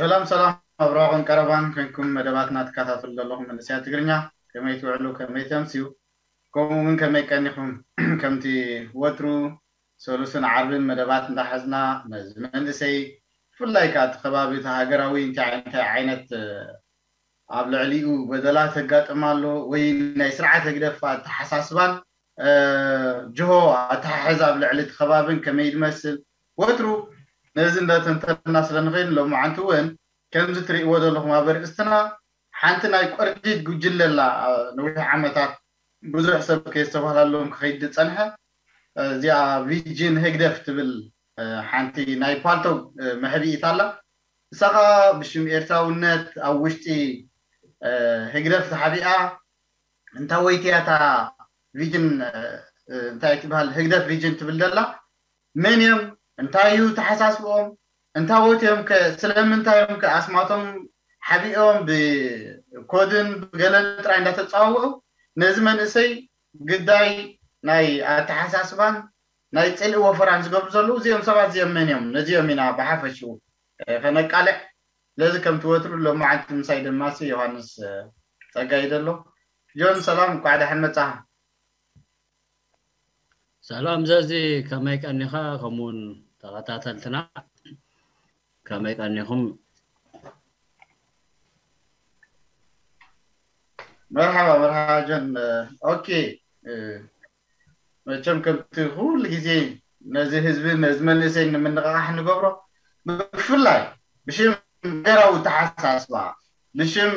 ሰላም ሰላም፣ ኣብ ራቐን ቀረባን ኮንኩም መደባትና ትከታተሉ ዘለኹም መንእሰያት ትግርኛ፣ ከመይ ትውዕሉ፣ ከመይ ተምስዩ፣ ከምኡ እውን ከመይ ቀኒኹም? ከምቲ ወትሩ ሰሉስን ዓርብን መደባት እንዳሓዝና፣ ነዚ መንእሰይ ብፍላይ ከዓ እቲ ከባቢ እቲ ሃገራዊ እንታይ እንታይ ዓይነት ኣብ ልዕሊኡ በደላት የጋጥም ኣሎ ወይ ናይ ስርዓት ህግደፍ ኣተሓሳስባን ጅሆ ኣተሓሕዛ ኣብ ልዕሊ እቲ ከባብን ከመይ ዝመስል ወትሩ ነዚ እንዳተንተና ስለ ንኽእል ሎማዓንቲ እውን ከምዚ ትርእይዎ ዘለኹም ኣብ ኣርእስትና ሓንቲ ናይ ቆርዲድ ጉጅለ ኣላ። ነዊሕ ዓመታት ብዙሕ ሰብ ከየስተባህላለዎም ክኸይድ ዝጸንሐ እዚኣ ቪጅን ህግደፍ ትብል ሓንቲ ናይ ፓልቶግ መሕብኢት ኣላ። እሳ ኸዓ ብሽም ኤርትራውነት ኣብ ውሽጢ ህግደፍ ተሓቢኣ እንታወይቲ እያ እታ ቪጅን እንታይ ትበሃል ህግደፍ ቪጅን ትብል ዘላ? መን እዮም? እንታይ እዩ ተሓሳስብኦም? እንታወት እዮም ከ? ስለምንታይ እዮም ከ ኣስማቶም ሓቢኦም ብኮድን ብገለን ጥራይ እንዳተፃዋውዑ ነዚ መንእሰይ ግዳይ ናይ ኣተሓሳስባን ናይ ፅልኢ ወፈራን ዝገብሩ ዘለዉ እዚኦም ሰባት እዚኦም መን እዮም? ነዚኦም ኢና ብሓፈሽኡ ከነቃልዕ። ስለዚ ከምቲ ወትሩ ሎማዓንቲ ምሳይ ደማሲ ዮሃንስ ፀጋይ ዘሎ። ጆን ሰላም፣ እንኳዕ ደሓን መፃኻ። ሰላም ዘዚ፣ ከመይ ቀኒኻ? ከምኡውን ተኸታተልትና ከመይ ቀኒኹም? መርሓባ መርሓባ ጆን። ኦኬ፣ መቸም ከምቲ ኩሉ ግዜ ነዚ ህዝቢ ነዚ መንእሰይ ንምንቕቓሕ ንገብሮ ብፍላይ ብሽም ሃገራዊ ተሓሳስባ ብሽም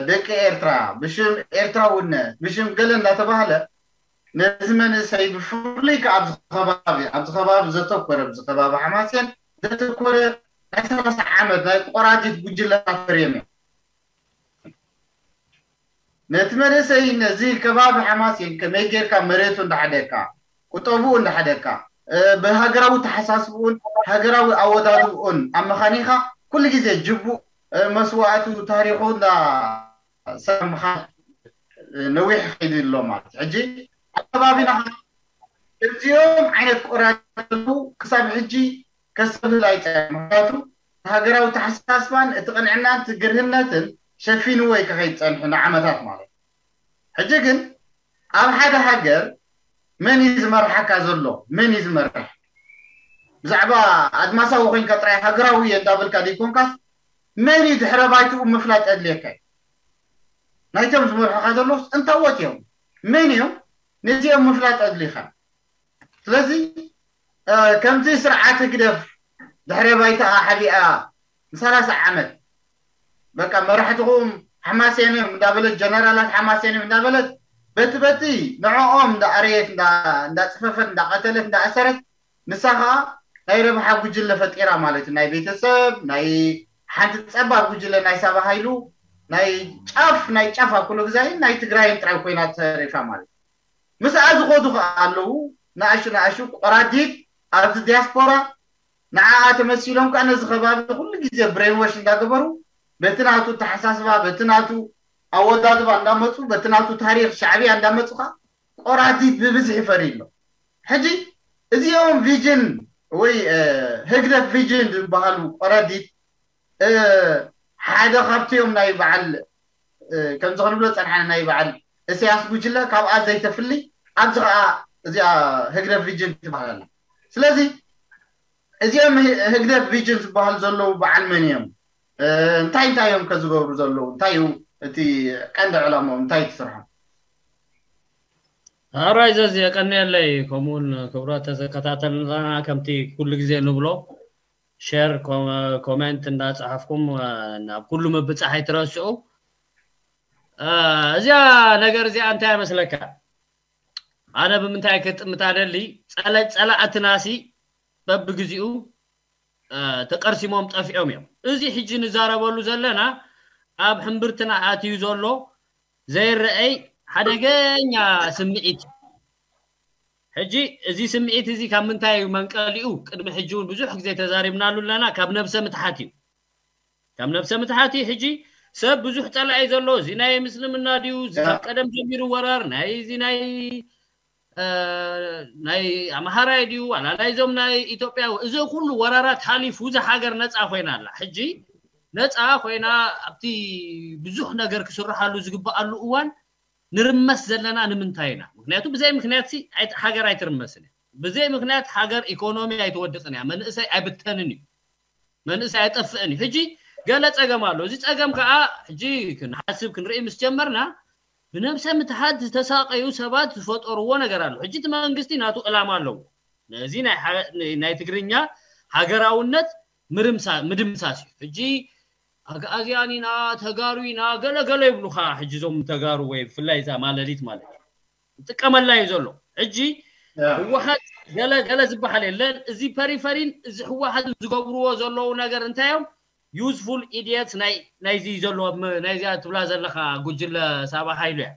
ደቂ ኤርትራ ብሽም ኤርትራውነት ብሽም ገለ እንዳተባህለ ነዚ መንእሰይ ብፍሉይ ከዓ ኣብዚ ከባቢ ኣብዚ ከባቢ ዘተኮረ ኣብዚ ከባቢ ሓማሴን ዘተኮረ ናይ ሰላሳ ዓመት ናይ ቆራዲት ጉጅለታት ፈርዮም እዮም። ነቲ መንእሰይ ነዚ ከባቢ ሓማሴን ከመይ ጌርካ መሬቱ እንዳሓደካ ቁጠብኡ እንዳሓደካ ብሃገራዊ ተሓሳስብኡን ሃገራዊ ኣወዳድብኡን ኣመኻኒኻ ኩሉ ግዜ ጅቡእ መስዋእቱ ታሪኹ እንዳሰምኻ ነዊሕ ኸይዱ ኣሎ ማለት ሕጂ ኣብ ከባቢና እዚኦም ዓይነት ቆራጡ ክሳብ ሕጂ ከስተብህል ኣይፀ ምክንያቱ ሃገራዊ ተሓሳስባን እቲ ቅንዕናን እቲ ግርህነትን ሸፊንዎ እዩ ክኸይድ ፀንሑ ንዓመታት ማለት ሕጂ ግን ኣብ ሓደ ሃገር መን እዩ ዝመርሓካ ዘሎ መን እዩ ዝመርሕ ብዛዕባ ኣድማሳዊ ኮይንካ ጥራይ ሃገራዊ እየ እንዳበልካ ዘይኮንካስ መን እዩ ድሕረ ባይትኡ ምፍላጥ ኣድልየካ እዩ ናይቶም ዝመርሑካ ዘለውስ እንታወት እዮም መን እዮም ነዚኦም ምፍላጥ ኣድልይካ ስለዚ ከምዚ ስርዓት ህግደፍ ድሕረ ባይታኣ ሓቢኣ ንሰላሳ ዓመት በቃ መራሕትኹም ሓማሴን እዮም እንዳበለት ጀነራላት ሓማሴን እዮም እንዳበለት በቲ በቲ ንዕኦም እንዳኣረየት እንዳፅፈፈት እንዳቀተለት እንዳኣሰረት ንሳ ከዓ ናይ ረብሓ ጉጅለ ፈጢራ ማለት እዩ ናይ ቤተሰብ ናይ ሓንቲ ፀባብ ጉጅለ ናይ ሳባ ሃይሉ ናይ ጫፍ ናይ ጫፍ ኣኩሎ ግዛይን ናይ ትግራይን ጥራይ ኮይና ተሪፋ ማለት እዩ ምስኣ ዝኸዱ ከዓ ኣለዉ ንኣሹ ንኣሹ ቆራዲት ኣብዚ ዲያስፖራ ንዓኣ ተመሲሎም ከዓ ነዚ ከባቢ ኩሉ ግዜ ብሬንወሽ እንዳገበሩ በቲ ናቱ ተሓሳስባ በቲ ናቱ ኣወዳድባ እንዳመፁ በቲ ናቱ ታሪክ ሻዕብያ እንዳመፁ ከዓ ቆራዲት ብብዝሒ ፈርዩ ኣሎ ሕጂ እዚኦም ቪጅን ወይ ህግደፍ ቪጅን ዝበሃሉ ቆራዲት ሓደ ካብቲኦም ናይ በዓል ከምዚ ክንብሎ ፀንሓና ናይ በዓል እስያስ ጉጅለ ካብኣ ዘይተፍሊ ኣብዚ ከዓ እዚኣ ህግደፍ ቪጅን ትበሃል ኣላ ስለዚ እዚኦም ህግደፍ ቪጅን ዝበሃሉ ዘለዉ በዓል መን እዮም እንታይ እንታይ እዮም ከዝገብሩ ዘለዉ እንታይ እዩ እቲ ቀንዲ ዕላምኦም እንታይ ትስርሖም ኣራይ ዘዚ የቀንየለይ ከምኡውን ክብረት ተዘከታተልና ከምቲ ኩሉ ግዜ ንብሎ ሸር ኮሜንት እንዳፀሓፍኩም ናብ ኩሉ ምብፃሕ ኣይትረስዑ እዚኣ ነገር እዚኣ እንታይ መስለካ ኣነ ብምንታይ ክጥምታ ደሊ ፀላእትናሲ በብግዚኡ ተቀርሲሞም ጠፊዖም እዮም እዚ ሕጂ ንዛረበሉ ዘለና ኣብ ሕምብርትና ኣትዩ ዘሎ ዘይረአይ ሓደገኛ ስምዒት ሕጂ እዚ ስምዒት እዚ ካብ ምንታይ እዩ መንቀሊኡ ቅድሚ ሕጂ እውን ብዙሕ ግዜ ተዛሪብናሉ ኣለና ካብ ነብሰ ምትሓት እዩ ካብ ነብሰ ምትሓት እዩ ሕጂ ሰብ ብዙሕ ፀላኢ ዘሎ እዚ ናይ ምስልምና ድዩ እዚ ካብ ቀደም ጀሚሩ ወራር ናይ እዚ ናይ ናይ ኣምሃራይ ድዩ ዋላ ናይዞም ናይ ኢትዮጵያ፣ እዚ ኩሉ ወራራት ሓሊፉ እዛ ሃገር ነፃ ኮይና ኣላ። ሕጂ ነፃ ኮይና ኣብቲ ብዙሕ ነገር ክስርሓሉ ዝግበኣሉ እዋን ንርመስ ዘለና ንምንታይ ኢና? ምክንያቱ ብዘይ ምክንያት ሲ ኣይ- ሃገር ኣይትርመስን እያ። ብዘይ ምክንያት ሃገር ኢኮኖሚ ኣይትወድቅን እያ፣ መንእሰይ ኣይብተንን እዩ፣ መንእሰይ ኣይጠፍእን እዩ። ሕጂ ገለ ፀገም ኣሎ። እዚ ፀገም ከዓ ሕጂ ክንሓስብ ክንርኢ ምስ ጀመርና ብነብሰ ምትሓት ዝተሳቀዩ ሰባት ዝፈጠርዎ ነገር ኣሎ። ሕጂ እቲ መንግስቲ ናቱ ዕላማ ኣለዎ። ነዚ ናይ ሓ- ናይ ትግርኛ ሃገራውነት ምርምሳ- ምድምሳስ እዩ። ሕጂ ኣግኣዝያን ኢና፣ ተጋሩ ኢና፣ ገለ ገለ ይብሉኻ። ሕጂ እዞም ተጋሩ ወይ ብፍላይ እዛ ማለሊት ማለት እዩ ዝጥቀመላ እዩ ዘሎ። ሕጂ ህወሓት ገለ ገለ ዝበሃል የለን። እዚ ፐሪፈሪን እዚ ህወሓት ዝገብርዎ ዘለዉ ነገር እንታይ እዮም? ዩዝፉል ኢዲየትስ ናይ ናይዚ ዘሎ ም- ናይዚኣ ትብላ ዘለኻ ጉጅለ ሳባ ሃይሉ እያ።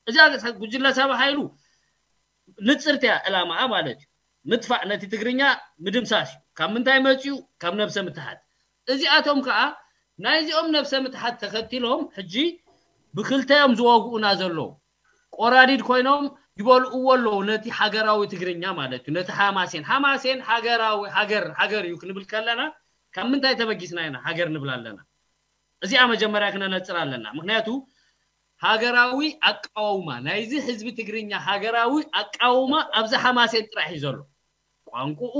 እዚኣ ጉጅለ ሳባ ሃይሉ ንፅርቲ እያ ዕላማኣ ማለት እዩ። ምጥፋእ ነቲ ትግርኛ ምድምሳስ እዩ። ካብ ምንታይ መፅኡ? ካብ ነብሰ ምትሓት። እዚኣቶም ከዓ ናይዚኦም ነብሰ ምትሓት ተኸቲሎም ሕጂ ብክልተዮም ዝወግኡና ዘለዉ ቆራዲድ ኮይኖም ይበልእዎ ኣለዉ ነቲ ሃገራዊ ትግርኛ ማለት እዩ። ነቲ ሓማሴን ሓማሴን ሃገራዊ ሃገር ሃገር እዩ ክንብል ከለና ካብ ምንታይ ተበጊስና ኢና ሃገር ንብል ኣለና? እዚኣ መጀመርያ ክነነፅር ኣለና። ምክንያቱ ሃገራዊ ኣቃውማ ናይዚ ህዝቢ ትግርኛ ሃገራዊ ኣቃውማ ኣብዚ ሓማሴን ጥራሕ እዩ ዘሎ። ቋንቁኡ፣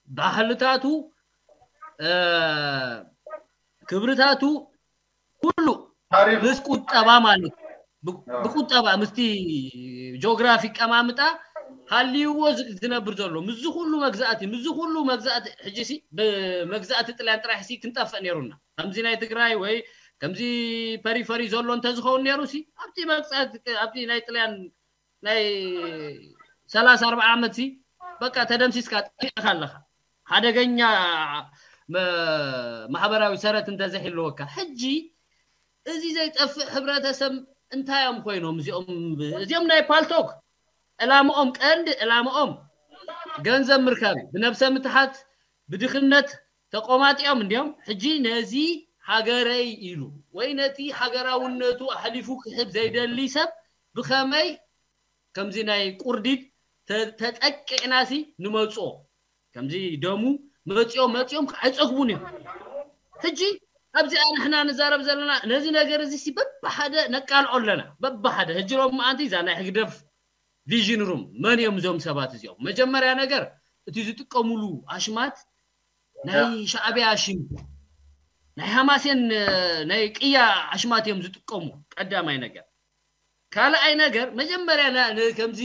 ባህልታቱ፣ ክብርታቱ ኩሉ ምስ ቁጠባ ማለት ብቁጠባ ምስቲ ጂኦግራፊ ቀማምጣ ሃልይዎ ዝነብር ዘሎ ምስዚ ኩሉ መግዛእቲ ምስዚ ኩሉ መግዛእቲ ሕጂ ሲ ብመግዛእቲ ጥልያን ጥራሕ ሲ ክንጠፍእ ነይሩና። ከምዚ ናይ ትግራይ ወይ ከምዚ ፐሪፈሪ ዘሎ እንተዝኸውን ነይሩ ሲ ኣብቲ መግዛእቲ ኣብቲ ናይ ጥልያን ናይ ሰላሳ ኣርባዓ ዓመት ሲ በቃ ተደምሲስካ ጠፊእካ ኣለኻ። ሓደገኛ ማሕበራዊ ሰረት እንተዘይህልወካ ሕጂ እዚ ዘይጠፍእ ሕብረተሰብ እንታይ እዮም ኮይኖም እዚኦም? እዚኦም ናይ ፓልቶክ ዕላምኦም ቀንዲ ዕላምኦም ገንዘብ ምርካብ ብነብሰ ምትሓት ብድኽነት ተቆማጢኦም እንዲዮም። ሕጂ ነዚ ሃገረይ ኢሉ ወይ ነቲ ሃገራውነቱ ኣሕሊፉ ክሕብ ዘይደሊ ሰብ ብኸመይ ከምዚ ናይ ቁርዲድ ተጠቂዕናሲ ንመፅኦ ከምዚ ደሙ መፂኦም መፂኦም ኣይፀግቡን እዮም። ሕጂ ኣብዚኣ ንሕና ንዛረብ ዘለና ነዚ ነገር እዚ በብሓደ ነቃልዖ ኣለና። በብሓደ ሕጂ ሎም መዓንቲ እዛ ናይ ህግደፍ ቪዥን ሩም መን እዮም እዞም ሰባት እዚኦም? መጀመርያ ነገር እቲ ዝጥቀሙሉ ኣሽማት ናይ ሻዕብያ ሽም ናይ ሃማሴን ናይ ቅያ ኣሽማት እዮም ዝጥቀሙ። ቀዳማይ ነገር ካልኣይ ነገር መጀመርያ ከምዚ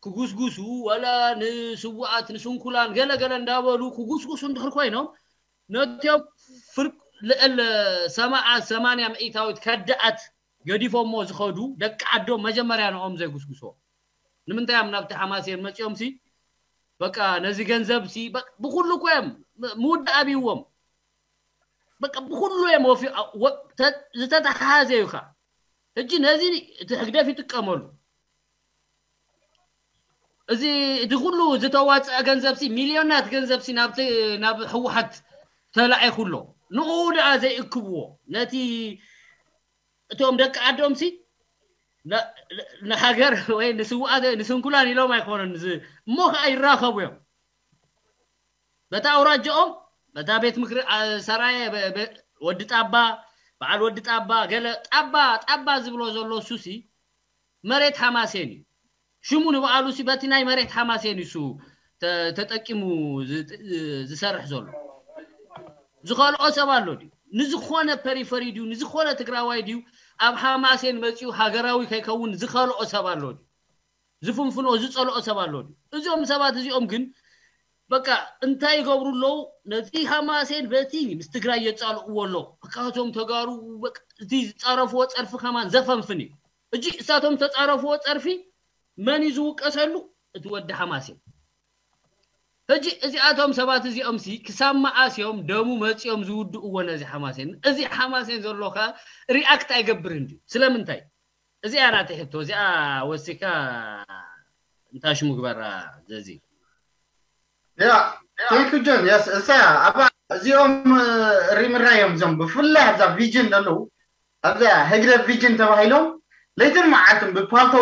ክጉስጉሱ ወላ ንስዋኣት ንስንኩላን ገለገለ እንዳበሉ ክጉስጉሱ እንድሕር ኮይኖም ነቲኦም ፍርቅ ልዕል ሰማዓ ሰማንያ ምኢታዊት ከዳኣት ገዲፎሞ ዝኸዱ ደቂ ዓዶም መጀመርያ ንኦም ዘይጉስጉሶ ንምንታይ እዮም ናብቲ ሓማሴን መፂኦም ሲ በቃ ነዚ ገንዘብ ሲ ብኩሉ እኮ እዮም ምውዳእ ኣብይዎም በቃ ብኩሉ እዮም ወፊ ዝተተሓሓዘ እዩ ካ ሕጂ ነዚ እቲ ህግደፍ ይጥቀመሉ እዚ እቲ ኩሉ ዝተዋፀአ ገንዘብ ሲ ሚልዮናት ገንዘብ ሲ ናብቲ ናብ ህወሓት ተላዒኹ ኣሎ ንኡ ደኣ ዘይእክብዎ ነቲ እቶም ደቂ ዓዶም ሲ ንሃገር ወይ ንስውኣት ንስንኩላን ኢሎም ኣይኮኑን እሞ ከዓ ይራኸቡ እዮም በቲ ኣውራጃኦም በታ ቤት ምክሪ ሰራየ ወዲ ጣባ በዓል ወዲ ጣባ ገለ ጣባ ጣባ ዝብሎ ዘሎ እሱሲ መሬት ሓማሴን እዩ ሽሙ ንበዓሉ ሲ በቲ ናይ መሬት ሓማሴን እዩ እሱ ተጠቂሙ ዝሰርሕ ዘሎ ዝኸልኦ ሰብ ኣሎ ድዩ ንዝኾነ ፐሪፈሪ ድዩ ንዝኾነ ትግራዋይ ድዩ ኣብ ሓማሴን መፂኡ ሃገራዊ ከይከውን ዝኸልኦ ሰብ ኣሎ ድዩ ዝፍንፍኖ ዝፀልኦ ሰብ ኣሎ ድዩ እዚኦም ሰባት እዚኦም ግን በቃ እንታይ ይገብሩ ኣለዉ ነቲ ሓማሴን በቲ ምስ ትግራይ የፃልእዎ ኣለዉ በቃ እቶም ተጋሩ እቲ ዝፃረፍዎ ፀርፊ ከማን ዘፈንፍን እዩ እጂ እሳቶም ዝተፃረፍዎ ፀርፊ መን እዩ ዝውቀሰሉ እቲ ወዲ ሓማሴን ሕጂ እዚኣቶም ሰባት እዚኦም ሲ ክሳብ መዓስ እዮም ደሙ መፂኦም ዝውድእዎ ነዚ ሓማሴን እዚ ሓማሴን ዘሎ ከ ሪኣክት ኣይገብርን ድዩ ስለምንታይ እዚኣ ናተይ ሕቶ እዚኣ ወሲካ እንታይ ሽሙ ግበራ ዘዚ ያ ቴንክ ጆን የስ እሳ ኣባ እዚኦም ሪምራዮም እዞም ብፍላይ ኣብዛ ቪጅን ዘለዉ ኣብዛ ህግደፍ ቪጅን ተባሂሎም ለይትን መዓልትን ብፓልቶ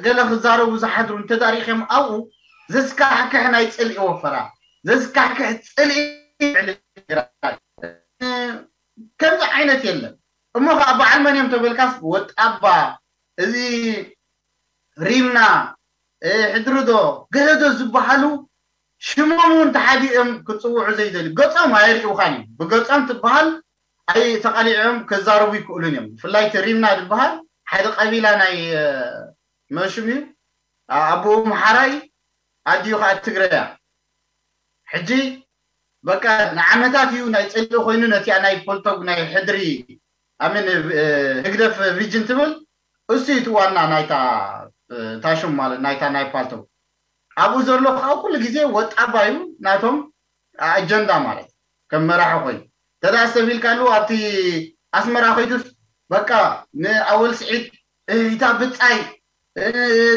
ገለ ክዛረቡ ዝሓድሩ እንተዳሪኸም ኣብኡ ዘስካሕክሕ ናይ ፅልኢ ወፈራ ዘስካሕክሕ ፅልኢ ከምዚ ዓይነት የለን። እሞ ከዓ በዓል መን እዮም ተበልካስ ወጣባ እዚ ሪምና ሕድርዶ ገለዶ ዝበሃሉ ሽሞም እውን ተሓዲኦም ክፅውዑ ዘይደልዩ ገፆም ኣየርእዩኻን እዮም። ብገፆም ትበሃል ኣይ ተቃሊዖም ክዛረቡ ይክእሉን እዮም። ብፍላይ እቲ ሪምና ዝበሃል ሓደ ቀቢላ ናይ መሽም እዩ። ኣቦኡ ምሓራይ ኣዲኡ ከዓ ትግረያ። ሕጂ በቃ ንዓመታት እዩ ናይ ፅልኢ ኮይኑ ነቲኣ ናይ ፖልቶግ ናይ ሕድሪ ኣምን ህግደፍ ቪጅን ትብል እሱ እዩ እቲ ዋና ናይታ ታሽም ማለት ናይታ ናይ ፓልቶግ ኣብኡ ዘሎ ከዓ ኩሉ ግዜ ወጣባ እዩ ናቶም ኣጀንዳ ማለት ከም መራሒ ኮይኑ ተዳ ሰቢልካሉ ኣብቲ ኣስመራ ኮይዱስ በቃ ንኣወል ስዒድ እታ ብፃይ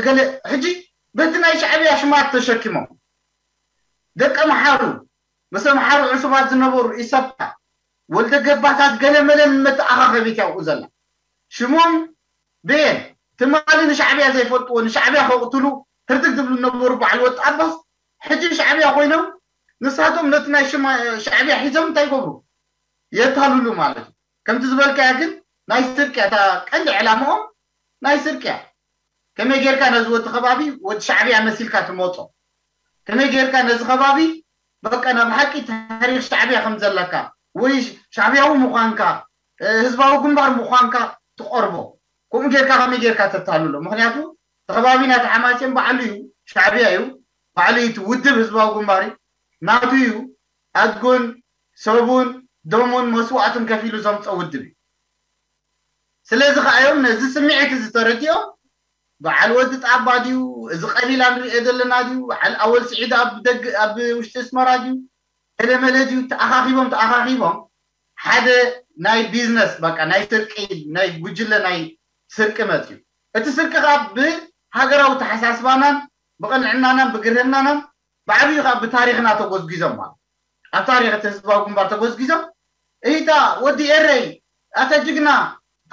ገለ ሕጂ በቲ ናይ ሻዕብያ ሽማት ተሸኪሞም ደቂ መሓሩ ምስ መሓሩ ዕሱባት ዝነበሩ ኢሰፓ ወልደ ገባታት ገለ መለን መተኣኻኸቢት ያውቁ ዘላ ሽሞም ቤን ትማሊ ንሻዕብያ ዘይፈልጥዎ ንሻዕብያ ከቕትሉ ህርድግ ዝብሉ ነበሩ በዓል ወጣ ኣባስ ሕጂ ሻዕብያ ኮይኖም ንሳቶም ነቲ ናይ ሽማ ሻዕብያ ሒዞም እንታይ ይገብሩ የታልሉ ማለት እዩ። ከምቲ ዝበልካያ ግን ናይ ስርቅያ እታ ቀንዲ ዕላምኦም ናይ ስርቅያ ከመይ ጌርካ ነዚ ወዲ ከባቢ ወዲ ሻዕብያ መሲልካ ትመፆ ከመይ ጌርካ ነዚ ከባቢ በቃ ናብ ሓቂ ታሪክ ሻዕብያ ከም ዘለካ ወይ ሻዕብያዊ ምዃንካ ህዝባዊ ግንባር ምዃንካ ትቐርቦ ከምኡ ጌርካ ከመይ ጌርካ ተታልሎ ምክንያቱ ተኸባቢ ናቲ ሓማሴን ባዕሉ እዩ ሻዕብያ እዩ ባዕሉ እቲ ውድብ ህዝባዊ ግንባር እዩ ናቱ እዩ ኣድጉን ሰቡን ደሙን መስዋዕቱን ከፊሉ ዘምፀ ውድብ እዩ ስለዚ ከኣዮም ነዚ ስምዒት እዚ ተረዲኦም በዓል ወዲ ጣባ ድዩ እዚ ቀቢላ ንሪኦ ዘለና ድዩ በዓል ኣወል ስዒድ ኣብ ደግ ኣብ ውሽጢ እስመራ ድዩ ገለመለ ድዩ ተኣኻኺቦም ተኣኻኺቦም ሓደ ናይ ቢዝነስ በቃ ናይ ስርቂ ናይ ጉጅለ ናይ ስርቂ መፅዩ እቲ ስርቂ ከዓ ብሃገራዊ ተሓሳስባናን ብቕንዕናናን ብግርህናናን ብዓብዩ ከዓ ብታሪክና ተጎዝጊዞም ማለት ኣብ ታሪክ እቲ ህዝባዊ ግንባር ተጎዝጊዞም እይታ ወዲ ኤረይ ኣታ ጅግና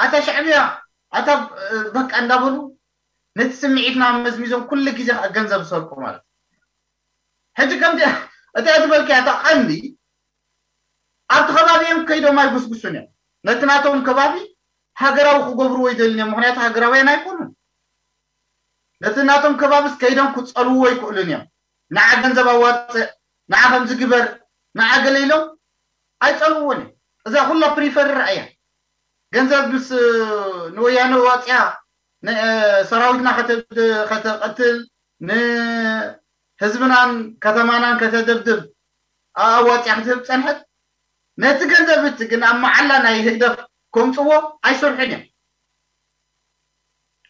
ኣታ ሻዕብያ ኣታ በቃ እንዳበሉ ነቲ ስምዒትና መዝሚዞም ኩሉ ግዜ ከዓ ገንዘብ ዝሰርቁ ማለት ሕጂ ከምዚ እታ ዝበልካያ እታ ቀንዲ ኣብቲ ከባቢ እዮም ከይዶም ኣይጉስጉሱን እዮም ነቲ ናቶም ከባቢ ሃገራዊ ክገብርዎ ይደልን እዮም ምክንያቱ ሃገራውያን ኣይኮኑን ነቲ ናቶም ከባብስ ከይዶም ክፀልውዎ ይክእሉን እዮም ንዓ ገንዘብ ኣዋፅእ ንዓ ከምዚ ግበር ንዓ ገለ ኢሎም ኣይፀልውዎን እዮም እዛ ኩላ ፕሪፈር ርኣያ ገንዘብ ምስ ንወያነ ዋፅያ ሰራዊትና ከተቐትል ንህዝብናን ከተማናን ከተደብድብ ኣዋፅያ ክትህብ ፀንሐት ነቲ ገንዘብ እቲ ግን ኣብ መዓላ ናይ ህግደፍ ከምፅዎ ኣይሰርሑን እዮም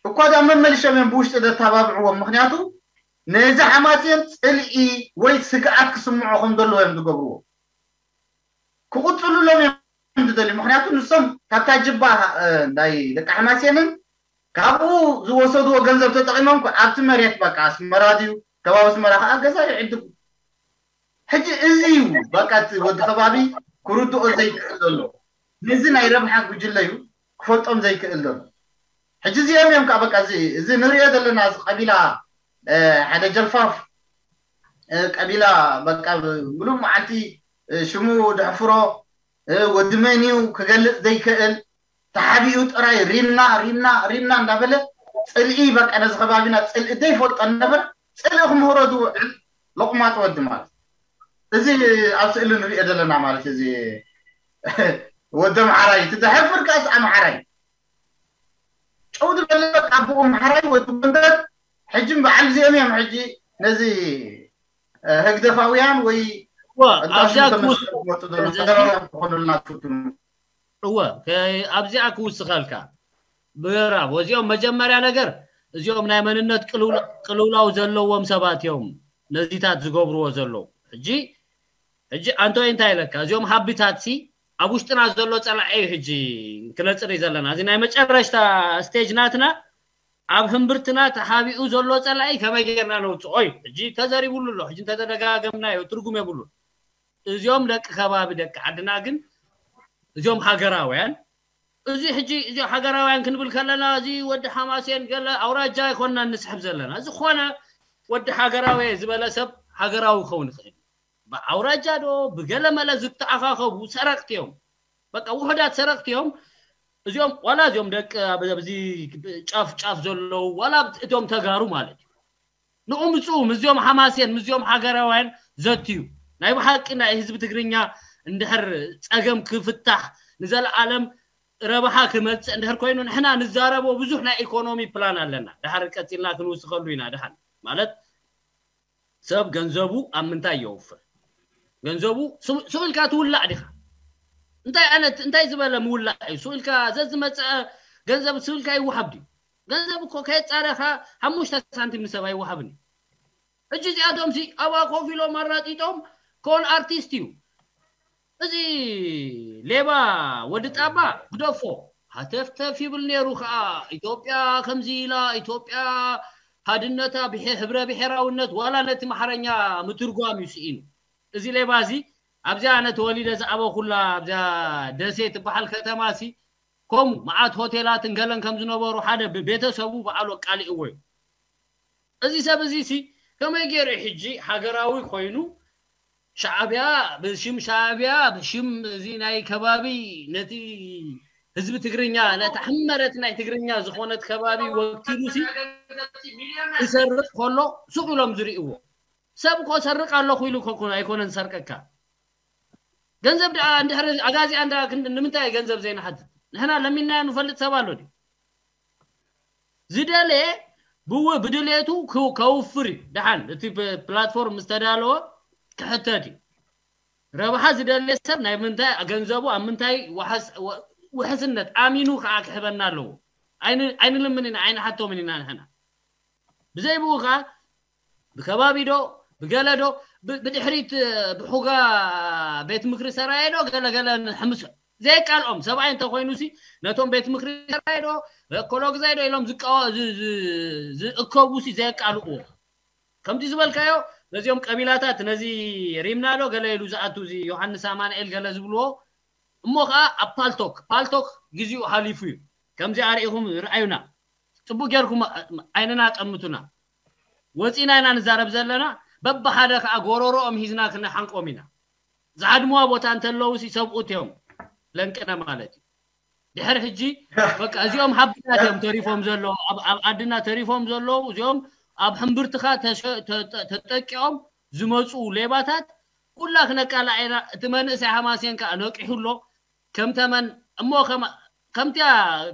እኳ ዳ መመልሾም እዮም ብውሽጢ ዘተባብዕዎም ምክንያቱ ነዚ ሓማሴን ፅልኢ ወይ ስግኣት ክስምዖ ከም ዘለዎ እዮም ዝገብርዎ ክቕፅሉሎም እዮም ዝደልዩ ምክንያቱ ንሶም ካብታ ጅባ ናይ ደቂ ሓማሴንን ካብኡ ዝወሰድዎ ገንዘብ ተጠቂሞም ኣብቲ መሬት በቃ ኣስመራ ድዩ ከባቢ ኣስመራ ከዓ ገዛ ይዕድጉ ሕጂ እዚ እዩ በቃ እቲ ወዲ ከባቢ ክርድኦ ዘይክእል ዘሎ ነዚ ናይ ረብሓ ጉጅለ እዩ ክፈልጦም ዘይክእል ዘሎ ሕጂ እዚኦም እዮም ከዓ በቃ እዚ እዚ ንሪኦ ዘለና እዚ ቀቢላ ሓደ ጀልፋፍ ቀቢላ በቃ ሙሉእ መዓልቲ ሽሙ ድሕፍሮ ወዲ መን እዩ ክገልፅ ዘይክእል ተሓቢኡ ጥራይ ሪምና ሪምና ሪምና እንዳበለ ፅልኢ በቃ ነዚ ከባቢና ፅልኢ ዘይፈልጦ ነበረ ፅልኢ ክምህሮ ዝውዕል ሎቕማፅ ወዲ ማለት እዚ ኣብ ስእሊ ንሪኦ ዘለና ማለት እዚ ወዲ ኣምሓራይ እቲ ዘሕፍር ከኣስ ኣምሓራይ ጨው ዝበለ ኣቦኡ ኣምሓራይ ወዲ ጎንደር ሕጂ በዓል እዚኦም እዮም ሕጂ ነዚ ህግደፋውያን ወይ ኣብዚኣ ክኾኑልና ትፍትኑ እወ ኣብዚኣ ክውስኸልካ ብራብ ወዚኦም መጀመርያ ነገር እዚኦም ናይ መንነት ቅልውላው ዘለዎም ሰባት እዮም ነዚታት ዝገብርዎ ዘለዉ ሕጂ ሕጂ ኣንቶይ እንታይ ኢለካ እዚኦም ሃቢታት ሲ ኣብ ውሽጥና ዘሎ ፀላዒ እዩ ሕጂ ክነፅሪ ዘለና እዚ ናይ መጨረሽታ ስቴጅ ናትና ኣብ ህምብርትና ተሃቢኡ ዘሎ ፀላኢ ከመይ ጌርና ነውፅኦ እዩ ሕጂ ተዘሪቡሉ ኣሎ ሕጂ እንተተደጋገምናዮ ትርጉም የብሉን እዚኦም ደቂ ከባቢ ደቂ ዓድና ግን እዚኦም ሃገራውያን እዚ ሕጂ እዚ ሃገራውያን ክንብል ከለና፣ እዚ ወዲ ሓማሴን ገለ ኣውራጃ ኣይኮንና ንስሕብ ዘለና። ዝኾነ ወዲ ሃገራዊ ዝበለ ሰብ ሃገራዊ ክኸውን ይኽእል። ብኣውራጃ ዶ ብገለ መለ ዝተኣኻኸቡ ሰረቕቲ እዮም። በቃ ውሑዳት ሰረቕቲ እዮም። እዚኦም ዋላ እዚኦም ደቂ ኣብዚ ጫፍ ጫፍ ዘለዉ ዋላ እቶም ተጋሩ ማለት እዩ። ንኡ ምፅኡ ምስዚኦም ሓማሴን ምስዚኦም ሃገራውያን ዘትዩ ናይ ብሓቂ ናይ ህዝቢ ትግርኛ እንድሕር ፀገም ክፍታሕ ንዘለኣለም ረብሓ ክመፅእ እንድሕር ኮይኑ ንሕና ንዛረቦ ብዙሕ ናይ ኢኮኖሚ ፕላን ኣለና። ድሓር ቀፂልና ክንውስኸሉ ኢና። ድሓን ማለት ሰብ ገንዘቡ ኣብ ምንታይ የውፍር? ገንዘቡ ስቕ ኢልካ ትውላዕ ዲኻ? እንታይ ዓይነት እንታይ ዝበለ ምውላዕ እዩ? ስቕ ኢልካ ዘዝመፀ ገንዘብ ስቕ ኢልካ ይወሃብ ድዩ? ገንዘብ እኮ ከየፃረኻ ሓሙሽተ ሳንቲም ንሰብ ኣይወሃብን እዩ። ሕጂ እዚኣቶም ሲ ኣብኣ ኮፍ ኢሎም ኣራጢጦም ኮን ኣርቲስት እዩ። እዚ ሌባ ወዲ ጣባ ግደፎ ሃተፍተፍ ይብል ነይሩ ከዓ ኢትዮጵያ ከምዚ ኢላ ኢትዮጵያ ሃድነታ ብሄ- ህብረ ብሄራውነት ዋላ ነቲ ማሕረኛ ምትርጓም እዩ ስኢኑ። እዚ ሌባ እዚ ኣብዚኣ ኣነ ተወሊደ ዝዓበኹላ ኣብዚኣ ደሴ ትበሃል ከተማ ሲ ከምኡ መዓት ሆቴላትን ገለን ከም ዝነበሩ ሓደ ብቤተሰቡ በዓሉ ኣቃሊዕዎ እዩ። እዚ ሰብ እዚ ሲ ከመይ ገይሩ ሕጂ ሃገራዊ ኮይኑ ሻዕብያ ብሽም ሻዕብያ ብሽም እዚ ናይ ከባቢ ነቲ ህዝቢ ትግርኛ ነታ ሕመረት ናይ ትግርኛ ዝኾነት ከባቢ ወኪሉ ሲ ክሰርቅ ከሎ ሱቅ ኢሎም ዝርእዎ ሰብ እኮ ሰርቅ ኣለኹ ኢሉ እኮ ኣይኮነን ዝሰርቀካ። ገንዘብ ደኣ እንድሕር ኣጋዚኣ እንዳ ክንድ ንምንታይ ገንዘብ ዘይንሓትት? ንሕና ለሚንናዮ ንፈልጥ ሰብ ኣሎ ድዩ? ዝደለየ ብው ብድሌቱ ክው- ከውፍር እዩ። ደሓን እቲ ፕ- ፕላትፎርም ምስ ተዳለወ ክሕተት እዩ። ረብሓ ዝደለየ ሰብ ናይ ምንታይ ገንዘቡ ኣብ ምንታይ ዋሕስ- ወ- ውሕስነት ኣሚኑ ከዓ ክሕበና ኣለዎ። ኣይን- ኣይንልምን ኢና ኣይንሓቶምን ኢና ንሕና። ብዘይ ብኡ ከዓ ብከባቢ ዶ ብገለ ዶ ብ- ብድሕሪት ብሑጋ ቤት ምክሪ ሰራየ ዶ ገለ ገለ ንሕምሶ ዘየቃልኦም ሰብኣይ እንተኮይኑ ሲ ነቶም ቤት ምክሪ ሰራየ ዶ ረኮሎግዛይ ዶ ኢሎም ዝቃወ- ዝ- ዝ- ዝእከቡ ሲ ዘየቃልእዎ ከምቲ ዝበልካዮ ነዚኦም ቀቢላታት ነዚ ሪምና ዶ ገለ ኢሉ ዝኣቱ እዚ ዮሃንስ ኣማንኤል ገለ ዝብልዎ እሞ ከዓ ኣብ ፓልቶክ ፓልቶክ ግዜኡ ሓሊፉ እዩ። ከምዚ ኣርኢኹም ርኣዩና ጽቡቅ ጌርኩም ዓይንና ጠምቱና። ወፂና ኢና ንዛረብ ዘለና። በብሓደ ከዓ ጎሮሮኦም ሂዝና ክንሓንቆም ኢና። ዝሃድምዋ ቦታ እንተለዉ ሲ ሰብኡት እዮም ለንቅነ ማለት እዩ። ድሕር ሕጂ በቃ እዚኦም ሃብትታት እዮም ተሪፎም ዘለዉ ኣብ ኣብ ዓድና ተሪፎም ዘለዉ እዚኦም ኣብ ሕምብርትኻ ተሸ- ተ- ተ- ተጠቂዖም ዝመፁ ሌባታት ኩላ ክነቃላዕ ኢና። እቲ መንእሰይ ሃማሴን ከዓ ነቂሑ ኣሎ ከም ተመን እሞ ከም ከምቲያ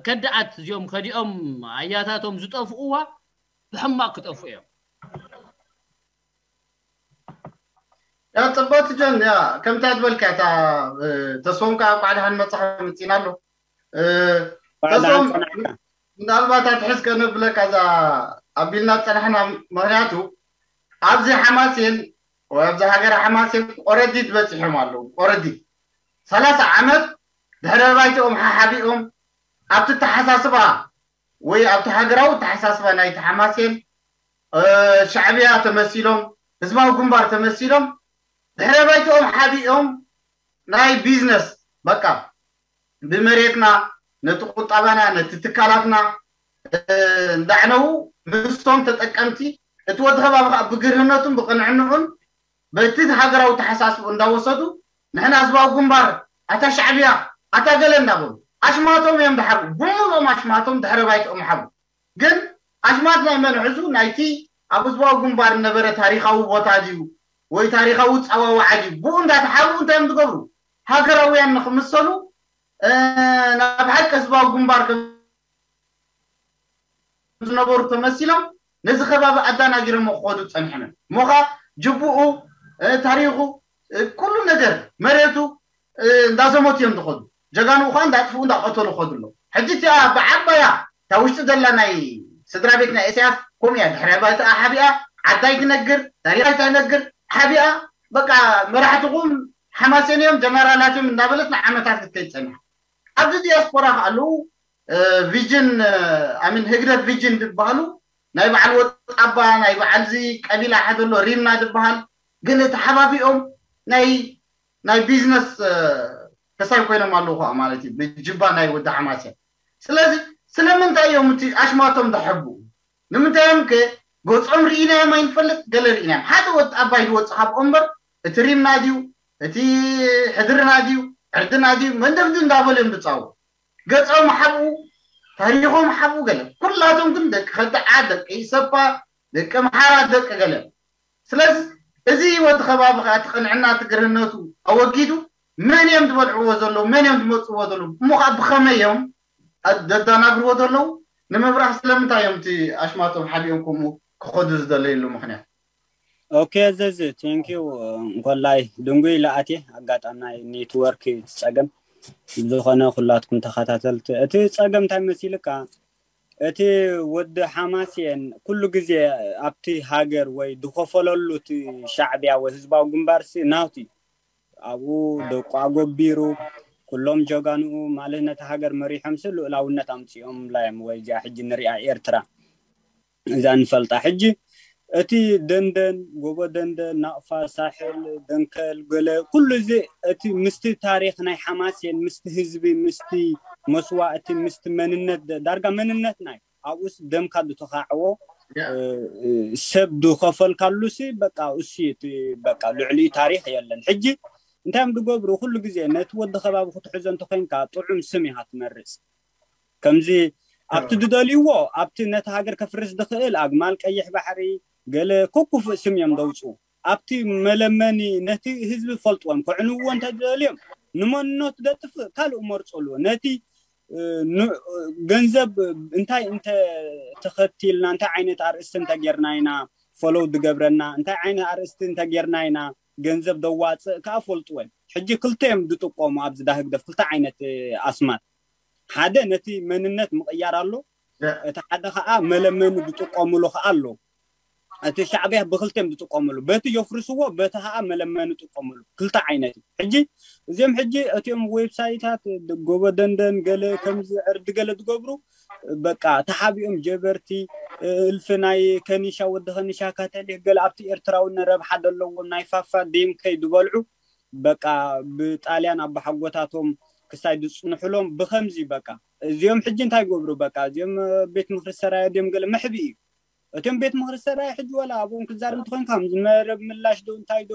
ከዳዓት እዚኦም ከዲኦም ኣያታቶም ዝጠፍኡዋ ብሕማቅ ክጠፍኡ እዮም። ያ ፅቡቅ ጆን ያ ከምታ ዝበልካ እታ ተስፎም ከዓ ቋዕድሃን መፅሓ መፂና ኣሎ ተስፎም ምናልባት ኣትሕዝ ከነብለካ እዛ ኣቢልና ዝፀናሕና ምክንያቱ ኣብዚ ሓማሴን ወይ ኣብዚ ሃገር ሓማሴን ቆረዲት በፂሖም ኣለዉ ቆረዲት ሰላሳ ዓመት ድሕረ ባይትኦም ሓሓቢኦም ኣብቲ ተሓሳስባ ወይ ኣብቲ ሃገራዊ ተሓሳስባ ናይቲ ሓማሴን ሻዕብያ ተመሲሎም ህዝባዊ ግንባር ተመሲሎም ድሕረ ባይትኦም ሓቢኦም ናይ ቢዝነስ በቃ ብመሬትና ነቲ ቁጠባና ነቲ ትካላትና እንዳዕነዉ ንሶም ተጠቀምቲ እቲ ወዲ ከባቢ ከዓ ብግርህነቱን ብቅንዕንዑን በቲ ሃገራዊ ተሓሳስቡ እንዳወሰዱ ንሕና ህዝባዊ ግንባር ኣታ ሻዕብያ ኣታ ገለ እንዳበሉ ኣሽማቶም እዮም ድሓቡ ብምሎም ኣሽማቶም ድሕረ ባይትኦም ሓቡ ግን ኣሽማት ናይ መን ሕዙ ናይቲ ኣብ ህዝባዊ ግንባር ነበረ ታሪኻዊ ቦታ ድዩ ወይ ታሪኻዊ ፀዋዋዓ ድዩ ብኡ እንዳተሓቡ እንታይ እዮም ዝገብሩ ሃገራውያን ንክምሰሉ ናብ ሓቂ ህዝባዊ ግንባር ዝነበሩ ተመሲሎም ነዚ ከባቢ ኣዳናጊሮሞ ክኸዱ ፀኒሖም እዮም። እሞ ኸዓ ጅቡኡ፣ ታሪኹ፣ ኩሉ ነገር መሬቱ እንዳዘመቱ እዮም ዝኸዱ። ጀጋኑ ኸዓ እንዳጥፍኡ እንዳቐተሉ ኸዱ ኣለዉ። ሕጂ እቲኣ ብዓባያ እታ ውሽጢ ዘላ ናይ ስድራ ቤት ናይ ኢሳያስ ከምኡ እያ። ድሕረ ባይትኣ ሓቢኣ፣ ዓዳ ኣይትነግር፣ ታሪኻ ኣይትነግር፣ ሓቢኣ በቃ መራሕትኹም ሓማሴን እዮም ጀነራላት እዮም እንዳበለት ንዓመታት ክትከይድ ፀኒሓ። ኣብዚ ዲያስፖራ ከኣ ኣለዉ ቪጅን ኣሚን ህግደፍ ቪጅን ዝበሃሉ ናይ በዓል ወጣባ ናይ በዓል እዚ ቀቢላ ሓደ ኣሎ ሪምና ዝበሃል ገለ ተሓባቢኦም ናይ ናይ ቢዝነስ ከሳይ ኮይኖም ኣለዉ ከዓ ማለት እዩ፣ ብጅባ ናይ ወዲ ሓማሴን። ስለዚ ስለምንታይ እዮም እቲ ኣሽማቶም ዝሕብኡ? ንምንታይ እዮም ከ ገጾም ርኢናዮም ኣይንፈልጥ፣ ገለ ርኢናዮም? ሓደ ወዲ ኣባይ ዝወጽእ ካብ እምበር፣ እቲ ሪምና ድዩ፣ እቲ ሕድርና ድዩ፣ ዕርድና ድዩ፣ መንደፍዲ እንዳበሉ እዮም ዝጻወቱ። ገጾም ሓብኡ፣ ታሪኾም ሓብኡ ገለ። ኩላቶም ግን ደቂ ከድዓ፣ ደቂ ኢሰፓ፣ ደቂ ኣምሓራ፣ ደቂ ገለ። ስለዚ እዚ ወዲ ከባቢ ከዓ እቲ ቅንዕና፣ እቲ ግርህነቱ ኣወጊዱ፣ መን እዮም ዝበልዕዎ ዘለዉ፣ መን እዮም ዝመፅዎ ዘለዉ፣ እሞ ከዓ ብኸመይ እዮም ዘዳናግርዎ ዘለዉ ንምብራህ ስለምንታይ እዮም እቲ ኣሽማቶም ሓቢኦም ከምኡ ክኸዱ ዝደለይሉ ምኽንያት? ኦኬ፣ ዘዝ፣ ቴንኪው። እንኮላይ ድንጉይ ለኣቴ ኣጋጣሚ ናይ ኔትወርክ ጸገም። ዝኾነ ኩላትኩም ተኸታተልቲ፣ እቲ ጸገም እንታይ መሲልካ? እቲ ወዲ ሓማሴን ኩሉ ግዜ ኣብቲ ሃገር ወይ ዝኸፈለሉ እቲ ሻዕብያ ወይ ህዝባዊ ግንባርሲ ናውቲ ኣብኡ ደቁ ኣጎቢሩ፣ ኩሎም ጀጋንኡ ማለት ነቲ ሃገር መሪሖምሲ ልኡላውነት ኣምጺኦምላ እዮም። ወይ እዚኣ ሕጂ ንሪኣ ኤርትራ እዛ ንፈልጣ። ሕጂ እቲ ደንደን፣ ጎቦ ደንደን፣ ናቕፋ፣ ሳሕል፣ ደንከል፣ ገለ ኩሉ እዚ እቲ ምስቲ ታሪኽ ናይ ሓማሴን፣ ምስቲ ህዝቢ፣ ምስቲ መስዋእቲ፣ ምስቲ መንነት፣ ዳርጋ መንነትና እዩ። ኣብኡስ ደምካ ዝተኻዕዎ ሰብ ዝኸፈልካሉሲ በቃ እሱ እቲ በቃ ልዕሊኡ ታሪኽ የለን። ሕጂ እንታይ እዮም ዝገብሩ? ኩሉ ግዜ ነቲ ወዲ ከባቢ ክትሕዞ እንተኮይንካ ጥዑም ስም ኢኻ ትመርጽ። ከምዚ ኣብቲ ዝደልይዎ ኣብቲ ነቲ ሃገር ከፍርስ ዝኽእል ኣግማል ቀይሕ ባሕሪ ገለ ከኩፍእ ስም እዮም ዘውፅኡ። ኣብቲ መለመኒ ነቲ ህዝቢ ፈልጥዎም ከዕንውዎ እንተደልዮም ንመንነቱ ደጥፍእ ካልእ መርፅሉ ነቲ ገንዘብ እንታይ እንተ ተኸቲልና እንታይ ዓይነት ኣርእስቲ እንተጌርና ኢና ፈለው ዝገብረና እንታይ ዓይነት ኣርእስቲ እንተጌርና ኢና ገንዘብ ደዋፅእ ከዓ ፈልጥወን። ሕጂ ክልተ እዮም ዝጥቀሙ ኣብዚ ዳህግደፍ ክልተ ዓይነት ኣስማት ሓደ ነቲ መንነት ምቕያር ኣሎ፣ እቲ ሓደ ከዓ መለመኒ ዝጥቀምሉ ከዓ ኣሎ። እቲ ሻዕብያ ብክልተ እዮም ዝጥቀምሉ፣ በቲ የፍርስዎ በቲ ከዓ መለመኒ ዝጥቀምሉ ክልተ ዓይነት እዩ። ሕጂ እዚኦም ሕጂ እቲኦም ዌብሳይታት ጎቦ ደንደን ገለ ከምዚ ዕርዲ ገለ ዝገብሩ በቃ ተሓቢኦም ጀበርቲ እልፊ ናይ ከኒሻ ወዲ ከኒሻ ካተሊክ ገለ ኣብቲ ኤርትራዊ ረብሓ ዘለዎም ናይ ፋፋ ዲምከይ ዝበልዑ በቃ ብጣልያን ኣባሓጎታቶም ክሳይ ዝፅንሕሎም ብከምዚ በቃ እዚኦም ሕጂ እንታይ ይገብሩ በቃ እዚኦም ቤት ምክሪ ሰራየ ድዮም ገለ መሕቢ እዩ። እቶም ቤት ምክሪ ሰራየ ሕጂ ወላ ኣብኦም ክዛረብ እንተኮይንካ ከምዚ መረብ ምላሽ ዶ እንታይ ዶ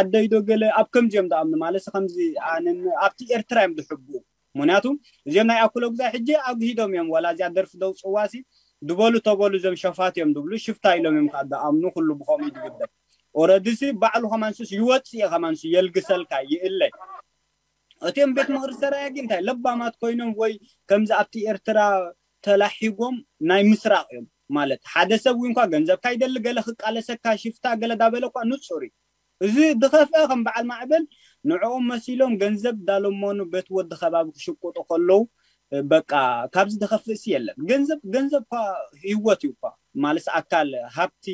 ዓደይ ዶ ገለ ኣብ ከምዚኦም ዝኣምኑ ማለት ከምዚ ኣብቲ ኤርትራ እዮም ዝሕብኡ። ምክንያቱ እዚኦም ናይ ኣኩሎ ግዛይ ሕጂ ኣግሂዶም እዮም ዋላ እዚኣ ደርፊ ደው ፅዋሲ ዝበሉ ተበሉ እዞም ሸፋት እዮም ዝብሉ ሽፍታ ኢሎም እዮም ከዓ ዝኣምኑ ኩሉ ብከምኡ ዝግደፍ። ኦረድሲ ባዕሉ ከማንሱስ ይወፅእ ከማንሱ የልግሰልካ ይእለ። እቲኦም ቤት ምክሪ ሰራየ ግን እንታይ ለባማት ኮይኖም ወይ ከምዚ ኣብቲ ኤርትራ ተላሒጎም ናይ ምስራቅ እዮም ማለት ሓደ ሰብ እውን ኳ ገንዘብካ ይደሊ ገለ ክቃለሰካ ሽፍታ ገለ ዳበለ እኳ ንፁር እዩ። እዚ ዝኸፍአ ከም በዓል ማዕበል ንዕኦም መሲሎም ገንዘብ ዳለመኑ ቤት ወዲ ከባቢ ክሽቁጡ ከለዉ በቃ ካብዚ ዝኸፍእሲ የለን። ገንዘብ ገንዘብ እኳ ህይወት እዩ እኳ ማለት ኣካል ሃብቲ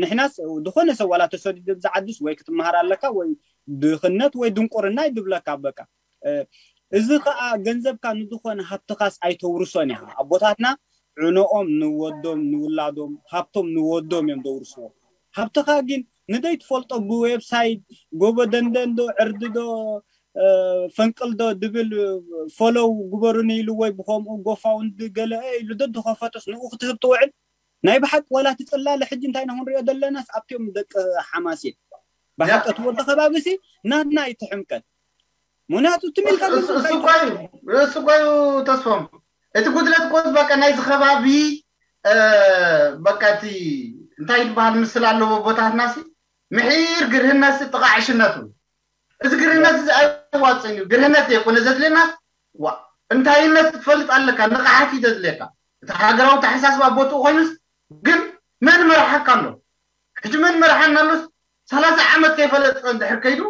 ንሕናስ ዝኾነ ሰብ ዋላ ተሰዲዱ ብዝዓድስ ወይ ክትመሃር ኣለካ ወይ ድኽነት ወይ ድንቁርና ይድብለካ በቃ እዚ ከዓ ገንዘብካ ንዝኾነ ሃብትኻስ ኣይተውርሶን ኢኻ። ኣቦታትና ዕኖኦም ንወዶም ንውላዶም ሃብቶም ንወዶም እዮም ዘውርስዎ። ሃብትኻ ግን ንደይ ትፈልጦ ብዌብሳይት ጎቦ ደንደን ዶ ዕርዲ ዶ ፈንቅል ዶ ድብል ፎሎው ግበሩኒ ኢሉ ወይ ብከምኡ ጎፋውንድ ገለ ኢሉ ዶ ዝኸፈቶስ ንኡ ክትህብ ትውዕል ናይ ብሓቂ ወላ ትፅላለ ሕጂ እንታይ ንክንሪኦ ዘለናስ ኣብቲኦም ደቂ ሓማሴን ብሓቂ እቲ ወዲ ከባቢ ሲ ናትና ይትሕምቀት ምክንያቱ ትም ኢልካ እሱ እኮ እዩ እሱ እኮ እዩ ተስፎም እቲ ጉድለት እኮ በቃ ናይዚ ከባቢ በቃ እቲ እንታይ ዝበሃል ምስል ኣለዎ ቦታትና ሲ ምሒር ግርህነት ሲ ጥቓ ዕሽነቱ እዚ ግርህነት እዚ ኣይዋፅን እዩ ግርህነት ዘይኮነ ዘድልየና ዋ እንታይነት ክትፈልጥ ኣለካ ንቕሓት እዩ ዘድልየካ እቲ ሃገራዊ ተሓሳስባ ቦትኡ ኮይኑስ ግን መን መርሓካ ኣሎ ሕጂ መን መርሓና ኣሎስ ሰላሳ ዓመት ከይፈለጠ እንድሕር ከይዱ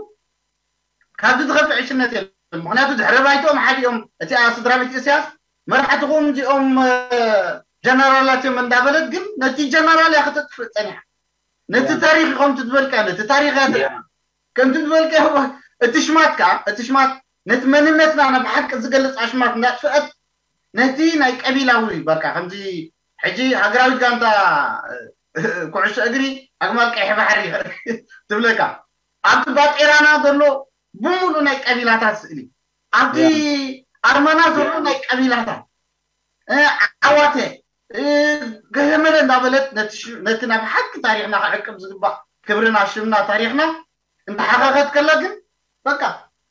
ካብዚ ዝኸፍእ ዕሽነት የለን ምክንያቱ ድሕሪ ባይትኦም ሓዲኦም እቲኣ ስድራ ቤት እስያስ መራሕትኹም እዚኦም ጀነራላት እዮም እንዳበለት ግን ነቲ ጀነራል እያ ክተጥፍእ ፀኒሓ ነቲ ታሪክ ከምቲ ዝበልካ ነቲ ታሪክ እያ ከምቲ ዝበልካ እቲ ሽማት ከዓ እቲ ሽማት ነቲ መንነትና ናብ ሓቂ ዝገልፅ ኣሽማት እንዳጥፍአት ነቲ ናይ ቀቢላዊ በቃ ከምዚ ሕጂ ሃገራዊት ጋንታ ኩዕሶ እግሪ ኣግማል ቀይሕ ባሕሪ ትብለካ ኣብቲ ባጤራና ዘሎ ብምሉእ ናይ ቀቢላታት ስእሊ ኣብቲ ኣርማና ዘሎ ናይ ቀቢላታት ዓዋተ ገመረ እንዳበለት ነቲ ናብ ሓቂ ታሪኽና ክዕቅብ ዝግባእ ክብርና፣ ሽምና፣ ታሪኽና እንዳሓኸኸት ከላ ግን በቃ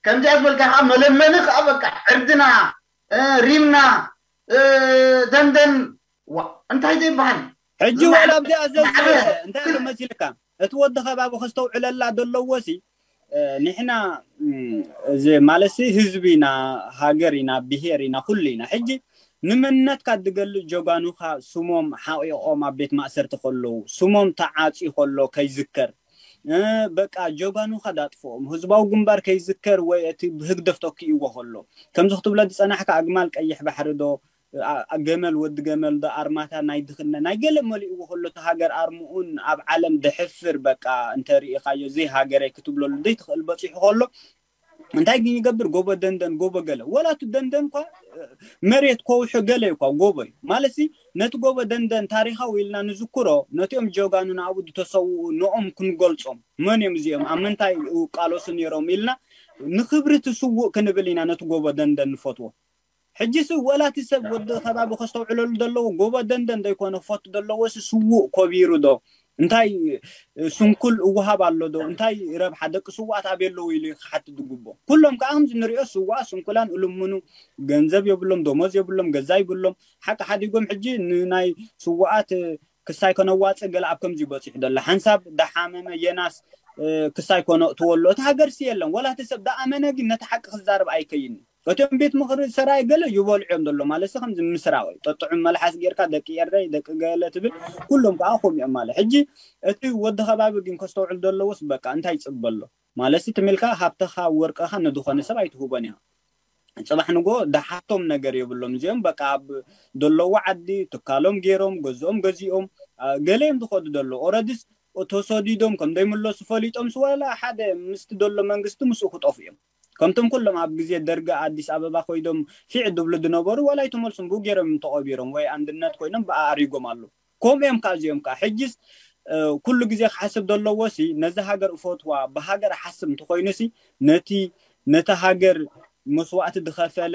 ከምዚኣ ዝበልካ ከዓ መለመኒ ከዓ በቃ ዕርድና፣ ሪምና፣ ደንደን እንታይ ዘይበሃል። ሕጂ ዋላ ኣብዚኣ ዘዝበለ እንታይ ኣሎ መሲልካ፣ እቲ ወዲ ከባቢ ከስተውዕለላ ዘለዎ ሲ ንሕና እዚ ማለት ህዝቢ ኢና፣ ሃገር ኢና፣ ብሄር ኢና፣ ኩሉ ኢና። ሕጂ ንመንነትካ ዝገልጽ ጀጋኑኻ ስሞም ሓቂቖም ኣብ ቤት ማእሰርቲ ከለዉ፣ ስሞም ተዓጽዩ ከሎ ከይዝከር፣ በቃ ጀጋኑኻ ዳጥፍኦም፣ ህዝባዊ ግንባር ከይዝከር ወይ እቲ ብህግደፍ ተኪእዎ ከሎ፣ ከምዚ ክትብሎ ዝጸናሕካ ኣግማል ቀይሕ ባሕሪ ዶ፣ ገመል ወዲ ገመል ዶ፣ ኣርማታ ናይ ድኽነ ናይ ገለ መሊእዎ ከሎ፣ እቲ ሃገር ኣርምኡን ኣብ ዓለም ደሕፍር በቃ እንተ ርኢኻዮ ዘይሃገረይ ክትብለሉ ዘይትኽእል በጺሑ ከሎ፣ እንታይ ግን ይገብር? ጎቦ ደንደን፣ ጎቦ ገለ፣ ወላ እቲ ደንደን እኳ መሬት ከውሑ ገለ እዩ እኳ ጎቦ እዩ ማለት ሲ። ነቲ ጎቦ ደንደን ታሪኻዊ ኢልና ንዝክሮ፣ ነቲኦም ጀጋኑና ኣብኡ ዝተሰውኡ ንኦም ክንገልጾም፣ መን እዮም እዚኦም፣ ኣብ ምንታይ ይቃለሱ ነይሮም ኢልና ንክብሪ እቲ ስውእ ክንብል ኢና ነቲ ጎቦ ደንደን ንፈትዎ። ሕጂ ሲ ወላ እቲ ሰብ ወዲ ከባቢ ከስተውዕለሉ ዘለዎ፣ ጎቦ ደንደን ዘይኮነ ክፈቱ ዘለዎ ሲ ስውእ ኮቢሩ ዶ፣ እንታይ ስንኩል እወሃብ ኣሎ ዶ፣ እንታይ ረብሓ ደቂ ስውኣት ኣበይ ኣለዉ ኢሉ ክሓትት ዝግብኦ። ኩሎም ከዓ ከምዚ ንሪኦ ስውኣት ስንኩላን እልምኑ፣ ገንዘብ የብሎም፣ ደሞዝ የብሎም፣ ገዛ ይብሎም። ሓቂ ሓዲጎም ሕጂ ንናይ ስውኣት ክሳይ ከነዋፅእ ገለ ኣብ ከምዚ በፂሑ ዘሎ ሓንሳብ ዳሓመመ የናስ ክሳይ ኮነ እትወሎ እቲ ሃገር ሲ የለን። ወላ እቲ ሰብ ዳኣመነ ግን ነቲ ሓቂ ክዛረብ ኣይከይን። እቶም ቤት ምኽሪ ሰራይ ገለ ይበልዑ እዮም ዘሎ ማለት ሲ ከምዚ ምስራቕ እዩ። ጠጥዑም መልሓስ ጌርካ ደቂ ኤረይ ደቂ ገለ ትብል፣ ኩሎም ከዓ ከምኡ እዮም ማለት። ሕጂ እቲ ወዲ ከባቢ ግን ከስተውዕል ዘለዎስ በቃ እንታይ ይፅበ ኣሎ ማለት ሲ ትም ኢልካ ሃብትኻ ወርቅኻ ንድኾነ ሰብ ኣይትህቦን ኢኻ። ፅባሕ ንጎ ዳሓቶም ነገር የብሎም እዚኦም በቃ ኣብ ዘለዉ ዓዲ ትካሎም ገይሮም ገዝኦም ገዚኦም ገለ እዮም ዝኸዱ ዘሎ ኦረድስ ተሰዲዶም ከም ዘይምለሱ ፈሊጦም ስወላ ሓደ ምስቲ ዘሎ መንግስቲ ምስኡ ክጠፉ እዮም። ከምቶም ኩሎም ኣብ ግዜ ደርጊ ኣዲስ ኣበባ ኮይዶም ፊዕ ድብሉ ዝነበሩ ዋላ ኣይተመልሱን ብኡ ገይሮም እዮም ተቐቢሮም ወይ ኣንድነት ኮይኖም ብኣኣሪጎም ኣለዉ። ከምኡ እዮም ከዓ እዚኦም ከዓ ሕጅስ ኩሉ ግዜ ክሓስብ ዘለዎ ሲ ነዚ ሃገር እፈትዋ ብሃገር ሓስብ እንተኮይኑ ሲ ነቲ ነቲ ሃገር መስዋእቲ ዝኸፈለ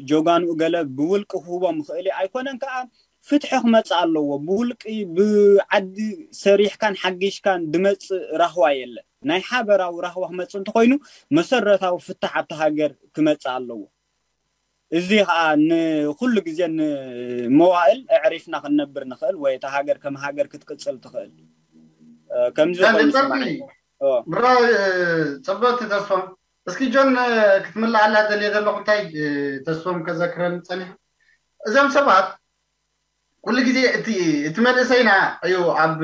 ጀጋንኡ ገለ ብውልቂ ክህቦ ምኽእል ኣይኮነን ከዓ ፍትሒ ክመፅእ ኣለዎ። ብውልቂ ብዓዲ ሰሪሕካን ሓጊሽካን ድመፅእ ራህዋ የለን። ናይ ሓበራዊ ራህዋ ክመፅእ እንተኮይኑ መሰረታዊ ፍታሕ ኣብቲ ሃገር ክመፅእ ኣለዎ። እዚ ከዓ ንኩሉ ግዜ ንመዋእል ኣዕሪፍና ክንነብር ንኽእል ወይ እታ ሃገር ከም ሃገር ክትቅፅል ትኽእል ከምዚ ኮይኑ ሰማዒ። ብሮ ፅብቅቲ ተስፎም እስኪ ጆን ክትምልኣላ ደልየ ዘለኹ እንታይ ተስፎም ከዘክረን ፀኒሑ እዞም ሰባት ኩሉ ግዜ እቲ እቲ መንእሰይና እዩ ኣብ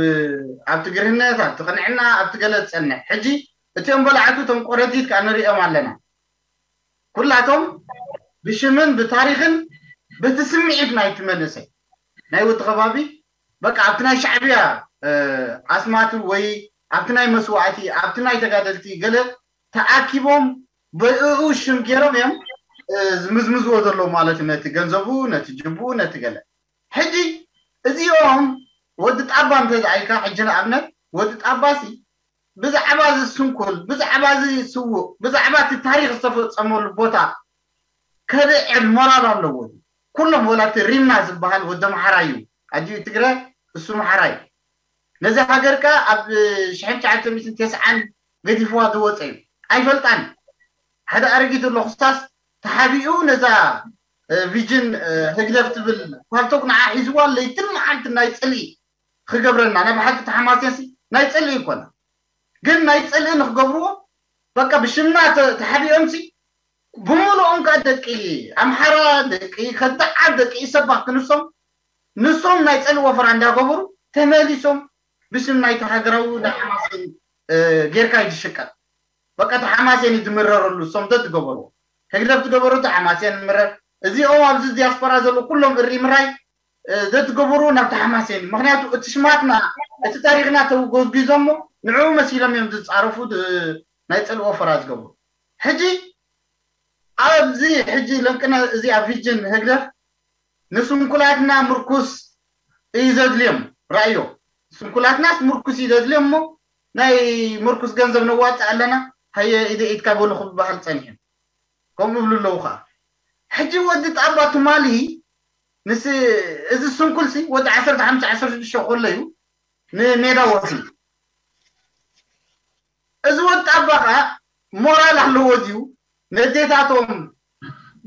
ኣብቲ ግርህነት ኣብቲ ቅንዕና ኣብቲ ገለ ዝፀንሕ ሕጂ እቲኦም በላዕቱ እቶም ቆረቲት ከዓ ንሪኦም ኣለና ኩላቶም ብሽምን ብታሪኽን በቲ ስምዒት ናይቲ መንእሰይ ናይ ወዲ ከባቢ በቃ ኣብቲ ናይ ሻዕብያ ኣስማት ወይ ኣብቲ ናይ መስዋእቲ ኣብቲ ናይ ተጋደልቲ ገለ ተኣኪቦም ብእኡ ሽም ገይሮም እዮም ዝምዝምዝዎ ዘለዉ ማለት እዩ ነቲ ገንዘቡ ነቲ ጅቡ ነቲ ገለ ሕጂ እዚኦም ወዲ ጣባ እንተዝኣይካ ሕጂ ንኣብነት ወዲ ጣባሲ ብዛዕባ እዚ ስንኩል ብዛዕባ እዚ ስዉእ ብዛዕባ እቲ ታሪክ ዝተፈፀመሉ ቦታ ከልዕል ሞራል ኣለዎ ኩሎም ወላ እቲ ሪምና ዝበሃል ወዲ ኣምሓራ እዩ ኣጅኡ ትግረ እሱ ኣምሓራ እዩ ነዚ ሃገር ከ ኣብ ሽሕን ትሽዓተ ሚእትን ተስዓን ገዲፍዋ ዝወፀ እዩ ኣይፈልጣን ሓደ ኣረጊት ኣሎ ክሳስ ተሓቢኡ ነዛ ቪጅን ህግደፍ ትብል ፓልቶክ ንዓ ሒዝዋ ለይትን መዓልቲ ናይ ፅልኢ ክገብረና ናይ ብሓቂ ተሓማስያሲ ናይ ፅልኢ ይኮና ግን ናይ ፅልኢ ንክገብርዎ በቃ ብሽምና ተሓቢኦምሲ ብምልኦም ከዓ ደቂ ኣምሓራ ደቂ ከዳዓት ደቂ ኢሰባ ክንሶም ንሶም ናይ ፅልኢ ወፈራ እንዳገበሩ ተመሊሶም ብስም ናይቲ ሃገራዊ ናይ ሓማሴን ጌርካ እዩ ዝሽቀጥ በቃ እቲ ሓማሴን እዩ ዝምረረሉ እሶም ዘትገበርዎ ህግደፍ ዝገበሩ እቲ ሓማሴን ምረር እዚኦም ኣብዚ ዲያስፖራ ዘለዉ ኩሎም እሪ ምራይ ዘትገበሩ ናብቲ ሓማሴን እዩ ምክንያቱ እቲ ሽማትና እቲ ታሪክና ተጎዝጊዞሞ ንዕኡ መሲሎም እዮም ዝፃረፉ ናይ ፅልኢ ወፈራ ዝገብሩ ሕጂ ኣብዚ ሕጂ ለንቅነ እዚኣ ቪጅን ህግደፍ ንስንኩላትና ምርኩስ እዩ ዘድልዮም ራእዮ ስንኩላትናስ ምርኩስ እዩ ዘድልዮም እሞ ናይ ምርኩስ ገንዘብ ነዋፅእ ኣለና ሃየ ኢደ ኢድካ በሉ ክበሃል ፀኒሑ ከምኡ ይብሉ ኣለዉ ከዓ። ሕጂ ወዲ ጣባ ትማሊ ምስ እዚ ስንኩልሲ ወዲ ዓሰርተ ሓሙሽተ ዓሰርተ ሽዱሽተ ከሎ እዩ ንሜዳ ወፂኡ። እዚ ወዲ ጣባ ከዓ ሞራል ኣለዎ ድዩ? ነዴታቶም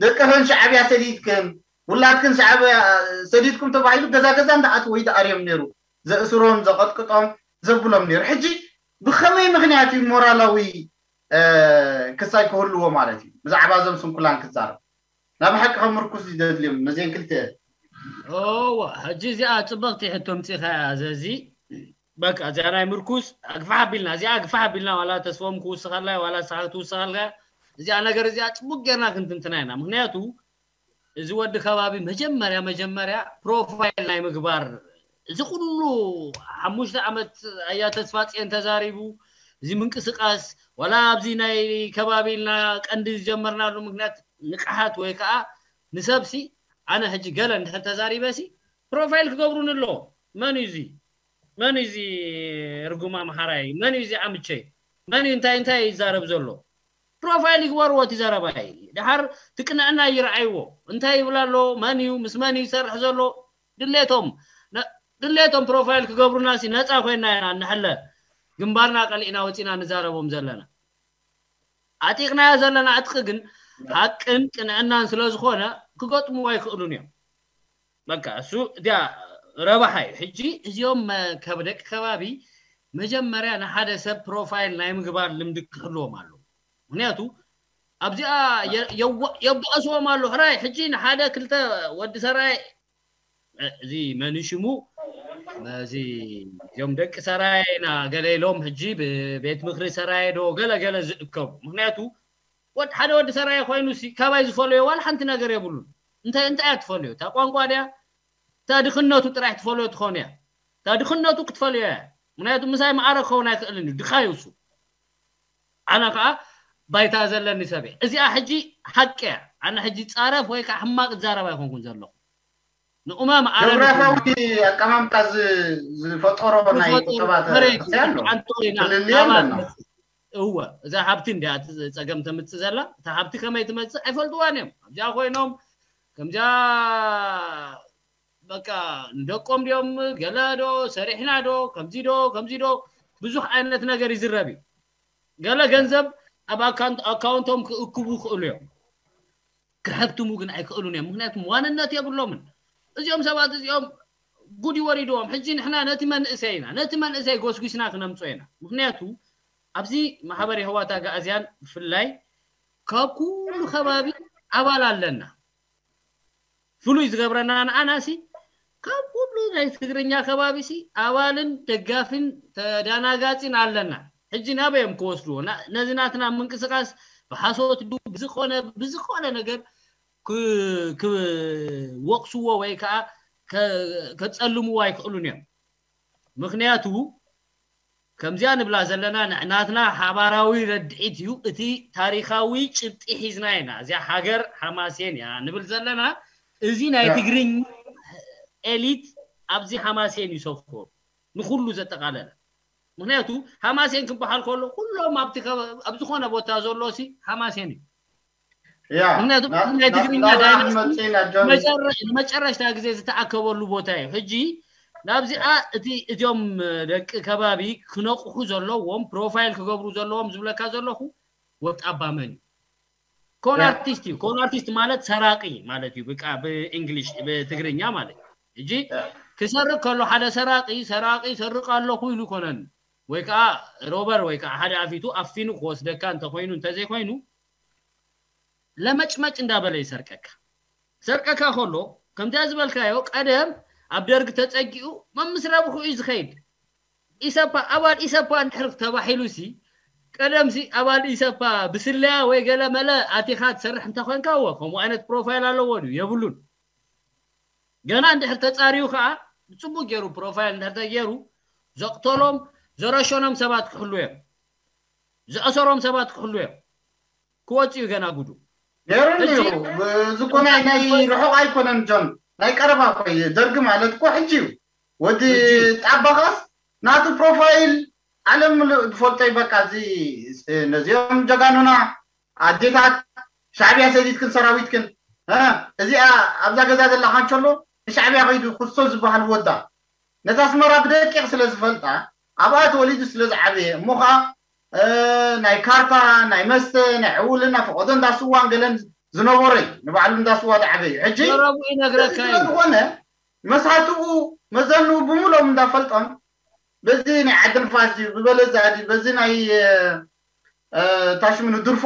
ደቀፈን ሻዕብያ ሰዲድክን ውላድክን ሻዕብያ ሰዲድኩም ተባሂሉ ገዛ ገዛ እንዳኣት ወይ ደኣርዮም ነይሩ ዘእስሮም ዘቐጥቅጦም ዘብሎም ነይሩ። ሕጂ ብኸመይ ምክንያት እዩ ሞራላዊ ክሳይ ክህልዎ ማለት እዩ? ብዛዕባ እዞም ስንኩላን ክዛረብ ናብ ሓቂ ከም ምርኩስ እዩ ዘድልዮም ነዚአን ክልተ። እወ፣ ሕጂ እዚኣ ፅብቕቲ ሕቶ ምፂኻ እያ ዘዚ። በቃ እዚኣ ናይ ምርኩስ ኣግፋሕ ኣቢልና፣ እዚኣ ኣግፋሕ ኣቢልና ዋላ ተስፎም ክውስኸላ ዋላ ሳሓ ክትውስኸልካ እዚኣ ነገር እዚኣ ፅቡቅ ጌርና ክንትንትና ኢና። ምክንያቱ እዚ ወዲ ከባቢ መጀመርያ መጀመርያ ፕሮፋይል ናይ ምግባር እዚ ኩሉ ሓሙሽተ ዓመት ኣያ ተስፋፅየን ተዛሪቡ እዚ ምንቅስቃስ ዋላ ኣብዚ ናይ ከባቢ ኢልና ቀንዲ ዝጀመርናሉ ምክንያት ንቅሓት ወይ ከዓ ንሰብሲ ኣነ ሕጂ ገለ እንድሕር ተዛሪበሲ ፕሮፋይል ክገብሩን ኣሎ። መን እዩ እዚ መን እዩ እዚ ርጉም ኣምሓራይ መን እዩ እዚ ዓምቸይ መን እዩ እንታይ እንታይ ይዛረብ ዘሎ ፕሮፋይል ይግበርዎ እቲ ዘረባይ ድሓር ትቅንዕና ይረዓይዎ እንታይ ይብል ኣሎ መን እዩ ምስ መን እዩ ይሰርሕ ዘሎ ድሌቶም ድሌቶም ፕሮፋይል ክገብሩና ሲ ነፃ ኮይና ኢና እንሕለ ግንባርና ቀሊዕና ወፂና ንዛረቦም ዘለና ኣጢቕናዮ ዘለና ዕጥቂ ግን ሓቅን ቅንዕናን ስለ ዝኾነ ክገጥምዎ ኣይክእሉን እዮም በቃ እሱ እዚኣ ረባሓ እዩ ሕጂ እዚኦም ከብ ደቂ ከባቢ መጀመርያ ንሓደ ሰብ ፕሮፋይል ናይ ምግባር ልምዲ ክህልዎም ኣሎ ምክንያቱ ኣብዚኣ የባእስዎም ኣሎ ሕራይ ሕጂ ንሓደ ክልተ ወዲ ሰራይ እዚ መን ሽሙ እዚ እዚኦም ደቂ ሰራይ ና ገለ ኢሎም ሕጂ ብቤት ምክሪ ሰራይ ዶ ገለ ገለ ዝእከቡ ምክንያቱ ወድ ሓደ ወዲ ሰራይ ኮይኑ ሲ ካባይ ዝፈለዮ ዋላ ሓንቲ ነገር የብሉን እንታይ እንታይ እያ ትፈለዮ እታ ቋንቋ ድያ እታ ድኽነቱ ጥራሕ ትፈለዮ ትኾን እያ እታ ድኽነቱ ክትፈለዮ እያ ምክንያቱ ምሳይ ማዕረ ክኸውን ኣይክእልን እዩ ድኻ ይውሱ ኣነ ከዓ ባይታ ዘለኒ ሰብ እዚኣ ሕጂ ሓቂ እያ ኣነ ሕጂ ፃረፍ ወይ ከዓ ሕማቅ ዛረብ ኣይኮንኩን ዘለኹ ንኡማም ዓለም ጆግራፊያዊ ኣቀማምጣ ዝ- ዝፈጠሮ ናይ ዝፈጠሩ ቁጠባ መሬት ተክሲ ኣሎ ሓንቲ ኮይና ፍልልይ ናባ ኣለና ትመጽእ። እወ እዛ ሃብቲ እንዲያ እቲ ፀገም ተምፅእ ዘላ እታ ሃብቲ ከመይ ትመፅእ ኣይፈልጥዋን እዮም ኣብዚኣ ኮይኖም ከምዚኣ በቃ ንደቆም ድዮም ገለ ዶ ሰሪሕና ዶ ከምዚ ዶ ከምዚ ዶ ብዙሕ ዓይነት ነገር ይዝረብ እዩ ገለ ገንዘብ ኣብ ኣካውንት- ኣካውንቶም ክእክቡ ይኽእሉ እዮም ክሕብትሙ ግን ኣይክእሉን እዮም ምክንያቱም ዋንነት የብሎምን እዚኦም ሰባት እዚኦም ጉድ ይወሪድዎም ሕጂ ንሕና ነቲ መንእሰይ ኢና ነቲ መንእሰይ ጎስጒስና ክነምፅኦ ኢና ምክንያቱ ኣብዚ ማሕበር የህዋት ኣጋእዝያን ብፍላይ ካብ ኩሉ ከባቢ ኣባል ኣለና ፍሉይ ዝገብረና ንኣና ሲ ካብ ኩሉ ናይ ትግርኛ ከባቢ ሲ ኣባልን ደጋፊን ተዳናጋፂን ኣለና ሕጂ ናበይ እዮም ክወስድዎ ነዚ ናትና ምንቅስቃስ ብሓሶት ዱ ብዝኮነ ብዝኮነ ነገር ክወቅስዎ ወይ ከዓ ከፀልምዎ ኣይክእሉን እዮም ምክንያቱ ከምዚኣ ንብላ ዘለና ናትና ሓባራዊ ረድዒት እዩ እቲ ታሪካዊ ጭብጢ ሒዝና ኢና እዚኣ ሃገር ሓማሴን እያ ንብል ዘለና እዚ ናይ ትግርኛ ኤሊት ኣብዚ ሓማሴን እዩ ሰፍሩ ንኩሉ ዘጠቃለለ ምክንያቱ ሓማሴን ክበሃል ከሎ ኩሎም ኣብ ዝኮነ ቦታ ዘሎ ሲ ሓማሴን እዩ ምክንያቱ ናይ ትግርኛ ዳይናስቲ ንመጨረሽታ ግዜ ዝተኣከበሉ ቦታ እዩ ሕጂ ናብዚኣ እቲ እዚኦም ደቂ ከባቢ ክነቕሑ ዘለዎም ፕሮፋይል ክገብሩ ዘለዎም ዝብለካ ዘለኹ ወጣባ መን እዩ ኮን ኣርቲስት እዩ ኮን ኣርቲስት ማለት ሰራቂ ማለት እዩ ብቃ ብእንግሊሽ ብትግርኛ ማለት እዩ ሕጂ ክሰርቅ ከሎ ሓደ ሰራቂ ሰራቂ ሰርቅ ኣለኹ ኢሉ ይኮነን ወይ ከዓ ሮበር ወይ ከዓ ሓደ ኣፊቱ ኣፊኑ ክወስደካ እንተኮይኑ እንተዘይኮይኑ ለመጭመጭ እንዳበለ ይሰርቀካ ሰርቀካ ከሎ ከምዚኣ ዝበልካዮ ቀደም ኣብ ደርግ ተፀጊኡ መምስ ረብሑ እዩ ዝኸይድ ኢሰፓ ኣባል ኢሰፓ እንድሕር ተባሒሉ ሲ ቀደም ሲ ኣባል ኢሰፓ ብስለያ ወይ ገለ መለ ኣቲኻ ትሰርሕ እንተኮንካ እወ ከምኡ ዓይነት ፕሮፋይል ኣለዎ ድዩ የብሉን ገና እንድሕር ተፃርዩ ከዓ ብፅቡቅ ገይሩ ፕሮፋይል እንድሕር ተገይሩ ዘቅተሎም ዘረሸኖም ሰባት ክሕሉ እዮም ዝኣሰሮም ሰባት ክሕሉ እዮም ክወፅኡ ገና ጉዱ ነይሩን እዩ እዚ እኮ ናይ ናይ ርሑቕ ኣይኮነን ጆን ናይ ቀረባ እኮ እዩ ደርጊ ማለት እኮ ሕጂ እዩ ወዲ ጣባኻስ ናቱ ፕሮፋይል ዓለም ምሉእ ዝፈልጦ እዩ በቃ እዚ ነዚኦም ጀጋኑና ኣዴታት ሻዕብያ ሰዲድክን ሰራዊትክን፣ እ፣ እዚኣ ኣብዛ ገዛ ዘላ ካንቸሎ ንሻዕብያ ከይዱ ክሶ ዝበሃል ወዳ፣ ነታ ኣስመራ ብደቂቕ ስለ ዝፈልጣ፣ ኣብኣ ተወሊዱ ስለ ዝዓበየ፣ እሞ ኸዓ፣ እ፣ ናይ ካርታ፣ ናይ መስተ፣ ናይ ዕውልና፣ ፈቐዶ እንዳ ስዋን ገለን ዝነበረ እዩ። ንባዕሉ እንዳ ስዋ ዝዓበየ እዩ። ሕጂ ዘረቡ ይነግረካ እዚ እዩ። ስለዝኾነ፣ መሳትኡ መዘንኡ ብምሎም እንዳፈልጦም፣ በዚ ናይ ዓዲ ንፋስ ድዩ፣ ብበለዛ ድዩ፣ በዚ ናይ፣ እ፣ እ፣ ታሽምኑ ድርፎ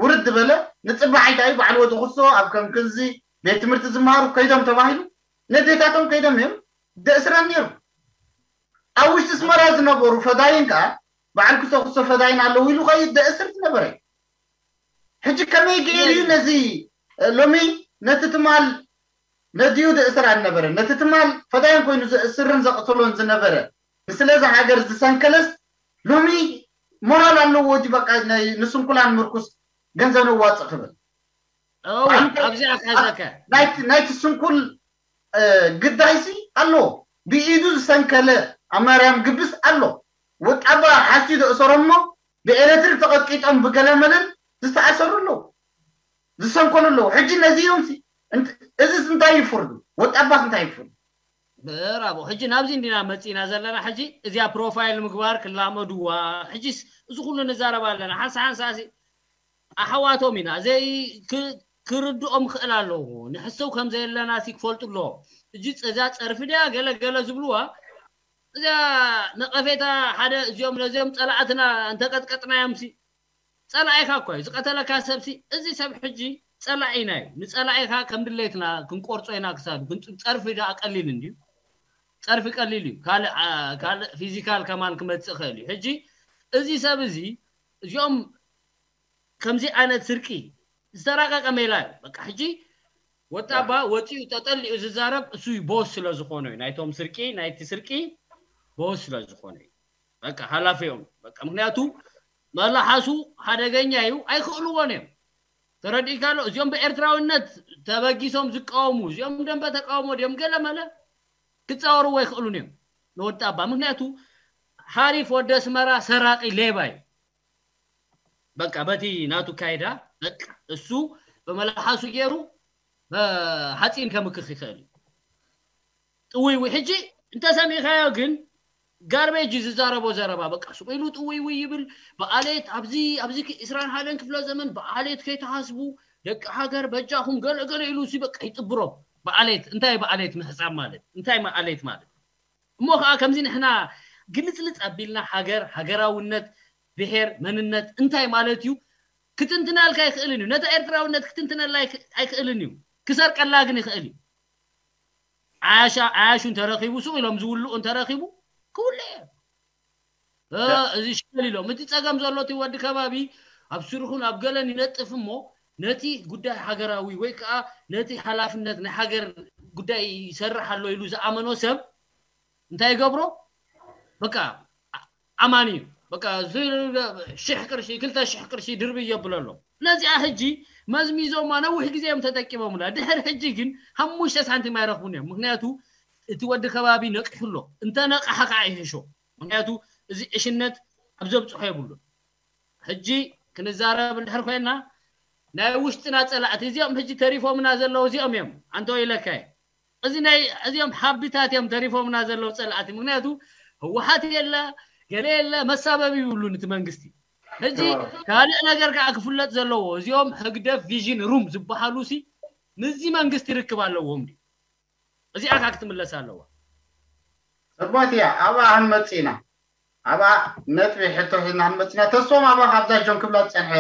ውርድ በለ፣ ንጽባሕ እንታይ ባዕሉ ወዲ ክሶ ኣብ ከም ክንዚ ቤት ትምህርቲ ዝመሃሩ ከይዶም ተባሂሉ፣ ነዴታቶም ከይዶም እዮም ደእስረን ነይሩ። ኣብ ውሽጢ ኣስመራ ዝነበሩ ፈዳይን ከኣ፣ በዓል ክሶ ክሶ ፈዳይን ኣለዉ ኢሉ ከይድ ደእስር ዝነበረ እዩ። ሕጂ ከመይ ገይሩ እዩ ነዚ፣ እ፣ ሎሚ ነቲ ትማል ነዲኡ ደእስር ኣልነበረ፣ ነቲ ትማል ፈዳይን ኮይኑ ዘእስርን ዘቕትሎን ዝነበረ፣ ንስለዚ ሃገር ዝሰንከለስ ሎሚ ሞራል ኣለዎ ድዩ? በቃ ናይ ንስንኩላን ምርኩስ ገንዘብ ነዋጽእ ክብል። እወ፣ ባዕሉ ኣብዚኣ ከዘከ። ናይቲ፣ ናይቲ ስንኩል፣ እ፣ ግዳይሲ ኣሎ። ብኢዱ ዝሰንከለ ኣብ ማርያም ግብስ ኣሎ። ወጣባ ሓስዩ ዘእሰሮም እሞ ብኤሌክትሪክ ተቐጥቂጦም ብገለመለን ዝተኣሰሩ ኣለዉ። ዝሰንከሉ ኣለዉ። ሕጂ ነዚ እዮም ሲ-፣ እንት-፣ እዚስ እንታይ ይፍርዱ? ወጣባስ እንታይ ይፍርዱ? ብራቦ። ሕጂ ናብዚ እንዲና መጺና ዘለና። ሕጂ እዚኣ ፕሮፋይል ምግባር ክላመድዋ። ሕጂስ እዚ ኩሉ ንዛረብ ኣለና። ሓንሳ ሓንሳ ሲ-፣ ኣሕዋቶም ኢና። ዘይ ክ-፣ ክርድኦም ክእል ኣለዎ። ንሕሰው ከም ዘየለና ሲ ክፈልጡ ኣለዎ። እጂ ጸ-፣ እዛ ጸርፊ ድያ ገለ ገለ ዝብልዋ፣ እዛ ነቐፌታ ሓደ እዚኦም ነዚኦም ጸላእትና እንተቀጥቀጥናዮም ሲ፣ ጸላኢኻ እኮ እዩ። ዝቀተለካ ሰብ ሲ፣ እዚ ሰብ ሕጂ ጸላኢና እዩ። ንጸላኢኻ ከም ድሌትና ክንቆርጾ ኢና ክሳዱ። ግን ጸርፊ ደኣ ቀሊል እንድዩ። ጸርፊ ቀሊል እዩ። ካልእ፣ አ፣ ካልእ ፊዚካል ከማን ክመጽእ ይኽእል እዩ። ሕጂ እዚ ሰብ እዚ፣ እዚኦም ከምዚ ዓይነት ስርቂ ዝተራቀቀ ሜላ እዩ። በቃ ሕጂ ወጣባ ወፂኡ ተጠሊኡ ዝዛረብ እሱ እዩ፣ ቦስ ስለ ዝኾነ እዩ። ናይቶም ስርቂ፣ ናይቲ ስርቂ ቦስ ስለ ዝኾነ እዩ። በቃ ሓላፊኦም። በቃ ምክንያቱ መላሓሱ ሓደገኛ እዩ፣ ኣይክእልዎን እዮም። ተረዲእካ ኣሎ? እዚኦም ብኤርትራዊነት ተበጊሶም ዝቃወሙ፣ እዚኦም ደንበ ተቃውሞ ድዮም ገለ መለ ክጻወርዎ ኣይክእሉን እዮም ንወጣባ። ምክንያቱ ሓሪፍ ወዲ ኣስመራ ሰራቂ ሌባ እዩ። በቃ በቲ ናቱ ካይዳ፣ በቃ እሱ ብመላሓሱ ገይሩ፣ እ፣ ሓፂን ከምክኽ ይኽእል እዩ። ጥውይውይ። ሕጂ እንተሰሚዕካዮ ግን ጋርቤጅ እዩ ዝዛረቦ ዘረባ። በቃ ሱቕ ኢሉ ጥውይውይ ይብል። ብኣሌት ኣብዚ፣ ኣብዚ ክ-፣ ዕስራን ሓደን ክፍለ ዘመን ብኣሌት ከይተሓስቡ ደቂ ሃገር በጃኹም ገለ ገለ ኢሉ ሲ በቃ ይጥብሮ። ብኣሌት፣ እንታይ ብኣሌት ምሕጻብ ማለት? እንታይ ብኣሌት ማለት? እሞ ኸዓ ከምዚ ንሕና ግልጽልጽ ኣቢልና ሃገር፣ ሃገራውነት፣ ብሔር፣ መንነት እንታይ ማለት እዩ ክትንትናልካ ኣይክእልን እዩ። ነታ ኤርትራውነት ክትንትነላ ኣይክ-፣ ኣይክእልን እዩ። ክሰርቀላ ግን ይኽእል እዩ። ዓያሻ-፣ ዓያሹ እንተረኺቡ፣ ሱቕ ኢሎም ዝውልኡ እንተረኺቡ፣ ክውልእ እዩ። እ፣ ያ። እዚ ሸል ኢሎም። እቲ ጸገም ዘሎ እቲ ወዲ ከባቢ ኣብ ስርሑን ኣብ ገለን ይነጥፍ እሞ፣ ነቲ ጉዳይ ሃገራዊ ወይ ከኣ ነቲ ሓላፍነት ናይ ሃገር ጉዳይ ይሰርሕ ኣሎ ኢሉ ዝኣመኖ ሰብ እንታይ ይገብሮ? በቃ ኣ-፣ ኣማኒ እዩ። በቃ ዝ-፣ ሽሕ ቅርሺ፣ ክልተ ሽሕ ቅርሺ ድርቢ የብለሎ። ነዚኣ ሕጂ መዝሚዞማ ነዊሕ ግዜ እዮም ተጠቂሞምላ። ድሕሪ ሕጂ ግን ሓሙሽተ ሳንቲም ኣይረኽቡን እዮም። ምክንያቱ እቲ ወዲ ከባቢ ነቂሑ ኣሎ። እንተ ነቕሓ ከዓ ይሕሾ። ምክንያቱ እዚ ዕሽነት ኣብ ዘብፅሖ የብሉን። ሕጂ ክንዛረብ እንድሕር ኮይና ናይ ውሽጥና ፀላእቲ እዚኦም ሕጂ ተሪፎምና ዘለዉ እዚኦም እዮም። ኣንተ ወይለካይ። እዚ ናይ፣ እዚኦም ሓቢታት እዮም ተሪፎምና ዘለዉ ጸላእቲ። ምክንያቱ ህወሓት የለ፣ ገለ የለ፣ መሳበቢ ይብሉን እቲ መንግስቲ። ሕጂ እዎ። ካልእ ነገር ከዓ ክፍለጥ ዘለዎ፣ እዚኦም ህግደፍ ቪዥን ሩም ዝበሃሉ ሲ ምስዚ መንግስቲ ርክብ ኣለዎም ድዩ? እዚኣ ከዓ ክትምለስ ኣለዋ። ጽቡቅ እያ። ኣብኣ ክንመጽእ ኢና። ኣብኣ ነጥቢ ሕቶ ሒዝና ክንመጽእ ኢና። ተስፎም ኣብኣ ካብዛ ጆን ክብላ ዝጸንሐ፣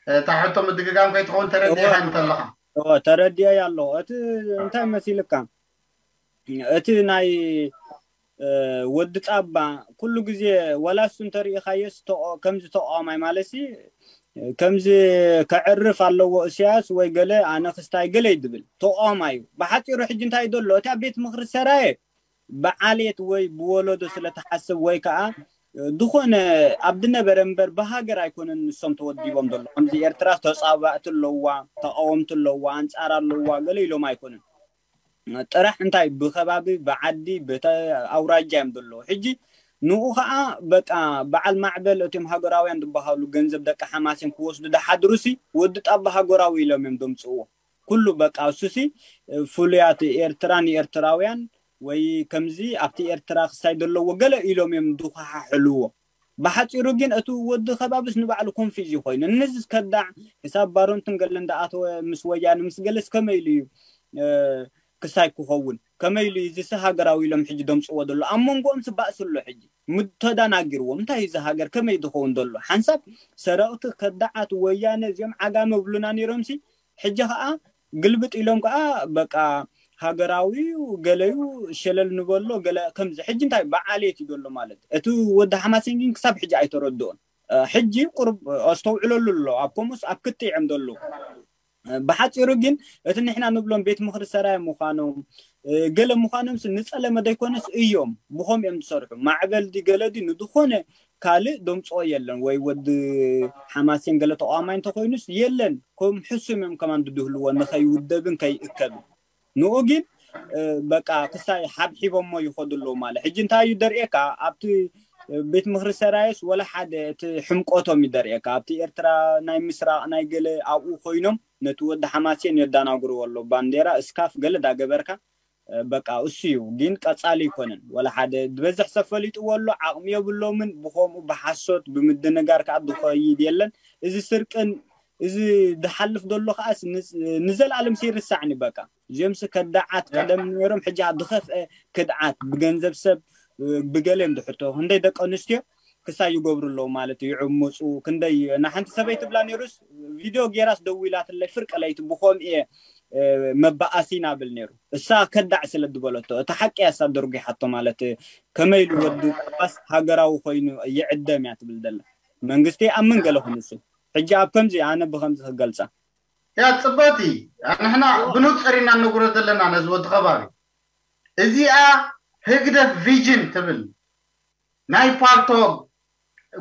እታ ሕቶ ምድግጋም ከይትኸውን ተረዲእኻ እወ። እንተለኻ። እወ፣ ተረዲኤያ ኣለኹ። እቲ እንታይ መሲልካ? እቲ ናይ፣ እ፣ ወዲ ጻባ ኩሉ ግዜ ወላ እሱ እንተሪኢኻዮስ ተቃ-፣ ከምዚ ተቃዋማይ ማለትሲ፣ ከምዚ ከዕርፍ ኣለዎ እስያስ ወይ ገለ ኣነ ክስታይ ገለ እዩ ድብል። ተቃዋማይ እዩ። ብሓጺሩ ሕጂ እንታይ እዩ ዘሎ? እቲ ኣብ ቤት ምኽሪ ሰራየ ብዓሌት ወይ ብወለዶ ስለ ትሓስብ ወይ ከኣ ዝኾነ ኣብ ዝነበረ እምበር ብሃገር ኣይኮነን ንሶም ተወዲቦም ዘሎ። ከምዚ ኤርትራ ተጻባእቲ ኣለዋ፣ ተቃወምቲ ኣለዋ፣ ኣንጻር ኣለዋ ገለ ኢሎም ኣይኮነን። ጥራሕ እንታይ ብኸባቢ፣ ብዓዲ፣ ብተ-፣ ኣውራጃ እዮም ዘለዉ። ሕጂ ንኡ ከዓ በቃ በዓል ማዕበል እቶም ሃገራውያን ዝበሃሉ ገንዘብ ደቂ ሓማሴን ክወስዱ ደሓድሩሲ ወዲ ጣባ ሃገራዊ ኢሎም እዮም ደምፅዎ። ኩሉ በቃ እሱሲ ፍሉያት ኤርትራ ንኤርትራውያን ወይ ከምዚ ኣብቲ ኤርትራ ክሳይ ዘለዎ ገለ ኢሎም እዮም ድኳሓሕልዎ። ብሓፂሩ ግን እቲ ወዲ ከባብስ ንባዕሉ ኮንፊዝ ኮይኑ እነዚስ ከዳዕ ክሳብ ባሮንትን ገለ እንዳኣተወ ምስ ወያነ ምስ ገለስ ከመይ ኢሉ እዩ ክሳይ ክኸውን ከመይ ኢሉ እዚ ሃገራዊ ኢሎም ሕጂ ደምፅዎ ዘሎ ኣብ መንጎኦም ስባእስ ኣሎ ሕጂ ምተዳናጊርዎም እንታይ እዚ ሃገር ከመይ ዝኸውን ዘሎ ሓንሳብ ሰረቕቲ ከዳዓት ወያነ እዚኦም ዓጋመ ብሉና ነይሮምሲ ሕጂ ከዓ ግልብጥ ኢሎም ከዓ በቃ ሃገራዊ ገለዩ ሸለል ንበሎ ገለ ከምዚ ሕጂ እንታይ በዓልየት እዩ ዘሎ ማለት እቲ ወዲ ሓማሴን ግን ክሳብ ሕጂ ኣይተረድኦን ሕጂ ቁርብ ኣስተውዕለሉ ኣሎ ኣብ ከምኡስ ኣብ ክትዕ እዮም ዘለዉ ብሓፂሩ ግን እቲ ንሕና ንብሎም ቤት ምኽሪ ሰራይ ምዃኖም ገለ ምዃኖም ንፀለመ ዘይኮነስ እዮም ብኸም እዮም ዝሰርሑ ማዕበል ዲ ገለ ዲ ንዝኾነ ካልእ ደምፅኦ የለን ወይ ወዲ ሓማሴን ገለ ተቋማይ እንተኮይኑስ የለን ከም ሕሱም እዮም ከማን ድድህልዎ ንኸይውደብን ከይእከብን ንኡ ግን በቃ ክሳይ ሓብሒቦሞ ይኸዱ ኣለዉ ማለት ሕጂ እንታይ እዩ ደርእየካ ኣብቲ ቤት ምኽሪ ሰራየስ ወላ ሓደ እቲ ሕምቆቶም ይደርእየካ ኣብቲ ኤርትራ ናይ ምስራቕ ናይ ገለ ኣብኡ ኮይኖም ነቲ ወዲ ሓማሴን የዳናግርዎ ኣሎ ባንዴራ እስካፍ ገለ ዳገበርካ በቃ እሱ እዩ ግን ቀጻሊ ይኮነን ወላ ሓደ ዝበዝሕ ሰብ ፈሊጥዎ ኣሎ ዓቕሚ የብሎምን ብኸምኡ ብሓሶት ብምድንጋር ከዓ ዝኸይድ የለን እዚ ስርቅን እዚ ዝሓልፍ ዘሎ ከዓስ ንዘለኣለም ይርሳዕኒ በቃ እዚኦምስ ከዳዓት ቀደም ነይሮም ሕጂ ዝኸፍአ ክድዓት ብገንዘብ ሰብ ብገለ እዮም ዝሕቶ ክንደይ ደቂ ኣንስትዮ ክሳይ ይገብሩ ኣለዉ ማለት እዩ ይዕምፁ ክንደይ ንሓንቲ ሰበይቲ ብላ ነይሩስ ቪድዮ ጌራስ ደዊላትለይ ፍርቂ ለይቲ ብኸምኡ እየ መባኣሲና ብል ነይሩ እሳ ከዳዕ ስለ ዝበለቶ እቲ ሓቂ እያ እሳ ደርጒሓቶ ማለት ከመይ ኢሉ ወዲ ጣባስ ሃገራዊ ኮይኑ ይዕደም እያ ትብል ዘላ መንግስቲ ይኣምን ገለ ክንሱ ሕጂ ኣብ ከምዚ ኣነ ብከምዚ ክገልፃ ያ ፅበቲ ንሕና ብንፅር ኢና ንነግሮ ዘለና ነዚ ወዲ ከባቢ እዚኣ ህግደፍ ቪጅን ትብል ናይ ፓርቶ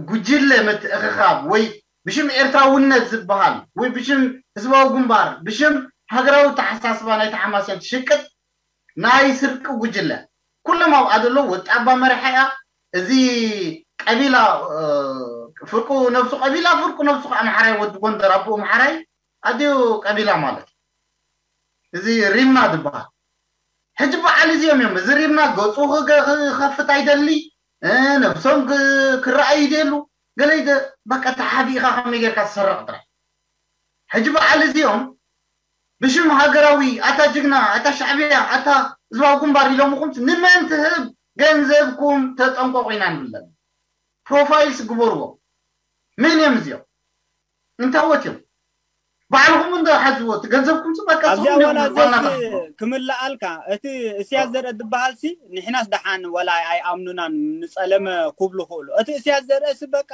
ጉጅለ ምትእኽኻብ ወይ ብሽም ኤርትራውነት ዝበሃል ወይ ብሽም ህዝባዊ ግንባር ብሽም ሃገራዊ ተሓሳስባ ናይ ተሓማስያን ትሽቅጥ ናይ ስርቂ ጉጅለ ኩሎም ኣብኣ ዘሎ ወጣባ መሪሓ እያ እዚ ቀቢላ ፍርቁ ነብሱ ቀቢላ ፍርቁ ነብሱ ከዓ ኣምሓራይ ወዲ ጎንደር ኣቦኡ ኣምሓራይ ኣዲኡ ቀቢላ ማለት እዚ ሪምና ዝበሃል ሕጂ በዓል እዚኦም እዮም እዚ ሪምና ገፁ ክኸፍት ኣይደሊ ነብሶም ክረኣዩ ይደሉ ገለ በቃ ተሓቢእካ ከመይ ጌርካ ትሰርቕ ጥራይ ሕጂ በዓል እዚኦም ብሽም ሃገራዊ ኣታ ጅግና ኣታ ሻዕብያ ኣታ ህዝባዊ ግንባር ኢሎምኹም ንመን ትህብ ገንዘብኩም ተጠንቀቑ ኢና ንብል ዘለና ፕሮፋይልስ ግበርዎ መን እዮም እዚኦም እንታወት እዮም ባዕልኹም እንዶ ሓዝዎ እቲ ገንዘብኩም በቃ ኣብዚኣ ዋላ ክምልኣልካ እቲ እስያስ ዘርአ ዝበሃልሲ ንሕናስ ደሓን ወላ ኣይኣምኑናን ንፀለመ ክብሉ ክእሉ እቲ እስያስ ዘርአሲ በቃ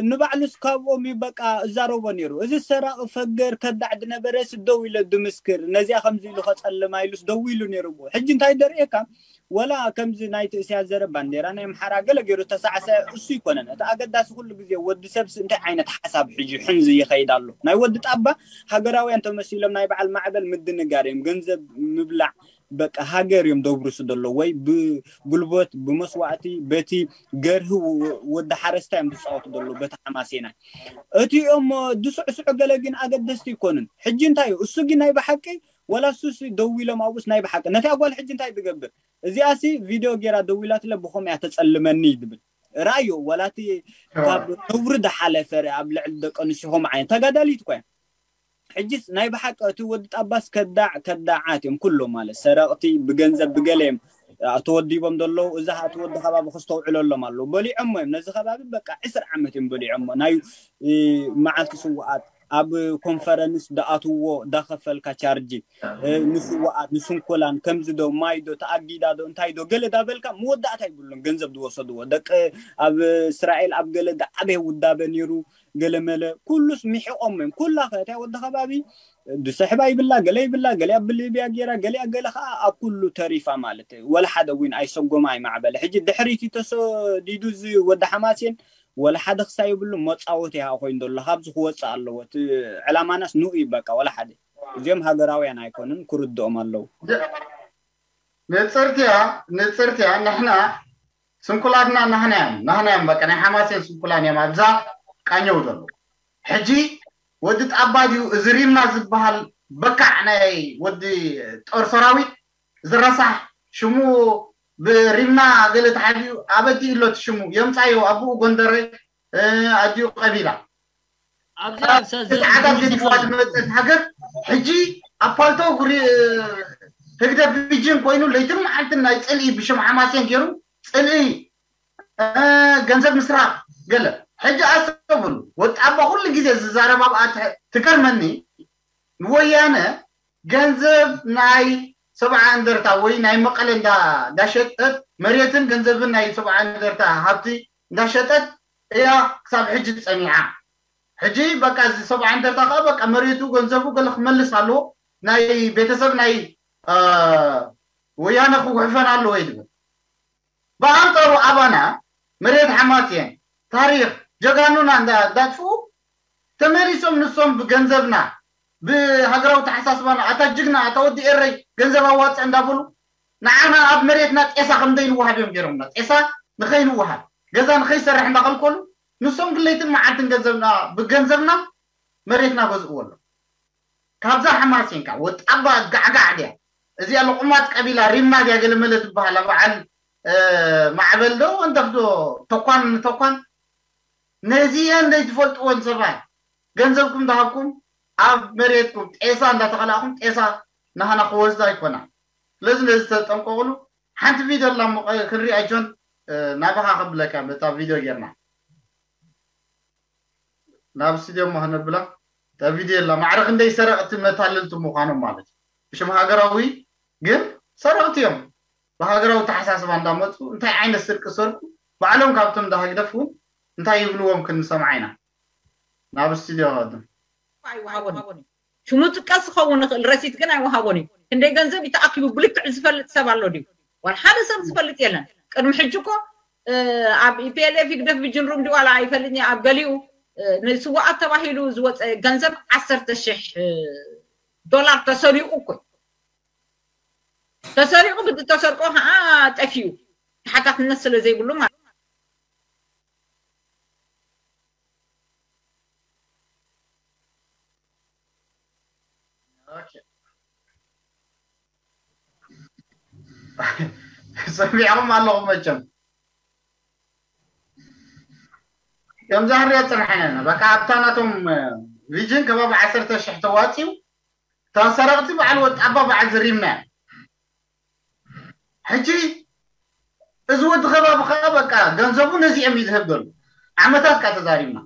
ንባዕሉስ ካብኦም እዩ በቃ እዛረቦ ነይሩ እዚ ሰራቂ ፈገር ከዳዕ ድነበረስ ደው ኢለ ድምስክር ነዚኣ ከምዚ ኢሉ ከፀልማ ኢሉስ ደው ኢሉ ነይሩ ብኡ ሕጂ እንታይ ደርእየካ ወላ ከምዚ ናይ ትእስያ ዘረ ባንዴራ ናይ ኣምሓራ ገለ ገይሩ ተሳዕሰ እሱ ይኮነን እቲ ኣገዳሲ ኩሉ ግዜ ወዲ ሰብስ እንታይ ዓይነት ሓሳብ ሕጂ ሕንዚ ይኸይድ ኣሎ ናይ ወዲ ጣባ ሃገራውያን ተመሲሎም ናይ በዓል ማዕበል ምድንጋር እዮም ገንዘብ ምብላዕ በቃ ሃገር እዮም ደብርሱ ዘሎ ወይ ብጉልበት ብመስዋእቲ በቲ ገርሂ ወዲ ሓረስታ እዮም ዝፃወቱ ዘሎ በቲ ሓማሴናይ እቲኦም ድስዕስዑ ገለ ግን ኣገደስቲ ይኮኑን ሕጂ እንታይ እዩ እሱ ግን ናይ ብሓቂ ወላ እሱስ ደው ኢሎም ኣብኡስ ናይ ብሓቂ ነቲ ኣጓል ሕጂ እንታይ ትገብር እዚኣሲ ቪድዮ ጌራ ደው ኢላትለ ብኸም እያ ተፀልመኒ ይድብል ራእዮ ወላቲ ካብ ነውሪ ዝሓለፈ ኣብ ልዕሊ ደቂ ኣንስትዮ ከም ዓይነት ተጋዳሊት ኮያ ሕጂስ ናይ ብሓቂ እቲ ወዲ ጣባስ ከዳዕ ከዳዓት እዮም ኩሎም ማለት ሰረቕቲ ብገንዘብ ብገለ እዮም ተወዲቦም ዘለዉ እዛ እቲ ወዲ ከባቢ ክስተውዕለሎም ኣለዉ በሊዖሞ እዮም ነዚ ከባቢ በቃ ዕስር ዓመት እዮም በሊዖሞ ናይ መዓልቲ ስውኣት ኣብ ኮንፈረንስ ዳኣትዎ ዳኸፈልካ ቻርጂ ንስዋኣት ንስንኮላን ከምዚ ዶ ማይ ዶ ተኣጊዳ ዶ እንታይ ዶ ገለ ዳበልካ መወዳእታ ይብሉን ገንዘብ ዝወሰድዎ ደቂ ኣብ እስራኤል ኣብ ገለ ዳዓበየ ውዳበ ነይሩ ገለመለ ኩሉስ ሚሒቆም እዮም ኩላ ከእትያ ወዲ ከባቢ ድሰሕባ ይብላ ገለ ይብላ ገሊኣ ብሊብያ ገይራ ገሊኣ ገለ ከዓ ኣብ ኩሉ ተሪፋ ማለት እዩ ወላ ሓደ እውን ኣይሰጎማ ኣይማዕበለ ሕጂ ድሕሪቲ ተሰዲዱ እዚ ወዲ ሓማሴን ወላ ሓደ ክሳብ የብሉ መፃወቲ ይሃ ኮይኑ ዘሎ ካብዚ ክወፅእ ኣለዎ እቲ ዕላማናስ ንኡ እዩ በቃ ወላ ሓደ እዚኦም ሃገራውያን ኣይኮኑን ክርድኦም ኣለዉ ንፅርትያ ንፅርትያ ንሕና ስንኩላትና ናህና እዮም ናህና እዮም በቃ ናይ ሓማሴን ስንኩላን እዮም ኣብዛ ቃኘው ዘሎ። ሕጂ ወዲ ጣባ ድዩ እዚ ሪምና ዝበሃል በካዕ ናይ ወዲ ጦር ሰራዊት ዝረሳሕ ሽሙ ብሪምና ገለ ተሓቢኡ ኣበዲ ኢሎት ሽሙ የምፃዮ ኣቡኡ ጎንደረ ኣዲኡ ቀቢላ ኣብዚ ኣብ ሰዝን ተዓታት ገዲፍዋ ዝመፀት ሃገር ሕጂ ኣብ ፓልቶ ህግደፍ ቪጅን ኮይኑ ለይትን መዓልትን ናይ ፅልኢ ብሽም ሓማሴን ገይሩ ፅልኢ ገንዘብ ምስራቅ ገለ ሕጂ ኣስተብሉ ወጣባ ኩሉ ግዜ ዝዛረብ ኣብኣ ትገርመኒ ንወያነ ገንዘብ ናይ ሰብዓ እንደርታ ወይ ናይ መቐለ እንዳሸጠት መሬትን ገንዘብን ናይ ሰብዓ እንደርታ ሃብቲ እንዳሸጠት እያ ክሳብ ሕጂ ፀኒዓ ሕጂ በቃ እዚ ሰብዓ እንደርታ ከዓ በቃ መሬቱ ገንዘቡ ገለ ክመልስ ኣለዎ ናይ ቤተሰብ ናይ ወያነ ክጉሕፈን ኣለዎ ይድብል ብኣንፃሩ ኣባና መሬት ሓማት እየን ታሪክ ጀጋኑና እንዳጥፍኡ ተመሊሶም ንሶም ብገንዘብና ብሃገራዊ ተሓሳስባና ኣታ ጅግና ኣታ ወዲ ኤረይ ገንዘብ ኣዋፅእ እንዳበሉ ንዓና ኣብ መሬትና ጤሳ ከምደይንወሃብ እዮም ገይሮምና ጤሳ ንኸይንወሃብ ገዛ ንኸይሰርሕ እንዳኸልከሉ ንሶም ግለይትን መዓልትን ገንዘብና ብገንዘብና መሬትና ገዝእዎ ኣሎ ካብዛ ሓማሴንካ ወጣባ ጋዕጋዕ ድያ እዚኣ ልቁማት ቀቢላ ሪማ ድያ ገለመለ ትበሃል በዓል ማዕበል ዶ ወንደፍ ዶ ተኳን ንተኳን ነዚአን ዘይትፈልጥወን ሰባት ገንዘብኩም ዝሃብኩም ኣብ መሬትኩም ጤሳ እንዳተኸላእኩም ጤሳ ናህና ክወስዳ ኣይኮና ስለዚ ነዚ ተጠንቀቕሉ ሓንቲ ቪድዮ ኣላ ክንሪኣ ጆን ናባኻ ከብለካ በታ ቪድዮ ጌርና ናብ ስቱድዮ እሞ ከነብላ እታ ቪድዮ የላ ማዕረ ክንደይ ሰረቕቲ መታለልቲ ምዃኖም ማለት እዩ ብሽም ሃገራዊ ግን ሰረቕቲ እዮም ብሃገራዊ ተሓሳስባ እንዳመፁ እንታይ ዓይነት ስርቂ ሰርቁ ባዕሎም ካብቶም እንዳህግደፍ እውን እንታይ ይብልዎም ክንሰምዓ ኢና ናብ ስቱድዮ ቀድም ኣይወሃቦን እዩ ሽሙ ጥቀስ ክኸውን ይኽእል ረሲት ግን ኣይወሃቦን እዩ ክንደይ ገንዘብ እዩ ተኣኪቡ ብልክዕ ዝፈልጥ ሰብ ኣሎ ድዩ ዋላ ሓደ ሰብ ዝፈልጥ የለን ቅድሚ ሕጂ እኮ ኣብ ኢፒኤልኤፍ ይግደፍ ብጅንሩም ድዩ ዋላ ኣይፈልጥን ኣብ ገሊኡ ንስዋኣት ተባሂሉ ዝወፀ ገንዘብ ዓሰርተ ሽሕ ዶላር ተሰሪቑ እኮ ተሰሪቑ ብዝተሰርቆ ከዓ ጠፊኡ ተሓታትነት ስለ ዘይብሉ ማለት ሰሚዕኹም ኣለኹም መቸም ከምዛ ክንሪኦ ፅንሐና በቃ ኣብታ ናቶም ቪጅን ከባቢ ዓሰርተ ሽሕ ተዋፂኡ እታ ሰረቕቲ በዓል ወጣባ በዓል ዝሪምና ሕጂ እዚ ወዲ ከባቢ ከዓ በቃ ገንዘቡ ነዚኦም እዩ ዝህብ ዘሎ ዓመታት ከዓ ተዛሪብና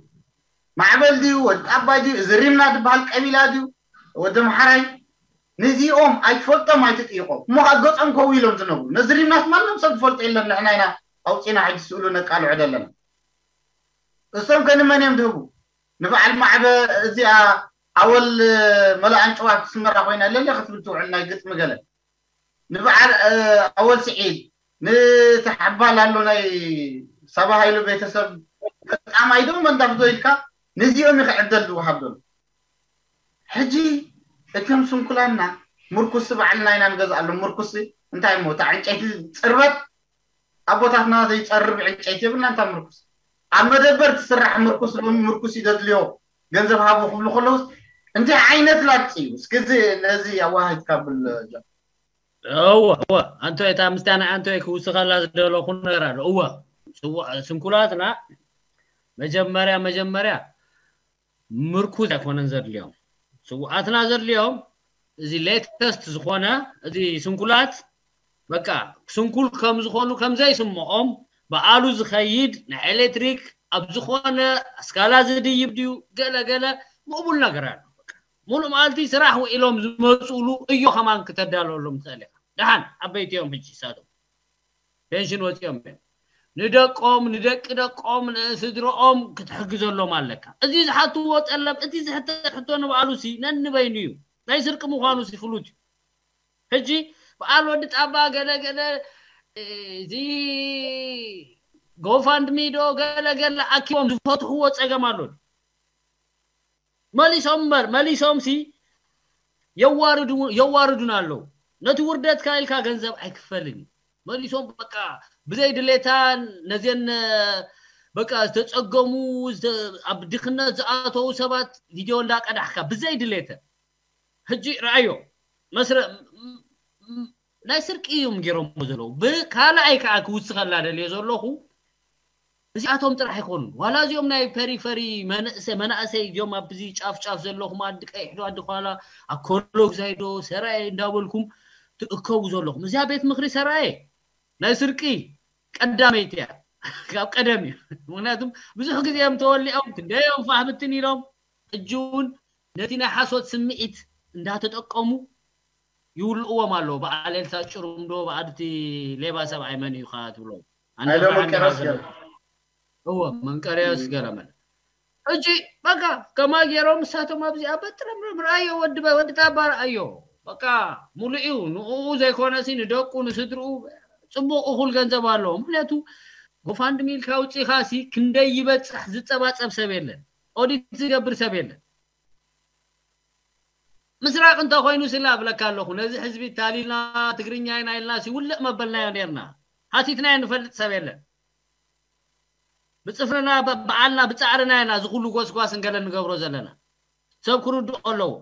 ማዕበል ድዩ ወዲ ጣባይ ድዩ እዚ ሪምና ዝበሃል ቀቢላ ድዩ ወዲ ምሓራይ ነዚኦም ኣይትፈልጦም ኣይትጥይቆም እሞ ከዓ ገፆም ከው ኢሎም ዝነብሩ ነዚ ሪምናስ ማንም ሰብ ዝፈልጦ የለን ንሕና ኢና ኣውፂና ሕጂ ስእሉ ነቃልዖ ዘለና እሶም ከንመን እዮም ዝህቡ ንበዓል ማዕበ እዚኣ ኣወል መላኣን ጨዋ ትስመራ ኮይና ለለ ክትብል ትውዕል ናይ ግጥሚ ገለ ንበዓል ኣወል ስዒድ ንተሓባል ኣሎ ናይ ሳባ ሃይሉ ቤተሰብ በጣም ኣይደም መንዳፍዶ ኢልካ ነዚኦም ይኸ ዕደል ዝወሃብ ዘሎ ሕጂ እቶም ስንኩላና ምርኩስ ባዕልና ኢና ንገዝኣሎም ምርኩስ እንታይ ሞ እታ ዕንጨይቲ ፅርበት ኣቦታትና ዘይፀርብ ዕንጨይቲ የብልና እንታ ምርኩስ ኣብ መደበር ትስራሕ ምርኩስ ሎሚ ምርኩስ ይደድልዮ ገንዘብ ሃቡ ክብሉ ከለውስ እንታይ ዓይነት ላግፂ እዩ እስኪ እዚ ነዚ ኣዋሃጅካ ብል እወ እወ ኣንቶይ እታ ምስታ ናይ ኣንቶይ ክውስኸላ ዝደለኹ ነገር ኣሎ እወ ስንኩላትና መጀመርያ መጀመርያ ምርኩዝ ኣይኮነን ዘድልዮም ስውኣትና ዘድልዮም እዚ ሌተስት ዝኾነ እዚ ስንኩላት በቃ ስንኩል ከም ዝኾኑ ከም ዘይስምዖም ብኣሉ ዝኸይድ ናይ ኤሌክትሪክ ኣብ ዝኾነ ኣስካላ ዝድይብ ድዩ ገለ ገለ ምቕቡል ነገር ኣሎ ሙሉእ መዓልቲ ስራሕ ውዒሎም ዝመፅሉ እዮ ከማን ክተዳለወሎም ትኽእል ኢኻ ደሓን ዓበይቲ እዮም ሕጂ ሳቶም ፔንሽን ወፂኦም እዮም ንደቆም ንደቂ ደቆም ንስድረኦም ክትሕግዘሎም ኣለካ እዚ ዝሓትዎ ጠለብ እቲ ዝሕተት ሕቶ ንባዕሉ ሲ ነንበይኑ እዩ ናይ ስርቂ ምዃኑ ሲ ፍሉጥ እዩ ሕጂ በዓል ወዲ ጣባ ገለ ገለ እዚ ጎፋንድሚ ዶ ገለ ገለ ኣኪቦም ዝፈትሕዎ ፀገም ኣሎ መሊሶም እምበር መሊሶም ሲ የዋርዱና ኣለዉ ነቲ ውርደትካ ኢልካ ገንዘብ ኣይክፈልን እዩ መሊሶም በቃ ብዘይ ድሌታ ነዘን በቃ ዝተጸገሙ ኣብ ድኽነት ዝኣተዉ ሰባት ቪድዮ እንዳቀዳሕካ ብዘይ ድሌተ ሕጂ ረኣዮ መስረ ናይ ስርቂ እዮም ገይሮሞ ዘለዉ። ብካልኣይ ከዓ ክውስኸላ ደልዮ ዘለኹ እዚኣቶም ጥራሕ ኣይኮኑን። ዋላ እዚኦም ናይ ፐሪፈሪ መናእሰይ እዚኦም ኣብዚ ጫፍ ጫፍ ዘለኹም ኣዲ ቀይሕ ዶ ኣዲ ኳላ ኣኮሎግዛይ ዶ ሰራየ እንዳበልኩም ትእከቡ ዘለኹም እዚኣ ቤት ምኽሪ ሰራየ ናይ ስርቂ ቀዳመይቲ እያ። ካብ ቀደም እዩ። ምክንያቱም ብዙሕ ግዜ እዮም ተወሊዖም ክንደዮም ፋህብትን ኢሎም ሕጂ እውን ነቲ ናይ ሓሶት ስምዒት እንዳተጠቀሙ ይውልእዎም ኣለዉ። በዓል ኤልሳ ጭሩም ዶ በዓል እቲ ሌባ ሰብኣይ መን እዩ ከዓ ትብሎ? ኣነ ኣይሎ ብርሃን መቀረስ ገለ- ገለ እዎ መንቀርያስ ገለመለ ሕጂ በቃ ከማ ገይሮም ንሳቶም ኣብዚ ኣብ በጥረምረም ረኣዮ ወዲ በ- ወዲ ጣባ ረኣዮ በቃ ሙሉእ እዩ ንኡ ዘይኮነ ሲ ንደቁ ንስድርኡ ጽቡቅ እኹል ገንዘብ ኣለዎ ምክንያቱ ጎፋንድሚ ኢልካ ውፅኢኻ ሲ ክንደይ ይበፅሕ ዝፀባፀብ ሰብ የለን ኦዲት ዝገብር ሰብ የለን ምስራቅ እንተኮይኑ ስላ እብለካ ኣለኹ ነዚ ህዝቢ ታሊልና ትግርኛ ኢና ኢልና ሲ ውልእ መበልናዮ ነርና ሃቲትናዮ ንፈልጥ ሰብ የለን ብፅፍርና በዓልና ብፃዕርና ኢና እዚ ኩሉ ጎስጓስ እንገለ ንገብሮ ዘለና ሰብ ክርድኦ ኣለዎ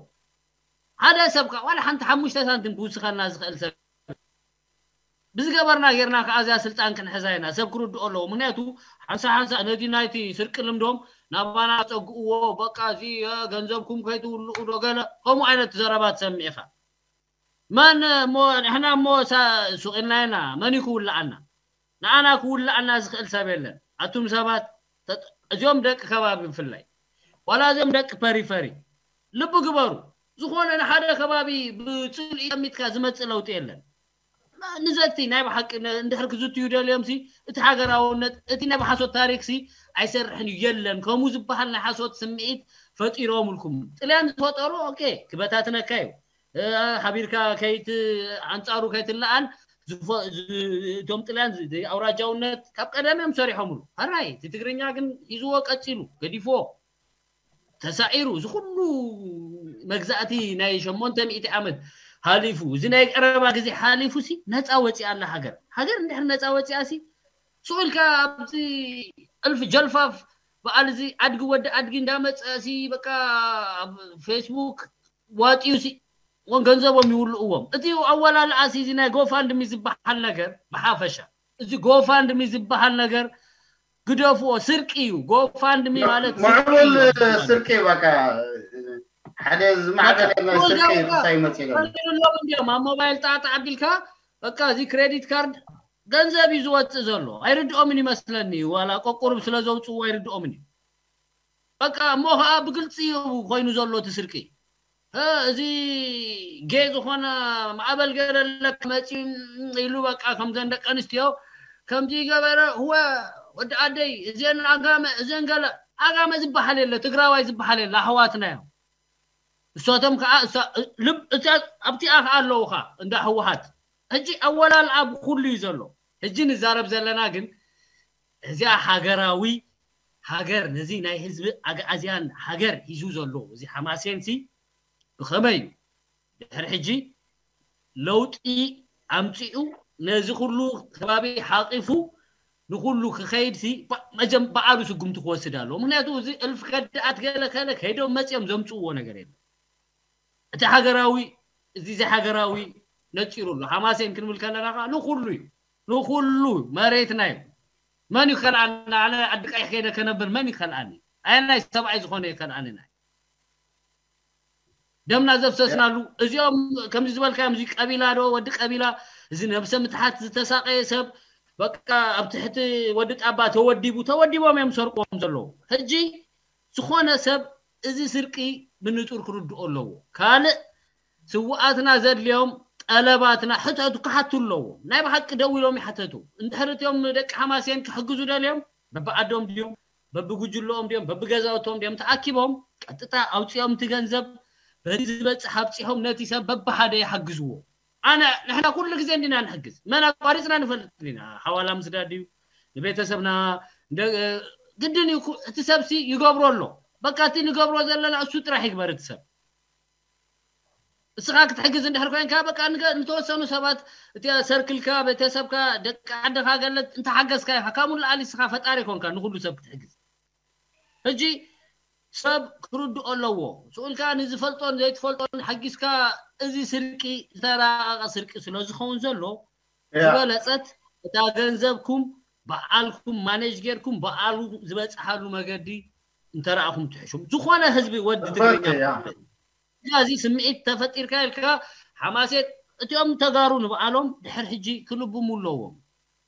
ሓደ ሰብ ከዓ ዋላ ሓንቲ ሓሙሽተ ሳንቲም ክውስኸና ዝኽእል ሰብ ብዝገበርና ጌርና ከዓ እዚኣ ስልጣን ክንሕዛ ኢና ሰብ ክርድኦ ኣለዎ ምክንያቱ ሓንሳ ሓንሳ ነዚ ናይቲ ስርቂ ልምዶም ናባና ፀግእዎ በቃ እዚ ገንዘብኩም ከይትውልኡ ዶ ገለ ከምኡ ዓይነት ዘረባ ትሰምዕ ኢኻ መን እሞ ንሕና እሞ ሱቕ ኢልና ኢና መን እዩ ክውልኣና ንኣና ክውልኣና ዝኽእል ሰብ የለን ኣቱም ሰባት እዚኦም ደቂ ከባቢ ብፍላይ ዋላ እዚኦም ደቂ ፐሪፈሪ ልቢ ግበሩ ዝኾነ ንሓደ ከባቢ ብፅልኢ ጠሚትካ ዝመፅእ ለውጢ የለን ንዘቲ ናይ ብሓቂ እንድሕር ክዝትዩ ደልዮም ሲ እቲ ሃገራውነት እቲ ናይ ብሓሶት ታሪክ ሲ ኣይሰርሕን እዩ የለን ከምኡ ዝበሃል ናይ ሓሶት ስምዒት ፈጢሮምልኩም ጥልያን ዝፈጠሩ ኦኬ ክበታትነካ እዩ ሓቢርካ ከይት ኣንፃሩ ከይትለኣል እቶም ጥልያን ኣውራጃውነት ካብ ቀደም እዮም ሰሪሖምሉ ራይ እቲ ትግርኛ ግን ሂዝዎ ቀፂሉ ገዲፍዎ ተሳዒሩ እዚ ኩሉ መግዛእቲ ናይ ሸሞንተ ሚእቲ ዓመት ሓሊፉ እዚ ናይ ቀረባ ግዜ ሓሊፉ ሲ ነፃ ወፂኣ ኣላ ሃገር ሃገር እንድሕር ነፃ ወፂኣ ሲ ስኡልካ ኣብዚ እልፊ ጀልፋፍ በዓል እዚ ኣድጊ ወዲ ኣድጊ እንዳመፀ ሲ በቃ ኣብ ፌስቡክ ዋጢዩ ሲ ን ገንዘቦም ይውልእዎም እቲ ኣወላልዓ ሲ እዚ ናይ ጎፋንድሚ ዝበሃል ነገር ብሓፈሻ እዚ ጎፋንድሚ ዝበሃል ነገር ግደፍዎ ስርቂ እዩ ጎፋንድሚ ማለት ስርቂ ምዕቡል እዩ። ስርቂ በቃ ሓደ ዝማዕበለ ናይ ስርቂ ክሳይ መፅእ ሎም እንዲም ኣብ ሞባይል ጣዕጣዕ ኣቢልካ በቃ እዚ ክሬዲት ካርድ ገንዘብ እዩ ዝወፅእ ዘሎ ኣይርድኦምን ይመስለኒ ዋላ ቆቁሩብ ስለ ዘውፅዎ ኣይርድኦምን እዩ በቃ እሞ ከዓ ብግልፂ እዩ ኮይኑ ዘሎ እቲ ስርቂ እ፣ እዚ ጌ ዝኾነ ማዕበል ገለ ኣለካ መፂኡ ኢሉ በቃ ከምዘን ደቂ ኣንስትዮ ከምዚ ገበረ ህወ ወዲ ኣደይ እዚን ኣጋመ እዚን ገለ ኣጋመ ዝበሃል የለ ትግራዋይ ዝበሃል የለ ኣሕዋትና እዮም እሳቶም ከዓ እሳ- ልብ እታ ኣብቲኣ ከዓ ኣለውካ እንዳ ህወሓት ሕጂ ኣወላልኣ ብኩሉ እዩ ዘሎ ሕጂ ንዛረብ ዘለና ግን እዚኣ ሃገራዊ ሃገር ነዚ ናይ ህዝቢ ኣግኣዝያን ሃገር ሂዙ ዘሎ እዚ ሓማሴን ሲ ብኸመይ እዩ ድሕሪ ሕጂ ለውጢ ኣምፂኡ ነዚ ኩሉ ከባቢ ሓቂፉ ንኩሉ ክኸይድ ሲ መጀም በዓሉ ስጉምቲ ክወስድ ኣለዎ ምክንያቱ እዚ እልፍ ከድኣት ገለ ከለ ከይዶም መፂኦም ዘምፅእዎ ነገር የለ እቲ ሃገራዊ እዚ እዚ ሃገራዊ ነፂሩ ኣሎ ሓማሴን ክንብል ከለና ከዓ ንኩሉ እዩ ንኩሉ መሬትና እዩ መን ይከልኣና ኣነ ዓዲ ቀይሕ ከይደ ከነብር መን ይከልኣኒ ኣየናይ ሰብኣይ ዝኾነ ይከልኣኒ ናይ ደምና ዘፍሰስናሉ እዚኦም ከምዚ ዝበልካዮም እዚ ቀቢላ ዶ ወዲ ቀቢላ እዚ ነብሰ ምትሓት ዝተሳቀየ ሰብ በቃ ኣብ ትሕቲ ወዲ ጣባ ተወዲቡ ተወዲቦም እዮም ሰርቆም ዘለዉ ሕጂ ዝኾነ ሰብ እዚ ስርቂ ብንጹር ክርድኦ ኣለዎ ካልእ ስውኣትና ዘድልዮም ጠለባትና ሕተቱ ክሓቱ ኣለዎ ናይ ብሓቂ ደው ኢሎም ይሓተቱ እንድሕር እትዮም ንደቂ ሓማሴን ክሕግዙ ደልዮም በብዓዶም ድዮም በብጉጅልኦም ድዮም በብገዛውቶም ድዮም ተኣኪቦም ቀጥታ ኣውፅኦም እቲ ገንዘብ በዚ ዝበፅሕ ኣብፂሖም ነቲ ሰብ በብሓደ ይሓግዝዎ ኣነ ንሕና ኩሉ ግዜ እንዲና ንሕግዝ መን ኣቋሪፅና ንፈልጥ ኢና ሓዋላ ምስዳድ እዩ ንቤተሰብና ግድን እዩ እቲ ሰብሲ ይገብሮ ኣሎ በቃ እቲ ንገብሮ ዘለና እሱ ጥራሕ ይግበር እቲ ሰብ እስኻ ክትሕግዝ እንድሕር ኮይንካ በቃ ንገ- ንተወሰኑ ሰባት እቲ ሰርክልካ፣ ቤተሰብካ፣ ደቂ ዓድኻ ገለ እንተሓገዝካ ኢኻ። ካብኡ ንላዕሊ እስኻ ፈጣሪ ኮንካ ንኹሉ ሰብ ክትሕግዝ። ሕጂ ሰብ ክርድኦ ኣለዎ። ስኡልካ ንዝፈልጦን ዘይትፈልጦን ሓጊዝካ፣ እዚ ስርቂ ዝተራቐቐ ስርቂ ስለ ዝኸውን ዘሎ፣ ዝበለጸት እታ ገንዘብኩም በዓልኩም ማኔጅ ጌርኩም በዓሉ ዝበጽሓሉ መገዲ እንተረኣኹም ትሕሹም። ዝኾነ ህዝቢ ወዲ ትግርኛ እዚ ስምዒት ተፈጢርካ ኢልካ ሓማሴት እቲኦም ተጋሩ ንበዓሎም ድሕር ሕጂ ክልብሙ ኣለዎም።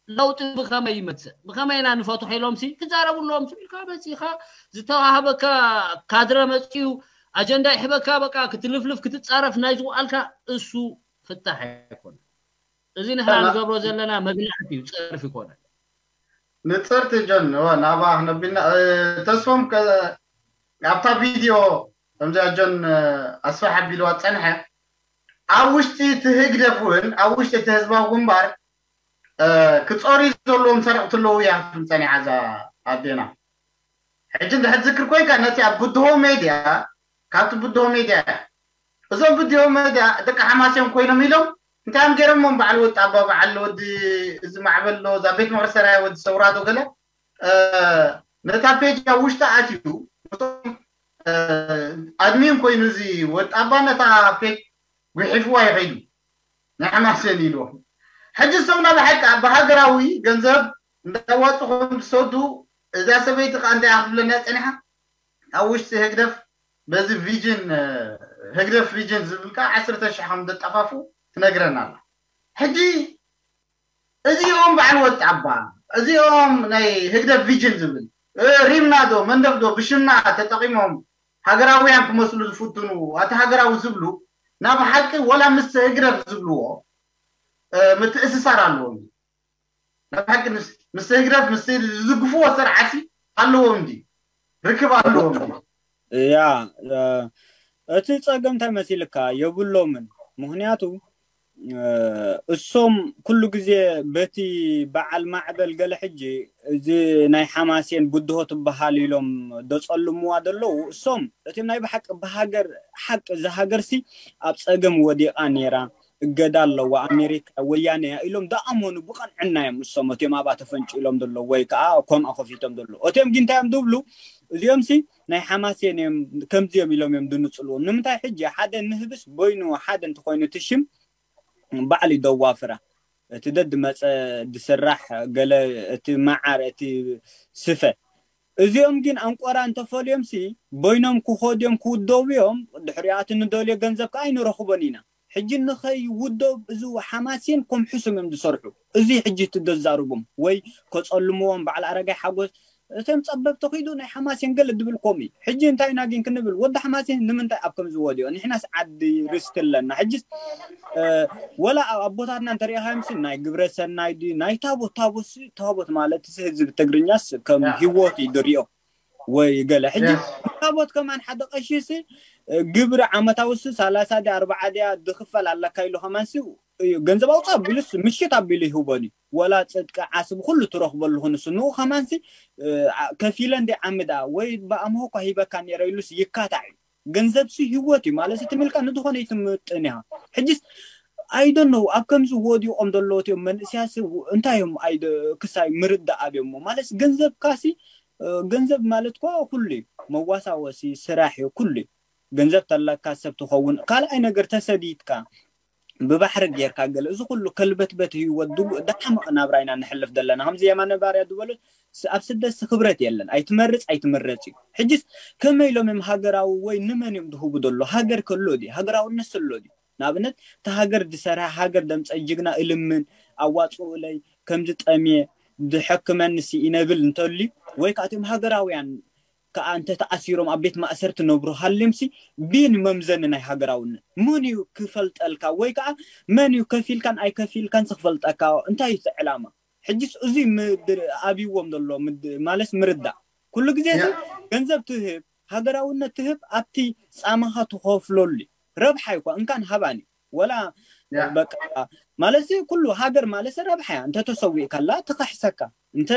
ለውጢ ብኸመይ ይመጽእ፣ ብኸመይ ኢና ንፈትሖ ኢሎም ሲ ክዛረቡ ኣለዎም። ኢልካ መጺኻ ዝተዋሃበካ ካድረ መጽኡ ኣጀንዳ ይሕበካ፣ በቃ ክትልፍልፍ ክትጻረፍ ናይ ዝውዓልካ እሱ ፍታሕ ኣይኮነ። እዚ ንሕና ንገብሮ ዘለና መግናዕቲ እዩ፣ ጸርፊ ይኮነ። ንጽርቲ ጆን እወ ናባ ክነቢልና ተስፎም ኣብታ ቪድዮ ከምዚኣ ጆን ኣስፋሕ ኣቢልዋ ጸንሐ ኣብ ውሽጢ እቲ ህግደፍ እውን ኣብ ውሽጢ እቲ ህዝባዊ ግንባር ክጾሪ ዘለዎም ሰረቕቲ ኣለዉ እያ ክትብል ጸኒሓ እዛ ኣዴና። ሕጂ እንድሕር ትዝክር ኮይንካ ነቲ ኣብ ብድሆ ሜድያ ካብቲ ብድሆ ሜድያ እዞም ብድሆ ሜድያ ደቂ ሓማሴን ኮይኖም ኢሎም እንታይ እዮም ገይሮሞም በዓል ወዲ ኣባ በዓል ወዲ እዚ ማዕበል ዶ እዛ ቤት ምኽሪ ሰራያ ወዲ ሰውራ ዶ ገለ ነታ ፔጅ ኣብ ውሽጢ ኣትዩ ኣድሚን ኮይኑ እዚ ወዲ ኣባ ነታ ፔጅ ጉሒፍዋ ይኸይዱ ናይ ሓማሴን ኢልዎም። ሕጂ ሰውና ብሓቂ ብሃገራዊ ገንዘብ እንዳዋፅኹም ዝሰዱ እዛ ሰበይቲ ከዓ እንታይ ክትብለና ፀኒሓ ኣብ ውሽጢ ህግደፍ በዚ ቪጅን ህግደፍ ቪጅን ዝብል ከዓ ዓሰርተ ሽሕ ከም ዘጠፋፉ ትነግረና ኣላ። ሕጂ እዚኦም በዓል ወጣባ እዚኦም ናይ ህግደፍ ቪጅን ዝብል ሪምና ዶ መንደፍ ዶ ብሽምና ተጠቂሞም ሃገራውያን ክመስሉ ዝፍትኑ ኣቲ ሃገራዊ ዝብሉ ናብ ሓቂ ወላ ምስ ህግደፍ ዝብልዎ ምትእስሳር ኣለዎም። ናብ ሓቂ ምስ ህግደፍ ምስ ዝዝግፍዎ ስርዓት ኣለዎም እንዲ ርክብ ኣለዎም እንዲ ያ እቲ ጸገም እንታይ መሲልካ የብሎምን። ምክንያቱ እሶም ኩሉ ግዜ በቲ በዓል ማዕበል ገለ ሕጂ እዚ ናይ ሓማሴን ብድሆ ትበሃል ኢሎም ደጸልምዋ ደለዉ እሶም እቲ ናይ ብሓቂ ብሃገር ሓቂ እዚ ሃገርሲ ኣብ ጸገም ወዲቓ ነይራ እገዳ ኣለዋ ኣሜሪካ ወያነ እያ ኢሎም ደኣመኑ ብቐንዕና እዮም እሶም እቲኦም ኣብኣ ተፈንጭሎም ደለዉ ወይ ከዓ ከምኣ ከፊቶም ደለዉ እቲኦም ግን እንታይ እዮም ዝብሉ እዚኦም ሲ ናይ ሓማሴን እዮም ከምዚኦም ኢሎም እዮም ድንፅልዎም ንምንታይ ሕጂ ሓደ ንህብስ በይኑ ሓደ እንተኮይኑ እቲ ሽም ባዕሉ ይደዋፍራ እቲ ደድ መፀ ድስራሕ ገለ እቲ መዓር እቲ ስፈ እዚኦም ግን ኣንቆራ እንተፈልዮም ሲ በይኖም ክኸዱ እዮም ክውደቡ እዮም ድሕሪኣ እቲ ንደልዮ ገንዘብ ከዓ ኣይንረኽቦን ኢና ሕጂ ንኸይውደብ እዚ ሓማሴን ከም ሕሱም እዮም ዝሰርሑ እዚ ሕጂ እቲ ደዛርቦም ወይ ከፀልምዎም በዓል ኣረጋይ ሓጎስ እቶም ፀበብ ተኺዱ ናይ ሓማሴን ገለ ድብል ከምኡ እዩ ሕጂ እንታይ ኢና ግን ክንብል ወዲ ሓማሴን ንምንታይ ኣብ ከምዚ ወዲኦ ንሕናስ ዓዲ ርስቲ ኣለና ሕጂ ወላ ኣቦታትና እንተሪኢኻዮም ሲ ናይ ግብረ ሰናይ ድዩ ናይ ታቦት ታቦት ሲ ታቦት ማለት ሲ ህዝቢ ትግርኛስ ከም ሂወት እዩ ድሪኦ ወይ ገለ ሕጂ ታቦት ከማን ሓደ ቀሺ ሲ ግብሪ ዓመታዊ ሲ ሰላሳ ድያ ኣርባዓ ድያ ድኽፈል ኣለካ ኢሉ ከማን ሲ እዩ ገንዘብ ኣውፅእ ኣቢሉስ ምሽት ኣቢሉ ይህቦን እዩ ወላ ፅድቂ ዓስቢ ኩሉ ትረኽበሉ ክንሱ ንኡ ከማንሲ ከፊለ እንደ ዓምዳ ወይ ብኣምሆ እኳ ሂበካ ነረ ኢሉስ ይካታዕ እዩ ገንዘብሲ ህይወት እዩ ማለት እቲ ምልካ ንዝኾነ ይትምጥን ኢኻ ሕጂስ ኣይደነው ኣብ ከምዚ ወዲቖም ዘለዎት እዮም መንእስያስ እንታይ እዮም ክሳይ ምርዳእ ኣብዮሞ ማለት ገንዘብካሲ ገንዘብ ማለት እኮ ኩሉ እዩ መዋሳወሲ ስራሕ እዩ ኩሉ እዩ ገንዘብ ተለካ ሰብ ትኸውን ካልኣይ ነገር ተሰዲድካ ብባሕሪ ጌርካ ገለ እዚ ኩሉ ከልበትበት ህይወት ድጉእ ደሓምቕ ናብራ ኢና ንሕልፍ ዘለና ከምዚ የማነ ባርያ ዝበሎ ኣብ ስደት ክብረት የለን ኣይትመርፅ ኣይትምረፅ እዩ ሕጅስ ከመይ ኢሎም እዮም ሃገራዊ ወይ ንመን እዮም ዝህቡ ዘሎ ሃገር ከሎ ድዩ ሃገራውነት ዘሎ ድዩ ንኣብነት እቲ ሃገር ዝሰርሐ ሃገር ደምፀ ጅግና እልምን ኣዋፅኡለይ ከምዚ ጠምየ ዝሐክመኒ ሲ ይነብል እንተልዩ ወይ ከዓ እቶም ሃገራውያን ከዓ እንተተኣሲሮም ኣብ ቤት ማእሰርቲ ነብሩ ሃልዮም ሲ ብን መምዘኒ ናይ ሃገራውነት መን እዩ ክፈልጠልካ ወይ ከዓ መን እዩ ከፊልካን ኣይከፊልካን ክፈልጠካ እንታይ እዩ ዕላማ ሕጂስ እዙይ ኣብይዎም ዘሎ ማለት ምርዳእ ኩሉ ግዜ ገንዘብ ትህብ ሃገራውነት ትህብ ኣብቲ ፃማኻ ትኸፍለሉ ረብሓ ይኳ እንካን ሃባኒ ወላ በቃ ማለት ኩሉ ሃገር ማለት ረብሓ እያ። እንተ ተሰዊእካላ ትኸሕሰካ፣ እንተ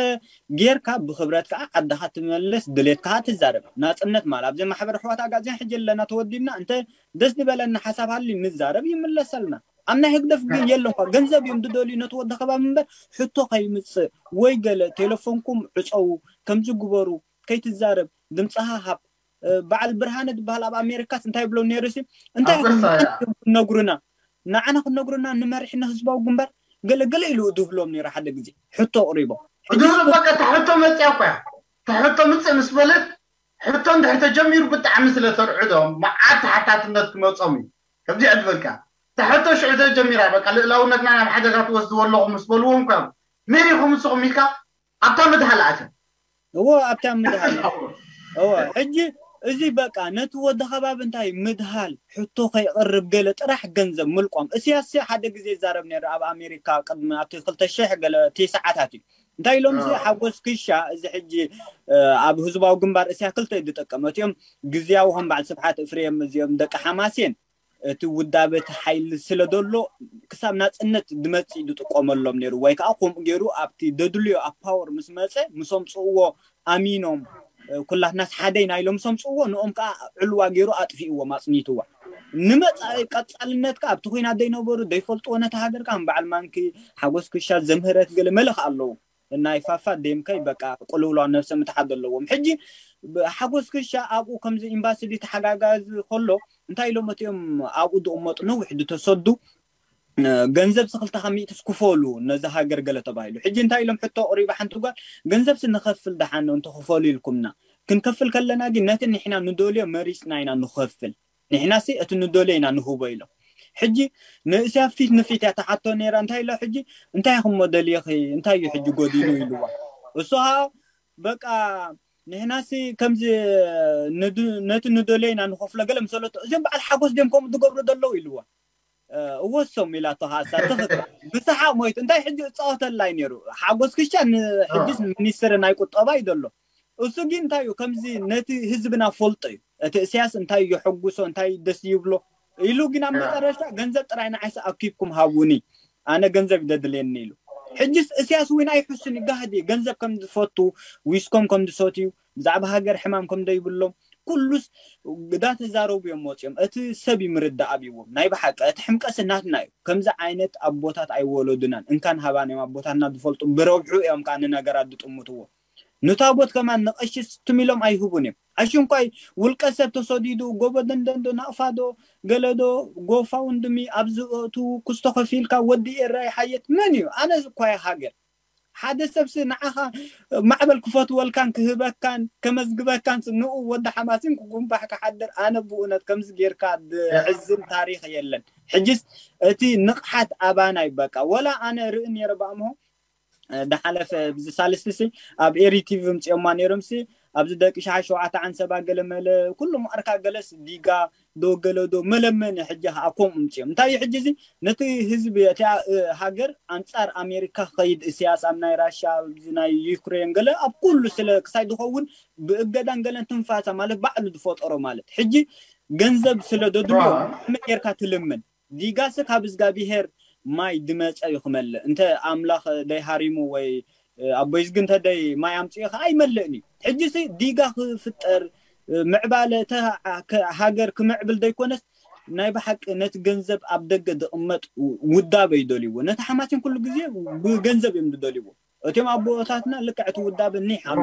ጌርካ ብኽብረት ከዓ ዓድኻ ትመለስ፣ ድሌት ከዓ ትዛረብ። ናፅነት ማለት ኣብዚ ማሕበር ኣሕዋት ኣጋዚያን ሕጂ ኣለና ተወዲብና፣ እንተ ደስ ዝበለና ሓሳብ ሃሊ ንዛረብ ይምለሰልና። ኣብ ናይ ህግደፍ ግን የለኳ ገንዘብ እዮም ዝደልዩ ነቲ ወዲ ከባቢ እምበር ሕቶ ከይምፅእ ወይ ገለ ቴሌፎንኩም ዕፀዉ ከምዚ ግበሩ ከይትዛረብ ድምፅኻ ሃብ። በዓል ብርሃነ ዝበሃል ኣብ ኣሜሪካስ እንታይ ብሎ ነይሩ ሲ እንታይ ክነግሩና ንዓና ክነግሩና ንመሪሕና ህዝባዊ ግንባር ገለ ገለ ኢሉ ድብሎም ነይሩ ሓደ ግዜ ሕቶ ኣቕሪቦ። ሕቶ መፅያ እኳ ሕቶ ምፅእ ምስ በለት ሕቶ እንድሕር ተጀሚሩ ብጣዕሚ ስለ ተርዕዶም መዓት ተሓታትነት ክመፆም እዩ። ከምዚ ዕድበልካ ተሕቶ ሽዑ ተጀሚራ በቃ ልእላውነትና ናብ ሓደጋ ትወስድዎ ኣለኹም ምስ በልዎም እኳ መን ኢኹም ንስኹም ኢልካ ኣብታ ምድሃል ኣትዮም። እዎ ኣብታ ምድሃል እዎ ሕጂ እዚ በቃ ነቲ ወዲ ከባቢ እንታይ ምድሃል ሕቶ ከይቕርብ ገለ ጥራሕ ገንዘብ ምልቋም። እስያስ ሓደ ግዜ ይዛረብ ነይሩ ኣብ ኣሜሪካ ቅድሚ ኣብቲ ክልተ ሽሕ ገለ ቲ ሰዓታት እዩ። እንታይ ኢሎም እዚ ሓጎስ ክሻ እዚ ሕጂ ኣብ ህዝባዊ ግንባር እስያ ክልተ ዝጥቀመት እዮም። ግዜያዊ ከም በዓል ስብሓት እፍሬም እዚኦም ደቂ ሓማሴን እቲ ውዳበ እቲ ሓይሊ ስለ ዘሎ ክሳብ ናፅነት ድመፅእ ዝጥቀመሎም ነይሩ ወይ ከዓ ከምኡ ገይሩ ኣብቲ ደድልዮ ኣብ ፓወር ምስ መፀ ምስ ኣምፅእዎ ኣሚኖም ኩላትናስ ሓደ ኢና ኢሎም ምስ ኣምፅእዎ ንኦም ከዓ ዕልዋ ገይሩ ኣጥፊእዎም ኣፅኒትዋ። ንመፃኢ ቀፃልነት ከዓ ኣብቲ ኩናት ዘይነበሩ ዘይፈልጥዎ ነቲ ሃገር ከዓ በዓል ማንኪ ሓጎስ ክሻ ዘምህረት ገለ መልኽ ኣለዉ። ናይ ፋፋ ደምከይ በቃ ቅልውላው ነብሰ ምትሓት ዘለዎም ሕጂ ሓጎስ ክሻ ኣብኡ ከምዚ ኤምባሲ ተሓጋጋዚ ከሎ እንታይ ኢሎም እቲኦም ኣብኡ ዝቕመጡ ነዊሕ ዝተሰዱ ገንዘብ ስክልተ ካብ ሚእትስ ክፈሉ ነዚ ሃገር ገለ ተባሂሉ ሕጂ እንታይ ኢሎም ሕቶ ቅሪባ ሓንቲ ጓል ገንዘብ ሲ ንኸፍል ደሓን እንተኽፈሉ ኢልኩምና ክንከፍል ከለና ግን ነቲ ንሕና ንደልዮ መሪፅና ኢና ንኸፍል ንሕና ሲ እቲ ንደልዮ ኢና ንህቦ ኢሎም ሕጂ ንእስያ ፊት ንፊት እያ ተሓቶ ነይራ እንታይ ኢላ ሕጂ እንታይ ኢኹም ደልየኺ እንታይ እዩ ሕጂ ጎዲሉ ኢልዋ እሱ ከዓ በቃ ንሕናሲ ከምዚ ነቲ ንደልዮ ኢና ንኸፍሎ ገለ ምስ በለቶ እዚኦም በዓል ሓጎስ ድዮም ከምኡ ዝገብሩ ዘለዉ ኢልዋ እወሶም ኢላቶ ከዓ እሳ ትኽክል ብሰሓቕ ሞይቱ እንታይ ሕጂ እፃወተላ እዩ ነይሩ ሓጎስ ክሻ ንሕጂስ ሚኒስትሪ ናይ ቁጠባ እዩ ዘሎ እሱ ግን እንታይ እዩ ከምዚ ነቲ ህዝብና ፈልጦ እዩ እቲ እስያስ እንታይ የሐጉሶ እንታይ ደስ ይብሎ ኢሉ ግን ኣብ መጠረሻ ገንዘብ ጥራይ ንዓይሲ ኣኪብኩም ሃቡኒ ኣነ ገንዘብ ይደድልየኒ ኢሉ ሕጅስ እስያስ እውን ኣይሕሱን ይጋህድ እዩ ገንዘብ ከም ዝፈቱ ዊስኮም ከም ዝሰትዩ ብዛዕባ ሃገር ሕማም ከም ዘይብሎም ኩሉስ ግዳ ተዛረቡ እዮም ወፂኦም እቲ ሰብ ይምርዳእ ኣብዎም ናይ ብሓቂ እቲ ሕምቀስ ናትና እዩ ከምዚ ዓይነት ኣቦታት ኣይወለዱናን እንካን ሃባን እዮም ኣቦታትና ዝፈልጡ ብረብሑ እዮም ከዓ ንነገራት ዝጥምትዎ ንታቦት ከማን ንቐሽስ ትም ኢሎም ኣይህቡን እዮም ኣሽንኳይ ውልቀ ሰብ ተሰዲዱ ጎቦ ደንደንዶ ናቕፋዶ ገለዶ ጎፋውንድሚ ኣብዚ እቱ ክስቶ ከፊልካ ወዲ ኤራይ ሓየት መን እዩ ኣነ እኳ ሃገር ሓደ ሰብሲ ንዓኻ ማዕበል ክፈትወልካን ክህበካን ከመዝግበካን ንኡ ወዲ ሓማሲን ክጉንባሕ ክሓድር ኣነ ብእውነት ከምዚ ጌርካ ዝሕዝን ታሪክ የለን ሕጅስ እቲ ንቕሓት ኣባና ይበቃ ወላ ኣነ ርኢ ነረ ብኣምሆ ዝሓለፈ ብዚ ሳልስቲ ሲ ኣብ ኤሪ ቲቪ ምፅኦማ ነይሮም ሲ ኣብዚ ደቂ ሸዓ ሸውዓተ ዓንሰባ ገለ መለ ኩሉ ማዕርካ ገለስ ዲጋ ዶ ገለ ዶ መለመኒ ሕጂ ከዓ ከምኡ ምፅኦም እንታይ እዩ ሕጂ እዚ ነቲ ህዝቢ እቲ ሃገር ኣንፃር ኣሜሪካ ክኸይድ እስያስ ኣብ ናይ ራሻ ኣብዚ ናይ ዩክሬን ገለ ኣብ ኩሉ ስለ ክሳይ ዝኸውን ብእገዳን ገለን ትንፋሳ ማለት ባዕሉ ዝፈጠሮ ማለት ሕጂ ገንዘብ ስለ ደድልዮ መጌርካ ትልምን ዲጋስ ካብ እግዚኣብሄር ማይ ድመፀ እዩ ክመልእ እንተ ኣምላኽ ደይሃሪሙ ወይ ኣቦይ ዝግንተ ደይ ማይ ኣምፅኡ ከዓ ኣይመልእን እዩ ሕጂ ሲ ዲጋ ክፍጠር ምዕባለ ሃገር ክምዕብል ዘይኮነስ ናይ ብሓቂ ነቲ ገንዘብ ኣብ ደገ ዝቕመጥ ውዳበ ይደልይዎ ነቲ ሓማሲን ኩሉ ግዜ ብገንዘብ እዮም ዝደልይዎ እቶም ኣቦታትና ልክዕ እቲ ውዳበ ኒሕ ኣሎ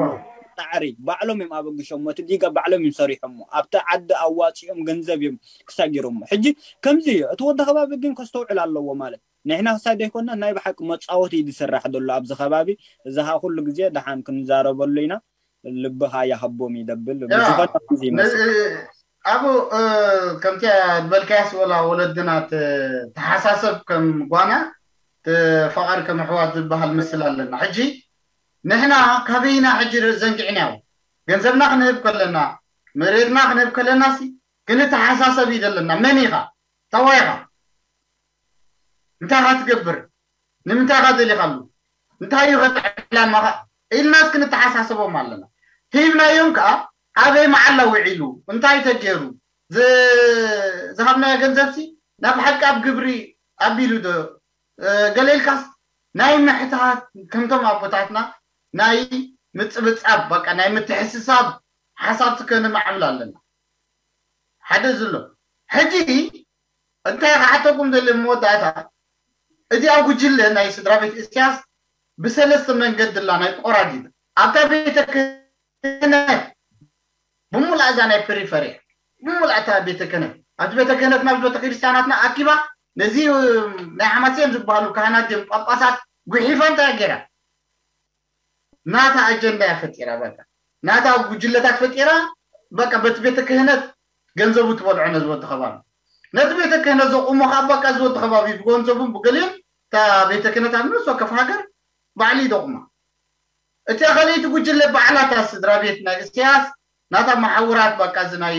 ጣዕሪ ባዕሎም እዮም ኣበግሾሞ እቲ ዲጋ ባዕሎም እዮም ሰሪሖሞ ኣብቲ ዓዲ ኣዋፂኦም ገንዘብ እዮም ክሳጊሮሞ ሕጂ ከምዚ እዩ እቲ ወዲ ከባቢ ግን ከስተውዕል ኣለዎ ማለት ንሕና ክሳይ ዘይኮና ናይ ብሓቂ መፃወቲ እዩ ዝስራሕ ዘሎ ኣብዚ ከባቢ እዚ ከዓ ኩሉ ግዜ ደሓን ክንዛረበሉ ኢና ልብኻ ይሃቦም ይደብል ብዝኾነ ከምዚ ይመስል ኣብኡ ከምቲ ዝበልካያስ ወላ ወለድና ተሓሳሰብ ከም ጓና ተፋቐር ከም ኣሕዋት ዝበሃል ምስል ኣለና ሕጂ ንሕና ካበይና ሕጂ ዘንጊዕናዮ ገንዘብና ክንህብ ከለና መሬትና ክንህብ ከለና ሲ ክንተሓሳሰብ እዩ ዘለና መን ኢኻ ታዋይኻ እንታይ ኢኻ ትገብር ንምንታይ ኢኻ ደሊኻሉ እንታይ እዩ ዕላማኻ ኢልናስ ክንተሓሳሰቦም ኣለና ሂብናዮም ከዓ ኣበይ መዓላ ውዒሉ እንታይ ተገይሩ ዝሃብናዮ ገንዘብሲ ናብ ሓቂ ኣብ ግብሪ ኣቢሉ ዶ ገለ ኢልካስ ናይ ምሕታት ከምቶም ኣቦታትና ናይ ምጽብጻብ በቃ ናይ ምትሕስሳብ ሓሳብ ከነማዕብል ኣለና። ሓደ ዝሎ ሕጂ እንታይ ክሓተኩም ደሊ መወዳእታ፣ እዚኣ ጉጅለ ናይ ስድራ ቤት እስያስ ብሰለስተ መንገዲ ላ ናይ ቆራዲት ኣብታ ቤተ ክህነት ብሙላእ እዛ ናይ ፕሪፈርያ ብሙላእ እታ ቤተ ክህነት ኣብቲ ቤተ ክህነት ናብ ቤተ ክርስቲያናትና ኣኪባ ነዚ ናይ ሓማሴን ዝበሃሉ ካህናት እዮም ጳጳሳት ጉሒፋ እንታይ ገይራ ናታ ኣጀንዳ እያ ፈጢራ በቃ ናታ ጉጅለታት ፈጢራ በቃ በቲ ቤተ ክህነት ገንዘቡ ትበልዖ ነዚ ወዲ ከባቢ ነቲ ቤተ ክህነት ዘቁሞ ከዓ በቃ እዚ ወዲ ከባቢ ብገንዘቡን ብገሊኡን እታ ቤተ ክህነት ኣብ ነፍሲ ወከፍ ሃገር ባዕሉ ይደቁማ እቲኣ ካልኣይቲ ጉጅለ ባዕላታ ስድራ ቤት ናይ እስያስ ናታ መሓውራት በቃ እዚ ናይ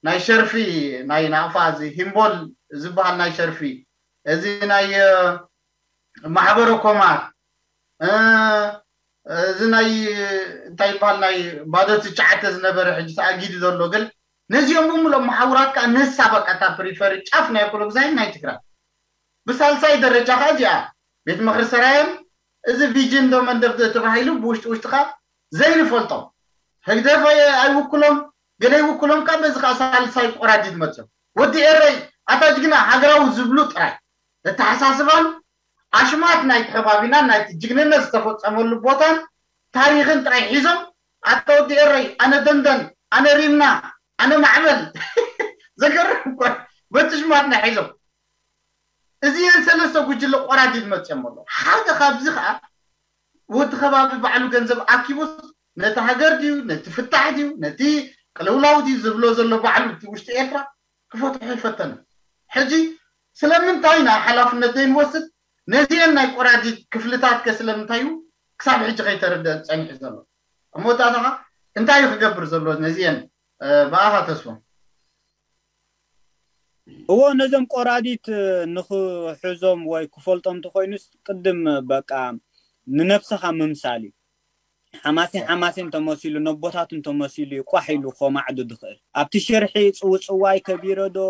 ናይ ሸርፊ ናይ ናቕፋ እዚ ሂምቦል ዝበሃል ናይ ሸርፊ እዚ ናይ ማሕበረ ኮማት እዚ ናይ እንታይ ይበሃል ናይ ባዶ ትሽዓተ ዝነበረ ሕጂ ተኣጊዱ ዘሎ ግን ነዚኦም ብምሎም መሓውራት ከዓ ንሳ በቃ እታ ፕሪፈሪ ጫፍ ናይ ኣኮሎግዛይን ናይ ትግራይ ብሳልሳይ ደረጃ ከዓ እዚኣ ቤት ምክሪ ሰራየን እዚ ቪጅን ዶ መንደፍ ተባሂሉ ብውሽጢ ውሽጢ ከዓ ዘይንፈልጦም ህግደፍ ኣይውክሎም ገለ ይውክሎም ከዓ በዚ ከዓ ሳልሳይ ቆራዲድ መፅኦም ወዲ ኤረይ ኣታ ጅግና ሃገራዊ ዝብሉ ጥራይ ኣተሓሳስባን ኣሽማት ናይቲ ከባቢና ናይቲ ጅግንነት ዝተፈፀመሉ ቦታን ታሪክን ጥራይ ሒዞም ኣታ ወዲ ኤረይ ኣነ ደንደን ኣነ ሪምና ኣነ ማዕበል ዘገርም እኮ በቲ ሽማትና ሒዞም እዚአን ሰለስተ ጉጅለ ቆራዲድ መፅኦም ኣሎ ሓደ ካብዚ ከዓ ወዲ ከባቢ ባዕሉ ገንዘብ ኣኪቡስ ነቲ ሃገር ድዩ ነቲ ፍታሕ ድዩ ነቲ ቅልውላው ድዩ ዝብሎ ዘሎ ባዕሉ እቲ ውሽጢ ኤርትራ ክፈትሖ ይፈተነ ሕጂ ስለምንታይ ኢና ሓላፍነት ዘይንወስድ ነዚአን ናይ ቆራዲድ ክፍልታት ከ ስለምንታይ እዩ ክሳብ ሕጂ ከይተረደአ ፀኒሑ ዘሎ ኣብ መወዳእታ ከዓ እንታይ እዩ ክገብር ዘሎ ነዚአን ብኣኻ ተስፎ እዎ ነዞም ቆራዲት ንኽሕዞም ወይ ክፈልጦም እንተኮይኑስ ቅድም በቃ ንነብስኻ ምምሳል እዩ። ሓማሴን ሓማሴን ተመሲሉ ነቦታቱን ተመሲሉ እዩ ቋሕ ኢሉ ኮማዕዱ ዝኽእል ኣብቲ ሽርሒ ጽውጽዋይ ከቢረ ዶ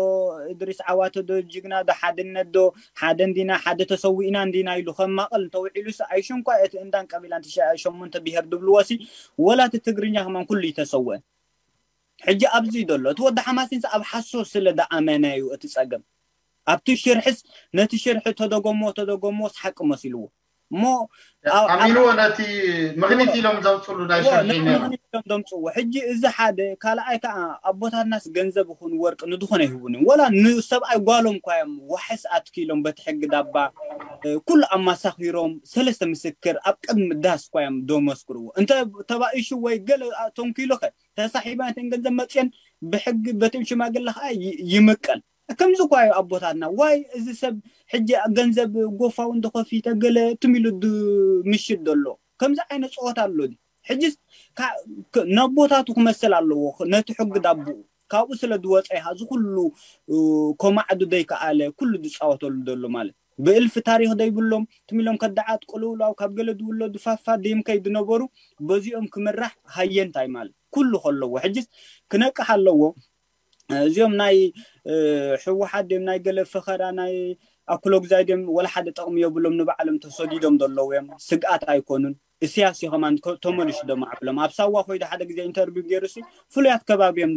እድሪስ ዓዋተ ዶ ጅግና ዶ ሓድነት ዶ ሓደ እንዲና ሓደ ተሰዊእና እንዲና ኢሉ ከም ማቐል እንተውዒሉስ ኣይሽንኳ እቲ እንዳን ቀቢላን ትሽዓ ሸሞንተ ብሄር ድብልዎ ሲ ወላ እቲ ትግርኛ ከማን ኩሉ ይተሰወአን ሕጂ ኣብዚ ዘሎ እቲ ወዲ ሓማሲንስ ኣብ ሓሶ ስለ ደኣመነ እዩ እቲ ጸገም ኣብቲ ሽርሕስ ነቲ ሽርሒ ተደገሞ ተደገሞስ ሓቂ መሲልዎ እሞ ኣሚንዎ ነቲ ምክኒት ኢሎም ዘውፅሉ ናይ ሽርሒ ነቲ ነይሩ ምክኒት ኢሎም ዘምፅዎ ሕጂ እዚ ሓደ ካልኣይ ከዓ ኣቦታትናስ ገንዘብ ይኹን ወርቂ ንድኾነ ይህቡን እዮም ወላ ንሰብኣይ ጓሎም እኳ እዮም ዋሕስ ኣትኪሎም በቲ ሕጊ ዳባ ኩሉ ኣማሳኺሮም ሰለስተ ምስክር ኣብ ቅድሚ ዳስ እኳ እዮም ደመስክርዎ እንተ ተባኢሹ ወይ ገለ ተንኪሉ ኸ ተሳሒባ ነተን ገንዘብ መፅየን ብሕጊ በቶም ሽማግለ ከዓ ይምቀል ከምዚ እኳ እዩ ኣቦታትና ዋይ እዚ ሰብ ሕጂ ገንዘብ ጎፋው እንደኸፊተ ገለ ትም ኢሉ ምሽት ዘሎ ከምዚ ዓይነት ፀወታ ኣሎ ሕጂ ነቦታቱ ክመስል ኣለዎ ነቲ ሕጊ ዳብኡ ካብኡ ስለ ዝወፀ ኢኻ እዚ ኩሉ ኮማዕዱ ዘይከኣለ ኩሉ ዝፃወተሉ ዘሎ ማለት ብእልፊ ታሪክ ዘይብሎም ትም ኢሎም ከዳዓት ቅልውላው ካብ ገለ ዝውለዱ ፋፋ ደም ከይድነበሩ በዚኦም ክምራሕ ሃየንታይ ማለት ኩሉ ከለዎ ሕጅስ ክነቅሕ ኣለዎ እዚኦም ናይ ሕወሓት ድም ናይ ገለ ፈኸራ ናይ ኣኩሎግዛይ ድም ወላ ሓደ ጠቕሚ የብሎም ንባዕሎም ተሰዲዶም ዘለዉ እዮም ስግኣት ኣይኮኑን እስያስ እዩ ከማን ተመልሹ ደማዕብሎም ኣብ ሳዋ ኮይዱ ሓደ ግዜ ኢንተርቪው ገይሩ ሲ ፍሉያት ከባቢ እዮም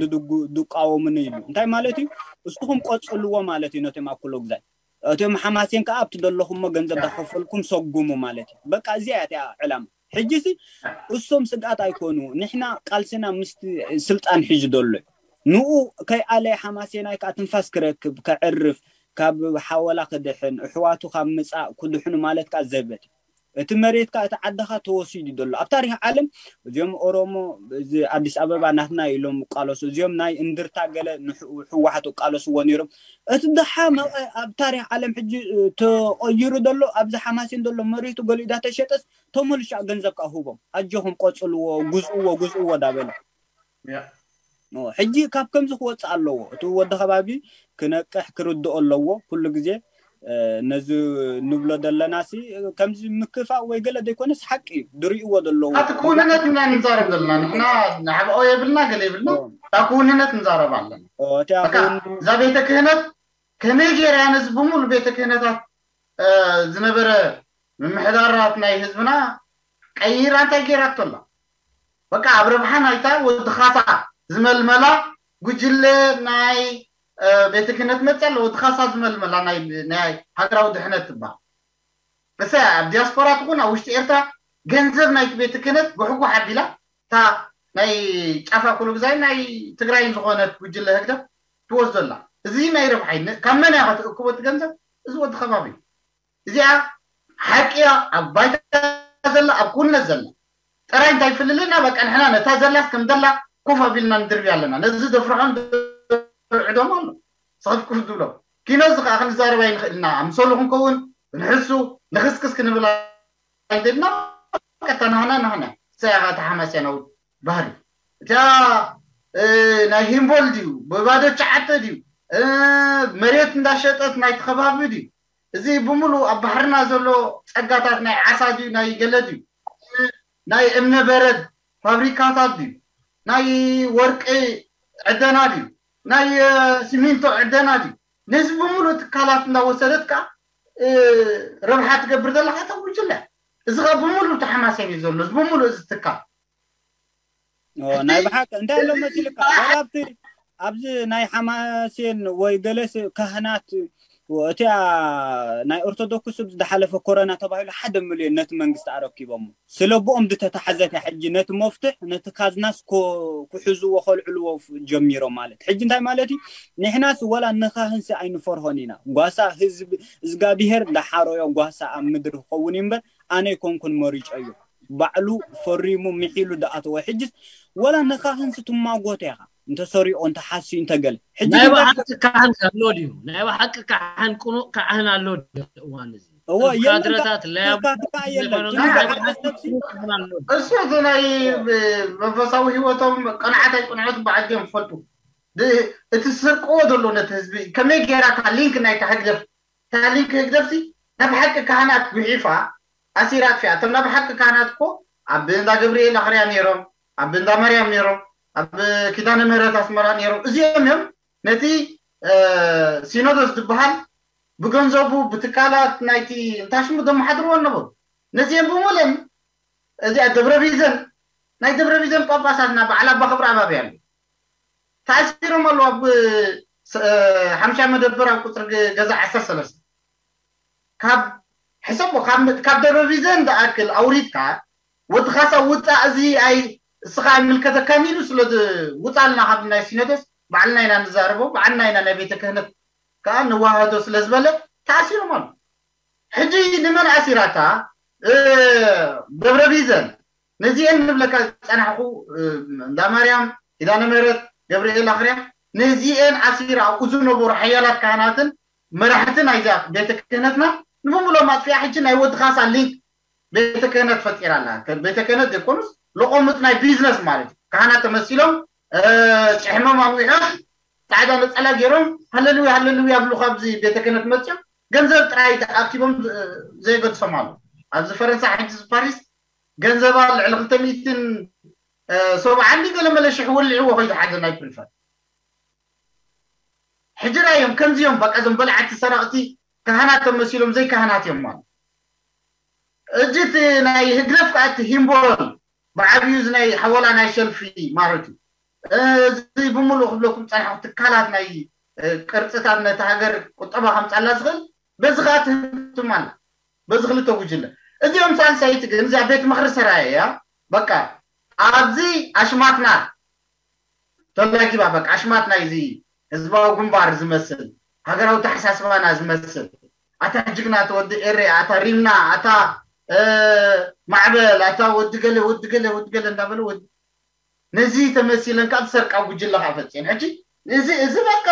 ዝቃወሙኒ ኢሉ እንታይ ማለት እዩ እስኹም ቆፅልዎ ማለት እዩ ነቶም ኣኩሎግዛይ እቶም ሓማሴን ከዓ ኣብቲ ዘለኹሞ ገንዘብ ዳኸፈልኩም ሰጉሙ ማለት እዩ በቃ እዚኣ እያ ዕላማ ሕጂ ሲ እሶም ስግኣት ኣይኮኑ ንሕና ቃልስና ምስቲ ስልጣን ሕጂ ዘሎ እዩ ንኡ ከይኣለየ ሓማሴናይ ከዓ ትንፋስ ክረክብ ከዕርፍ ካብ ሓወላ ክድሕን ኣሕዋቱ ካብ ምፃእ ክድሕኑ ማለት ከዓ ዘበት እዩ እቲ መሬት ከዓ እቲ ዓድኻ ተወሲዱ ዘሎ ኣብ ታሪክ ዓለም እዚኦም ኦሮሞ እዚ ኣዲስ ኣበባ ናትና ኢሎም ቃለሱ እዚኦም ናይ እንድርታ ገለ ንሕወሓት ቃለስዎ ነይሮም እቲ ድሓ ኣብ ታሪክ ዓለም ሕጂ ተቀይሩ ዘሎ ኣብዚ ሓማሴን ዘሎ መሬቱ ገሊኡ ዳተሸጠስ ተመልሻ ገንዘብ ከዓ ህቦም ኣጆኹም ቆፅልዎ ጉዝእዎ ጉዝእዎ ዳበለ ሕጂ ካብ ከምዚ ክወፅእ ኣለዎ እቲ ወዲ ከባቢ ክነቅሕ ክርድኦ ኣለዎ ኩሉ ግዜ ነዚ ንብሎ ዘለና ሲ ከምዚ ምክፋእ ወይ ገለ ዘይኮነስ ሓቂ እዩ ድርእይዎ ዘለዉ እቲ ክውንነት ኢና ንዛረብ ዘለና ንሕና ንሓብኦ የብልና ገለ የብልና እታ ክውንነት ንዛረብ ኣለና እዛ ቤተ ክህነት ከመይ ገይራ ነዚ ብምሉ ቤተ ክህነታት ዝነበረ ምምሕዳራት ናይ ህዝብና ቀይራ እንታይ ገይራቶ ኣላ? በቃ ኣብ ረብሓ ናይታ ወዲ ካሳ ዝመልመላ ጉጅለ ናይ ቤተ ክህነት መፅያ ኣሎ። ወዲ ካሳ ዝመልመላ ናይ ሃገራዊ ድሕነት ትበሃል። እሰ ኣብ ዲያስፖራ ትኹን ኣብ ውሽጢ ኤርትራ ገንዘብ ናይቲ ቤተ ክህነት ጉሕጉሕ ኣቢላ እታ ናይ ጫፋ ኩሉ ግዛይ ናይ ትግራይን ዝኾነት ጉጅለ ህግደፍ ትወስዶ ኣላ። እዚ ናይ ረብሓ እዩ። ካብ መን እያ ክትእክቦ እቲ ገንዘብ? እዚ ወዲ ከባቢ እዩ። እዚኣ ሓቂ እያ። ኣብ ባይታ ዘላ ኣብ ኩነት ዘላ ጥራይ እንታይ ፍልልና በቃ ንሕና ነታ ዘላስ ከም ዘላ ኮፍ ኣቢልና ንድርብያ ኣለና። ነዚ ዘፍርሖም ዘርዕዶም ኣሎ። ስኽፍክፍ ዝብሎም ኪኖ እዚ ከዓ ክንዛረብ ኣይንኽእል ኢና። ኣምሰሉ ክንከውን ክንሕሱ ንኽስክስ ክንብል ኣይደልና። ቀጥታ ናህና ናህና ሰያኻ ተሓማስያ ናውት ባህሪ እታ ናይ ሂምቦል ድዩ ብባዶ ቻዓተ ድዩ መሬት እንዳሸጠት ናይ ተኸባቢ ድዩ እዚ ብምሉ ኣብ ባሕርና ዘሎ ጸጋታት ናይ ዓሳ ድዩ ናይ ገለ ድዩ ናይ እምነ በረድ ፋብሪካታት ድዩ ናይ ወርቂ ዕደና ድዩ ናይ ሲሚንቶ ዕደና ድዩ ነዚ ብምሉ ትካላት እንዳወሰደት ከ ረብሓ ትገብር ዘለካ እታ ጉጅለ እዚ ከ ብምሉ ተሓማሰብ እዩ ዘሎ እዚ ብምሉ እዚ ትካል ናይ ብሓቂ እንታይ ኣሎ መሲልካ ወላ ኣብቲ ኣብዚ ናይ ሓማሴን ወይ ገለስ ካህናት እቲኣ ናይ ኦርቶዶክስ ዝሓለፈ ኮረና ተባሂሉ ሓደ ሚልዮን ነቲ መንግስቲ ኣረኪቦሞ ስለ ብኦም ዝተታሓዘት ሕጂ ነቲ መፍትሕ ነቲ ካዝናስ ክሕዝዎ ከልዕልዎ ጀሚሮም ማለት ሕጂ እንታይ ማለት እዩ ንሕናስ ወላ ንካህንሲ ኣይንፈርሆን ኢና ጓሳ ህዝቢ እዝጋብሄር ዳሓሮዮ ጓሳ ኣብ ምድሪ ክኸውን እምበር ኣነ ይኮንኩን መሪጮ እዩ ባዕሉ ፈሪሙ ምሒሉ ዳኣተወ ሕጅስ ወላ ንካህንሲ ትማጎተ ኢኻ እንተሰሪኦ እንተሓስዩ እንተገለ ሕጂ ናይ ባሓቂ ካህን ኣሎ ድዩ ናይ ባሓቂ ካህን ቅኑዕ ካህን ኣሎ ድዩ እዋን እዚ እዎ የለን ካድረታት ለያቡ ካህን የለን ግን ብሓቂ ሰብሲ እሱ እቲ ናይ መንፈሳዊ ህይወቶም ቅንዓት ኣይቅንዖት በዓል እዮም ዝፈልጡ እቲ ዝሰርቅዎ ዘሎ ነቲ ህዝቢ ከመይ ገይራ እታ ሊንክ ናይታ ህግደፍ እታ ሊንክ ህግደፍ ሲ ናብ ሓቂ ካህናት ጉሒፋ ኣሲራ ኣጥፊኣ እቶም ናብ ሓቂ ካህናት እኮ ኣብ እንዳ ገብርኤል ኣኽርያ ነይሮም ኣብ እንዳ ማርያም ነይሮም ኣብ ኪዳነ ምህረት ኣስመራ ነይሮም እዚኦም እዮም ነቲ ሲኖዶስ ዝበሃል ብገንዘቡ ብትካላት ናይቲ እንታይ ሽሙ ዘመሓድርዎ ኣለዎ ነዚኦም ብምለን እዚኣ ደብረ ቢዘን ናይ ደብረ ቢዘን ጳጳሳትና በዓል ኣባ ክብረ ኣባቢ ኣሎ ተኣሲሮም ኣለዉ ኣብ ሓምሻ መደበር ኣብ ቁፅሪ ገዛ ዓሰርተ ሰለስተ ካብ ሕሰቦ ካብ ደብረ ቢዘን ዝኣክል ኣውሪድካ ወዲ ካሳ ውፃእ እዚ ኣይ እስኻ ኣይምልከተካን ኢሉ ስለ ውፃልና ካብ ናይ ሲኖዶስ ባዕልና ኢና ንዛረቦ ባዕልና ኢና ናይ ቤተ ክህነት ከዓ ንዋሃዶ ስለ ዝበለ ተኣሲሮም ኣሎ ሕጂ ንመን ኣሲራታ ደብረ ቢዘን ነዚአን ንብለካ ዝፀናሕኩ እንዳ ማርያም ኪዳነ ምህረት ገብርኤል ኣኽርያ ነዚአን ኣሲራ ኣብኡ ዝነበሩ ሓያላት ካህናትን መራሕቲ ናይዛ ቤተ ክህነትና ንብምሎም ኣጥፊኣ ሕጂ ናይ ወዲ ካሳ ሊንክ ቤተ ክህነት ፈጢራ ኣላ ቤተ ክህነት ዘይኮኑስ ለቆምጥ ናይ ቢዝነስ ማለት እዩ ካህናት ተመሲሎም ጭሕሞም ኣንዊሖም ፃዕዳ ነፀላ ገይሮም ሃለሉያ ሃለሉያ ብሉ ካብዚ ቤተ ክህነት መፅኦም ገንዘብ ጥራይ ኣኪቦም ዘየገድሶም ኣሎ ኣብዚ ፈረንሳ ሕጂ ፓሪስ ገንዘባ ልዕሊ ክልተ ሚእትን ሰብዓ እንዲ ገለ መለ ሽሕ ወሊዕዎ ከይዱ ሓደ ናይ ፕሪፈር ሕጂ ራዮም ከምዚኦም በቃ ዞም በላዕቲ ሰረቕቲ ካህናት ተመሲሎም ዘይካህናት እዮም ማለት እጅት ናይ ህግደፍ ከኣቲ ሂምቦል ብዓብዩ ናይ ሓወላ ናይ ሸልፊ ማለት እዩ እዚ ብምሉእ ክብለኩም ፀናሕኩ ትካላት ናይ ቅርፅታት ነቲ ሃገር ቁጠባ ከምፃላ ዝኽእል በዚ ከዓ ትህትም ኣላ በዚ ክልተ ጉጅለ እዚኦም ሳልሳይቲ ግን እዚኣ ቤት ምክሪ ሰራየ እያ በቃ ኣብዚ ኣሽማትና ተላጊባ በቃ ኣሽማት ናይዚ ህዝባዊ ግንባር ዝመስል ሃገራዊ ተሓሳስባና ዝመስል ኣታ ጅግና ተወዲ ኤሬ ኣታ ሪምና ኣታ ማዕበል ኣታ ወዲ ገለ ወዲ ገለ ወዲ ገለ እንዳበለ ወዲ ነዚ ተመሲለን ካብ ዝሰርቃ ጉጅለ ከዓ ፈፂን ሕጂ እዚ እዚ በቃ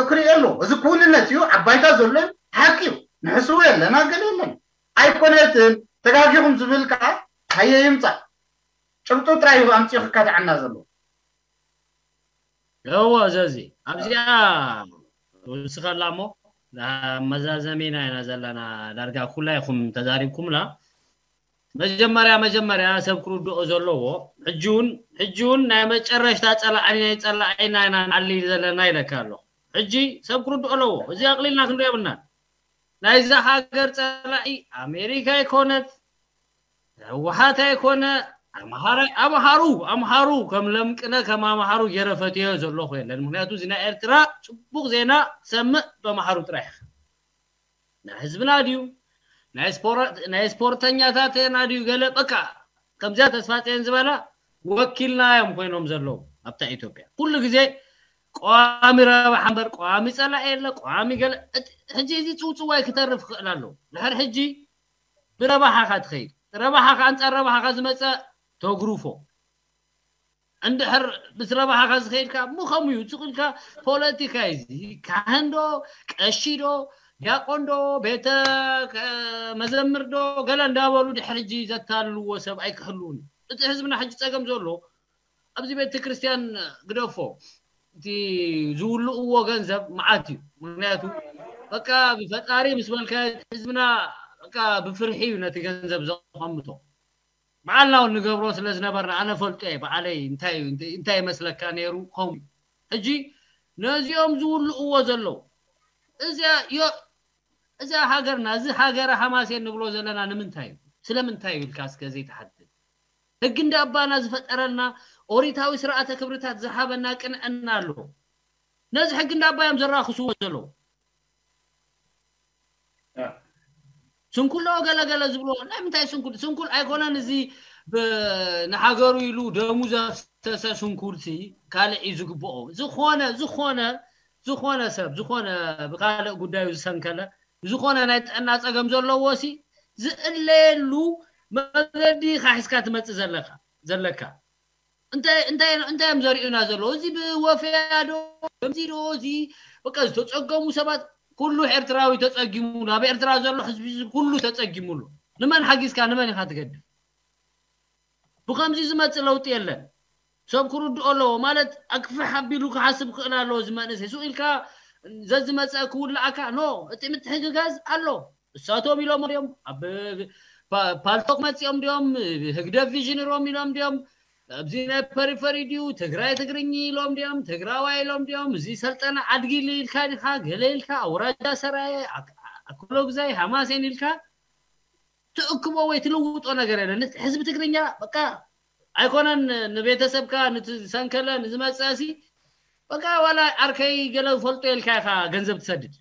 ክሪኦ ኣሎ እዚ ክውንነት እዩ ኣብ ባይታ ዘሎ ሓቂ እዩ ንሕስቡ የለና ገለ የለን ኣይኮነትን ተጋጊኹም ዝብል ከዓ ሃየ ይምፃእ ጭብጡ ጥራይ እዩ ኣምፂኡ ክካትዓና ዘሎ እዎ ዘዚ ኣብዚኣ ውስኸላ እሞ መዛዘሚና ኢና ዘለና ዳርጋ ኩላይኹም ተዛሪብኩምላ መጀመርያ መጀመርያ ሰብ ክርድኦ ዘለዎ ሕጂውን ሕጂውን ናይ መጨረሽታ ፀላዕኒ ናይ ፀላዒና ኢና ንዓሊ ዘለና ኢለካ ኣለኹ ሕጂ ሰብ ክርድኦ ኣለዎ። እዚ ኣቕሊልና ክንሪኦ የብልናን። ናይዛ ሃገር ጸላኢ ኣሜሪካ ኣይኮነት፣ ህወሓት ኣይኮነ፣ ኣምሃራ ኣምሃሩ ኣምሃሩ ከም ለምቅነ ከም ኣምሃሩ ገይረ ፈትዮ ዘለኹ የለን። ምክንያቱ እዚ ናይ ኤርትራ ጽቡቕ ዜና ሰምዕ በምሃሩ ጥራሕ ኢኻ። ናይ ህዝብና ድዩ ናይ ስፖረ- ናይ ስፖርተኛታትና ድዩ ገለ በቃ ከምዚኣ ተስፋ ፂዮን ዝበላ ወኪልና እዮም ኮይኖም ዘለዉ ኣብታ ኢትዮጵያ ኩሉ ግዜ ቀዋሚ ረብሓ እምበር ቀዋሚ ፀላኢ የለ ቀዋሚ ገለ እቲ- ሕጂ እዚ ፅውፅዋይ ክተርፍ ክኽእል ኣለዎ ድሕር ሕጂ ብረብሓኻ ትኸይድ ረብሓኻ ኣንፃር ረብሓኻ ዝመፀ ተጉርፎ እንድሕር ምስ ረብሓኻ ዝኸይድካ ምኸም እዩ ዝኽልካ ፖለቲካ እዚ ካህን ዶ ቀሺ ዶ ዲያቆን ዶ ቤተ መዘምር ዶ ገለ እንዳበሉ ድሕር ሕጂ ዘታልልዎ ሰብ ኣይክህልውን እዩ እቲ ህዝብና ሕጂ ፀገም ዘሎ ኣብዚ ቤተ ክርስቲያን ግደፎ እቲ ዝውልእዎ ገንዘብ መዓት እዩ ምክንያቱ በቃ ብፈጣሪ ምስ በልካ ህዝብና በቃ ብፍርሒ እዩ ነቲ ገንዘብ ዘቐምጦ በዓልና እውን ንገብሮ ስለ ዝነበርና ኣነ ፈልጦ እየ በዓለይ እንታይ እዩ እንታይ ይመስለካ ነይሩ ከምኡ እዩ ሕጂ ነዚኦም ዝውልእዎ ዘለዉ እዚኣ ዮ- እዚኣ ሃገርና እዚ ሃገረ ሃማሴን ንብሎ ዘለና ንምንታይ እዩ ስለምንታይ እዩ ኢልካ እስከ ዘይትሓትት ህጊ እንዳ ኣባና ዝፈጠረልና ኦሪታዊ ስርዓተ ክብርታት ዝሃበና ቅንዕና ኣሎ ነዚ ሕጊ እንዳ ኣባ እዮም ዘራኽስዎ ዘለዉ ስንኩል ዶ ገለገለ ዝብሎ ናይ ምንታይ ስንኩል ስንኩል ኣይኮነን እዚ ንሃገሩ ኢሉ ደሙ ዘፍሰሰ ስንኩል ሲ ካልእ እዩ ዝግብኦ ዝኾነ ዝኾነ ዝኾነ ሰብ ዝኾነ ብካልእ ጉዳዩ ዝሰንከለ ዝኾነ ናይ ጥዕና ፀገም ዘለዎ ሲ ዝእለየሉ መገዲ ኢኻ ሒዝካ ትመፅእ ዘለካ ዘለካ እንታይ እንታይ እንታይ እዮም ዘርእዩና ዘለዉ እዚ ብወፈያ ዶ ከምዚ ዶ እዚ በቃ ዝተፀገሙ ሰባት ኩሉ ኤርትራዊ ተፀጊሙ ናብ ኤርትራ ዘሎ ህዝቢ ኩሉ ተፀጊሙሉ ንመን ሓጊዝካ ንመን ኢኻ ትገድፍ ብከምዚ ዝመፅእ ለውጢ የለን ሰብ ክርድኦ ኣለዎ ማለት ኣክፍሕ ኣቢሉ ክሓስብ ክእል ኣለዎ እዚ መንእሰይ ሱቅ ኢልካ ዘዝመፀ ክውልኣካ ኖ እቲ ምትሕግጋዝ ኣሎ እሳቶም ኢሎም ድዮም ኣብ ፓልቶክ መፂኦም ድዮም ህግደፍ ቪዥን ሮም ኢሎም ድዮም ኣብዚ ናይ ፐሪፈሪ ድዩ ትግራይ ትግርኝ ኢሎም ድዮም ትግራዋይ ኢሎም ድዮም እዚ ሰልጠነ ዓድጊ ኢልካ ዲካ ገለ ኢልካ ኣውራጃ ሰራየ ኣክሎግዛይ ሃማሴን ኢልካ ትእክቦ ወይ ትልውጦ ነገር የለን ህዝቢ ትግርኛ በቃ ኣይኮነን ንቤተሰብካ ንዝሰንከለ ንዝመፀ ሲ በቃ ዋላ ዓርከይ ገለ ፈልጦ ኢልካ ኢካ ገንዘብ ትሰድድ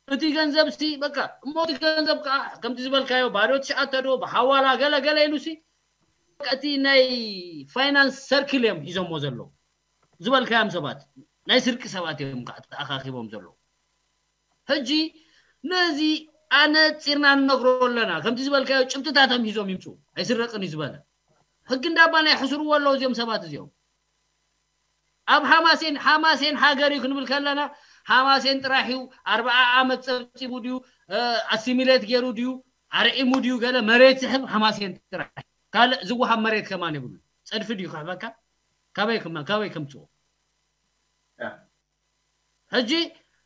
እቲ ገንዘብ ሲ በቃ እሞ እቲ ገንዘብ ከዓ ከምቲ ዝበልካዮ ባዶ ትሽኣተ ዶ ብሓዋላ ገለ ገለ ኢሉ ሲ በቃ እቲ ናይ ፋይናንስ ሰርክል እዮም ሒዞሞ ዘለዉ ዝበልካዮም ሰባት ናይ ስርቂ ሰባት እዮም ከዓ ተኣኻኺቦም ዘለዉ ሕጂ ነዚ ኣነፂርና ንነግሮ ኣለና ከምቲ ዝበልካዮ ጭብጥታቶም ሒዞም ይምፁ ኣይስረቅን እዩ ዝበለ ሕጊ እንዳባ ናይ ሕስርዎ ኣለዉ እዚኦም ሰባት እዚኦም ኣብ ሓማሴን ሓማሴን ሃገር እዩ ክንብል ከለና ሓማሴን ጥራሕ እዩ ኣርባዓ ዓመት ፀብፂቡ ድዩ ኣሲሚሌት ገይሩ ድዩ ኣርዒሙ ድዩ ገለ መሬት ዝሕብ ሓማሴን ጥራሕ ካልእ ዝወሃብ መሬት ከማን የብሉ ፀድፊ ድዩ ክሕበካ ካበይ ክማ- ካበይ ከምፅዎ ሕጂ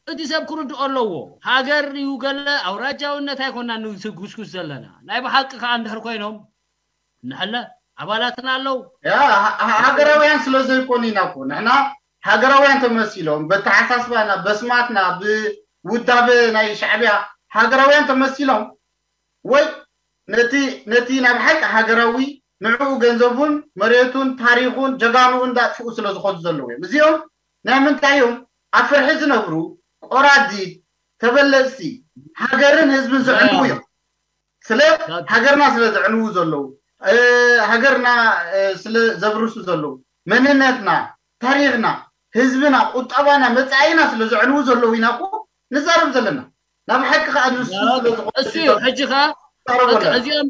እቲ ሰብ ክርድኦ ኣለዎ ሃገር እዩ ገለ ኣውራጃውነት ኣይኮና ንጉስጉስ ዘለና ናይ ብሓቂ ከዓ እንድሕር ኮይኖም ንሕለ ኣባላትና ኣለዉ ያ ሃ- ሃ- ሃገራውያን ስለ ዘይኮኑ ኢና እኮ ንሕና ሃገራውያን ተመሲሎም በተሓሳስባና በስማትና ብውዳበ ናይ ሻዕብያ ሃገራውያን ተመሲሎም ወይ ነቲ ነቲ ናብ ሓቂ ሃገራዊ ንዕኡ ገንዘቡን መሬቱን ታሪኹን ጀጋንኡ እንዳጥፍኡ ስለ ዝኸዱ ዘለዉ እዮም እዚኦም ናይ ምንታይ እዮም ኣብ ፍርሒ ዝነብሩ ቆራዲት ተበለፅቲ ሃገርን ህዝብን ዘዕንዉ እዮም ስለ ሃገርና ስለ ዘዕንዉ ዘለዉ ሃገርና ስለ ዘብርሱ ዘለዉ መንነትና ታሪኽና ህዝብና ቁጠባና መፃኢና ስለ ዘዕንዉ ዘለዉ ኢና እኮ ንዛረብ ዘለና ናብ ሓቂ ከዓ ንሱ እሱ እዩ ሕጂ ከዓ እዚኦም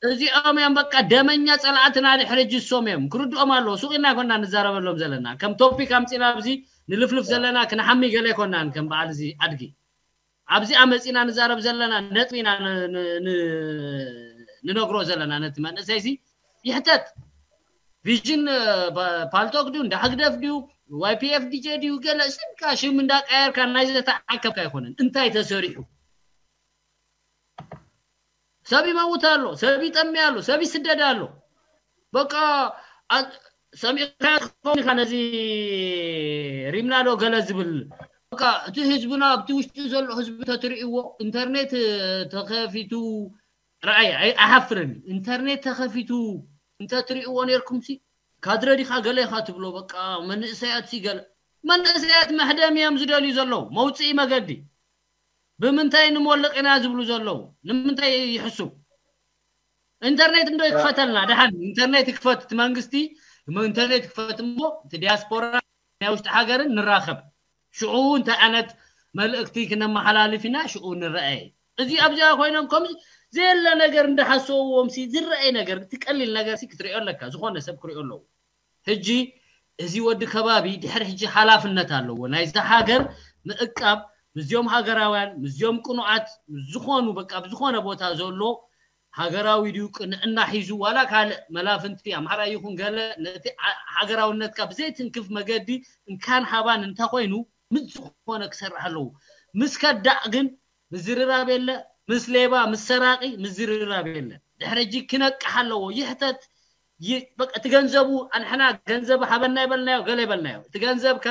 እዚኦም እዮም በቃ ደመኛ ፀላእትና ድሕሪ ሕጂ እሶም እዮም ክርድኦም ኣለዎ ሱቅ ኢና ኮና ንዛረበሎም ዘለና ከም ቶፒክ ኣምፂና ኣብዚ ንልፍልፍ ዘለና ክንሓሚ ገለ ኣይኮናን ከም በዓል እዚ ኣድጊ ኣብዚኣ መፂና ንዛረብ ዘለና ነጥቢ ኢና ንነግሮ ዘለና ነቲ መንእሰይ ዚ ይሕተት ቪዥን ፓልቶክ ድዩ እንዳ ህግደፍ ድዩ ዋይፒኤፍ ዲጄ ድዩ ገለ ስምካ ሽም እንዳቀየርካ ናይ ዘተዓከብካ ኣይኮነን እንታይ ተሰሪሑ ሰብ ይመውት ኣሎ ሰብ ይጠሚ ኣሎ ሰብ ይስደድ ኣሎ በቃ ሰሚዕካ ትኸውን ኢኻ ነዚ ሪምናዶ ገለ ዝብል በቃ እቲ ህዝብና ኣብቲ ውሽጢ ዘሎ ህዝቢ ተትርእይዎ ኢንተርኔት ተኸፊቱ ረኣይ ኣይሓፍርን። ኢንተርኔት ተኸፊቱ እንተትርእይዎ ነርኩም ሲ ካድረ ዲኻ ገለ ኢኻ ትብሎ። በቃ መንእሰያት ሲ ገለ መንእሰያት መሕደም እዮም ዝደልዩ ዘለዉ፣ መውፅኢ መገዲ። ብምንታይ ንሞልቕ ኢና ዝብሉ ዘለዉ? ንምንታይ ይሕሱ? ኢንተርኔት እንዶ ይክፈተልና ደሓን። ኢንተርኔት ይክፈት እቲ መንግስቲ፣ ኢንተርኔት ይክፈት እሞ እቲ ዲያስፖራ ናይ ውሽጢ ሃገርን ንራኸብ። ሽዑ እንታይ ዓይነት መልእክቲ ክነመሓላልፍ ኢና ሽዑ ንረኣየ። እዚ ኣብዚኣ ኮይኖም ከም ዘየለ ነገር እንዳሓሰብዎም ሲ ዝረኣይ ነገር እቲ ቀሊል ነገር ሲ ክትሪኦ ኣለካ። ዝኾነ ሰብ ክሪኦ ኣለዎ። ሕጂ እዚ ወዲ ከባቢ ድሕሪ ሕጂ ሓላፍነት ኣለዎ ናይዛ ሃገር ምእቃብ፣ ምስዚኦም ሃገራውያን ምስዚኦም ቅኑዓት ዝኾኑ በቃ ብዝኾነ ቦታ ዘሎ ሃገራዊ ድዩ ቅንዕና ሒዙ ዋላ ካልእ መላፍንቲ ኣምሓራ ይኹን ገለ ነቲ ሃገራውነትካ ብዘይትንክፍ መገዲ እንካን ሃባን እንተኾይኑ ምስ ዝኾነ ክሰርሕ ኣለዎ። ምስ ከዳዕ ግን ምዝርራብ የለ። ምስ ሌባ ምስ ሰራቂ ምዝርራብ የለ። ድሕሪ ሕጂ ክነቅሕ ኣለዎ። ይሕተት። በቃ እቲ ገንዘቡ ኣንሕና ገንዘብ ሃበና ይበልናዮ ገለ ይበልናዮ እቲ ገንዘብ ከ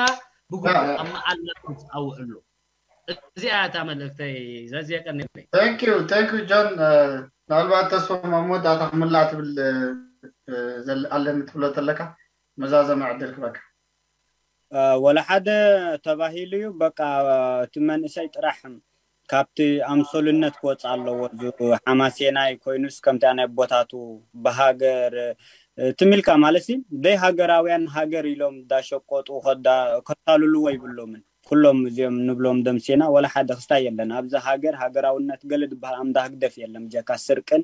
ብግቡእ ኣብ መዓላ ኣውዕሉ። እዚኣ እታ መልእክተይ። ዘዝየቀኒ thank you thank you ጆን። ምናልባት ተስፎም ኣብ መወዳእታ ክምላእ ትብል ኣለኒ ትብሎ ተለካ መዛዘመ ዕድል ክበካ። ወላ ሓደ ተባሂሉ እዩ። በቃ እቲ መንእሰይ ጥራሕ ካብቲ ኣምሰሉነት ክወፅእ ኣለዎ። እዚ ሓማሴናይ ኮይኑስ ከምቲ ናይ ኣቦታቱ ብሃገር ትም ኢልካ ማለት ሲ ደይ ሃገራውያን ሃገር ኢሎም እንዳሸቆጡ ከታልልዎ ይብሎምን። ኩሎም እዚኦም ንብሎም ደምሴና ወላ ሓደ ክስታይ የለን። ኣብዚ ሃገር ሃገራውነት ገለ ዝበሃል ኣምዳ ህግደፍ የለን ብጀካ ስርቅን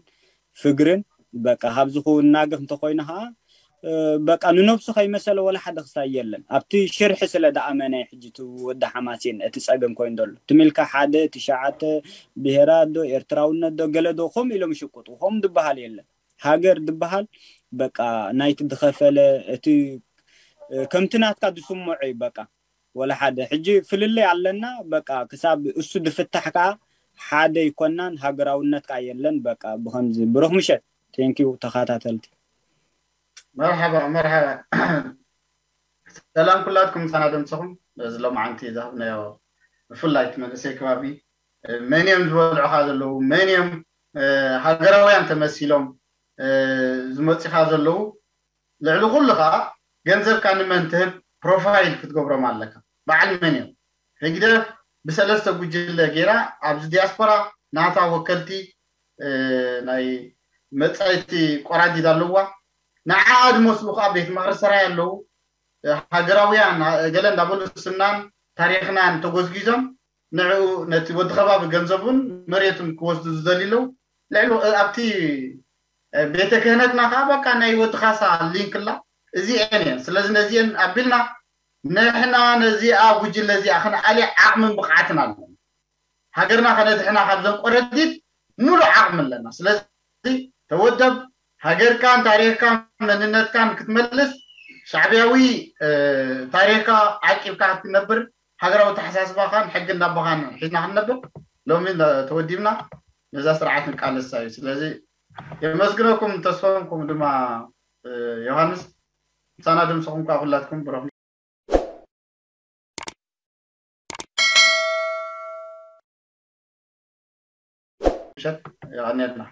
ፍግርን በቃ ካብዚ ክውናገፍ እንተኮይኑ ከዓ በቃ ንነብሱ ከይመሰለ ወላ ሓደ ክሳይ የለን። ኣብቲ ሽርሒ ስለ ደኣመነ ሕጂ እቲ ወዲ ሓማሴን እቲ ፀገም ኮይኑ ዘሎ ትም ኢልካ ሓደ ትሽዓተ ብሄራት ዶ ኤርትራውነት ዶ ገለ ዶ ከምኡ ኢሎም ይሽቅጡ ከምኡ ዝበሃል የለን። ሃገር ዝበሃል በቃ ናይቲ ዝኸፈለ እቲ ከምቲ ናትካ ዝስምዖ እዩ በቃ ወላ ሓደ ሕጂ ፍልልይ ኣለና በቃ ክሳብ እሱ ዝፍታሕ ከዓ ሓደ ይኮናን ሃገራውነት ከዓ የለን በቃ ብከምዚ ብሩክ ምሸት thank you ተኸታተልቲ መርሓባ መርሓባ ሰላም ኩላትኩም ምሳና ደምሰኹም በዚ ሎማዓንቲ ዝሃብናዮ ብፍላይ እቲ መንእሰይ ከባቢ መን እዮም ዝበልዑኻ ዘለዉ መን እዮም ሃገራውያን ተመሲሎም ዝመፅኻ ዘለዉ ልዕሊ ኩሉ ከዓ ገንዘብካ ንመን ትህብ ፕሮፋይል ክትገብሮም ኣለካ በዓል መን እዮም ህግደፍ ብሰለስተ ጉጅለ ገይራ ኣብዚ ዲያስፖራ ናታ ወከልቲ ናይ መፃይቲ ቆራዲድ ኣለዋ ንዓኣ ዝመስሉ ከዓ ቤት ምክሪ ሰራይ ኣለዉ ሃገራውያን ገለ እንዳበሉ ስምናን ታሪክናን ተጎዝጊዞም ንዕኡ ነቲ ወዲ ከባቢ ገንዘቡን መሬቱን ክወስዱ ዝደልዩ ኣለዉ ልዕሊ ኣብቲ ቤተ ክህነትና ከዓ በቃ ናይ ወዲ ካሳ ሊንክ ላ እዚአን እየን ስለዚ ነዚአን ኣቢልና ንሕና ነዚኣ ጉጅለ እዚኣ ክንኣሊ ዓቕምን ብቕዓትን ኣለና ሃገርና ከነድሕና ካብዘን ቆረዲት ሙሉእ ዓቕሚ ኣለና ስለዚ ተወደብ ሃገርካን ታሪክካን መንነትካን ክትመልስ ሻዕብያዊ ታሪክካ ዓቂብካ ክትነብር ሃገራዊ ተሓሳስባኻን ሕጊ እንዳባኻን ሒዝና ክንነብር ሎሚ ተወዲብና ነዛ ስርዓት ንቃለሳ እዩ ስለዚ የመስግነኩም ተስፎም ከምኡ ድማ ዮሃንስ ምሳና ድምስኹም ከዓ ኩላትኩም ብረኹም ምሸት የቐንየልና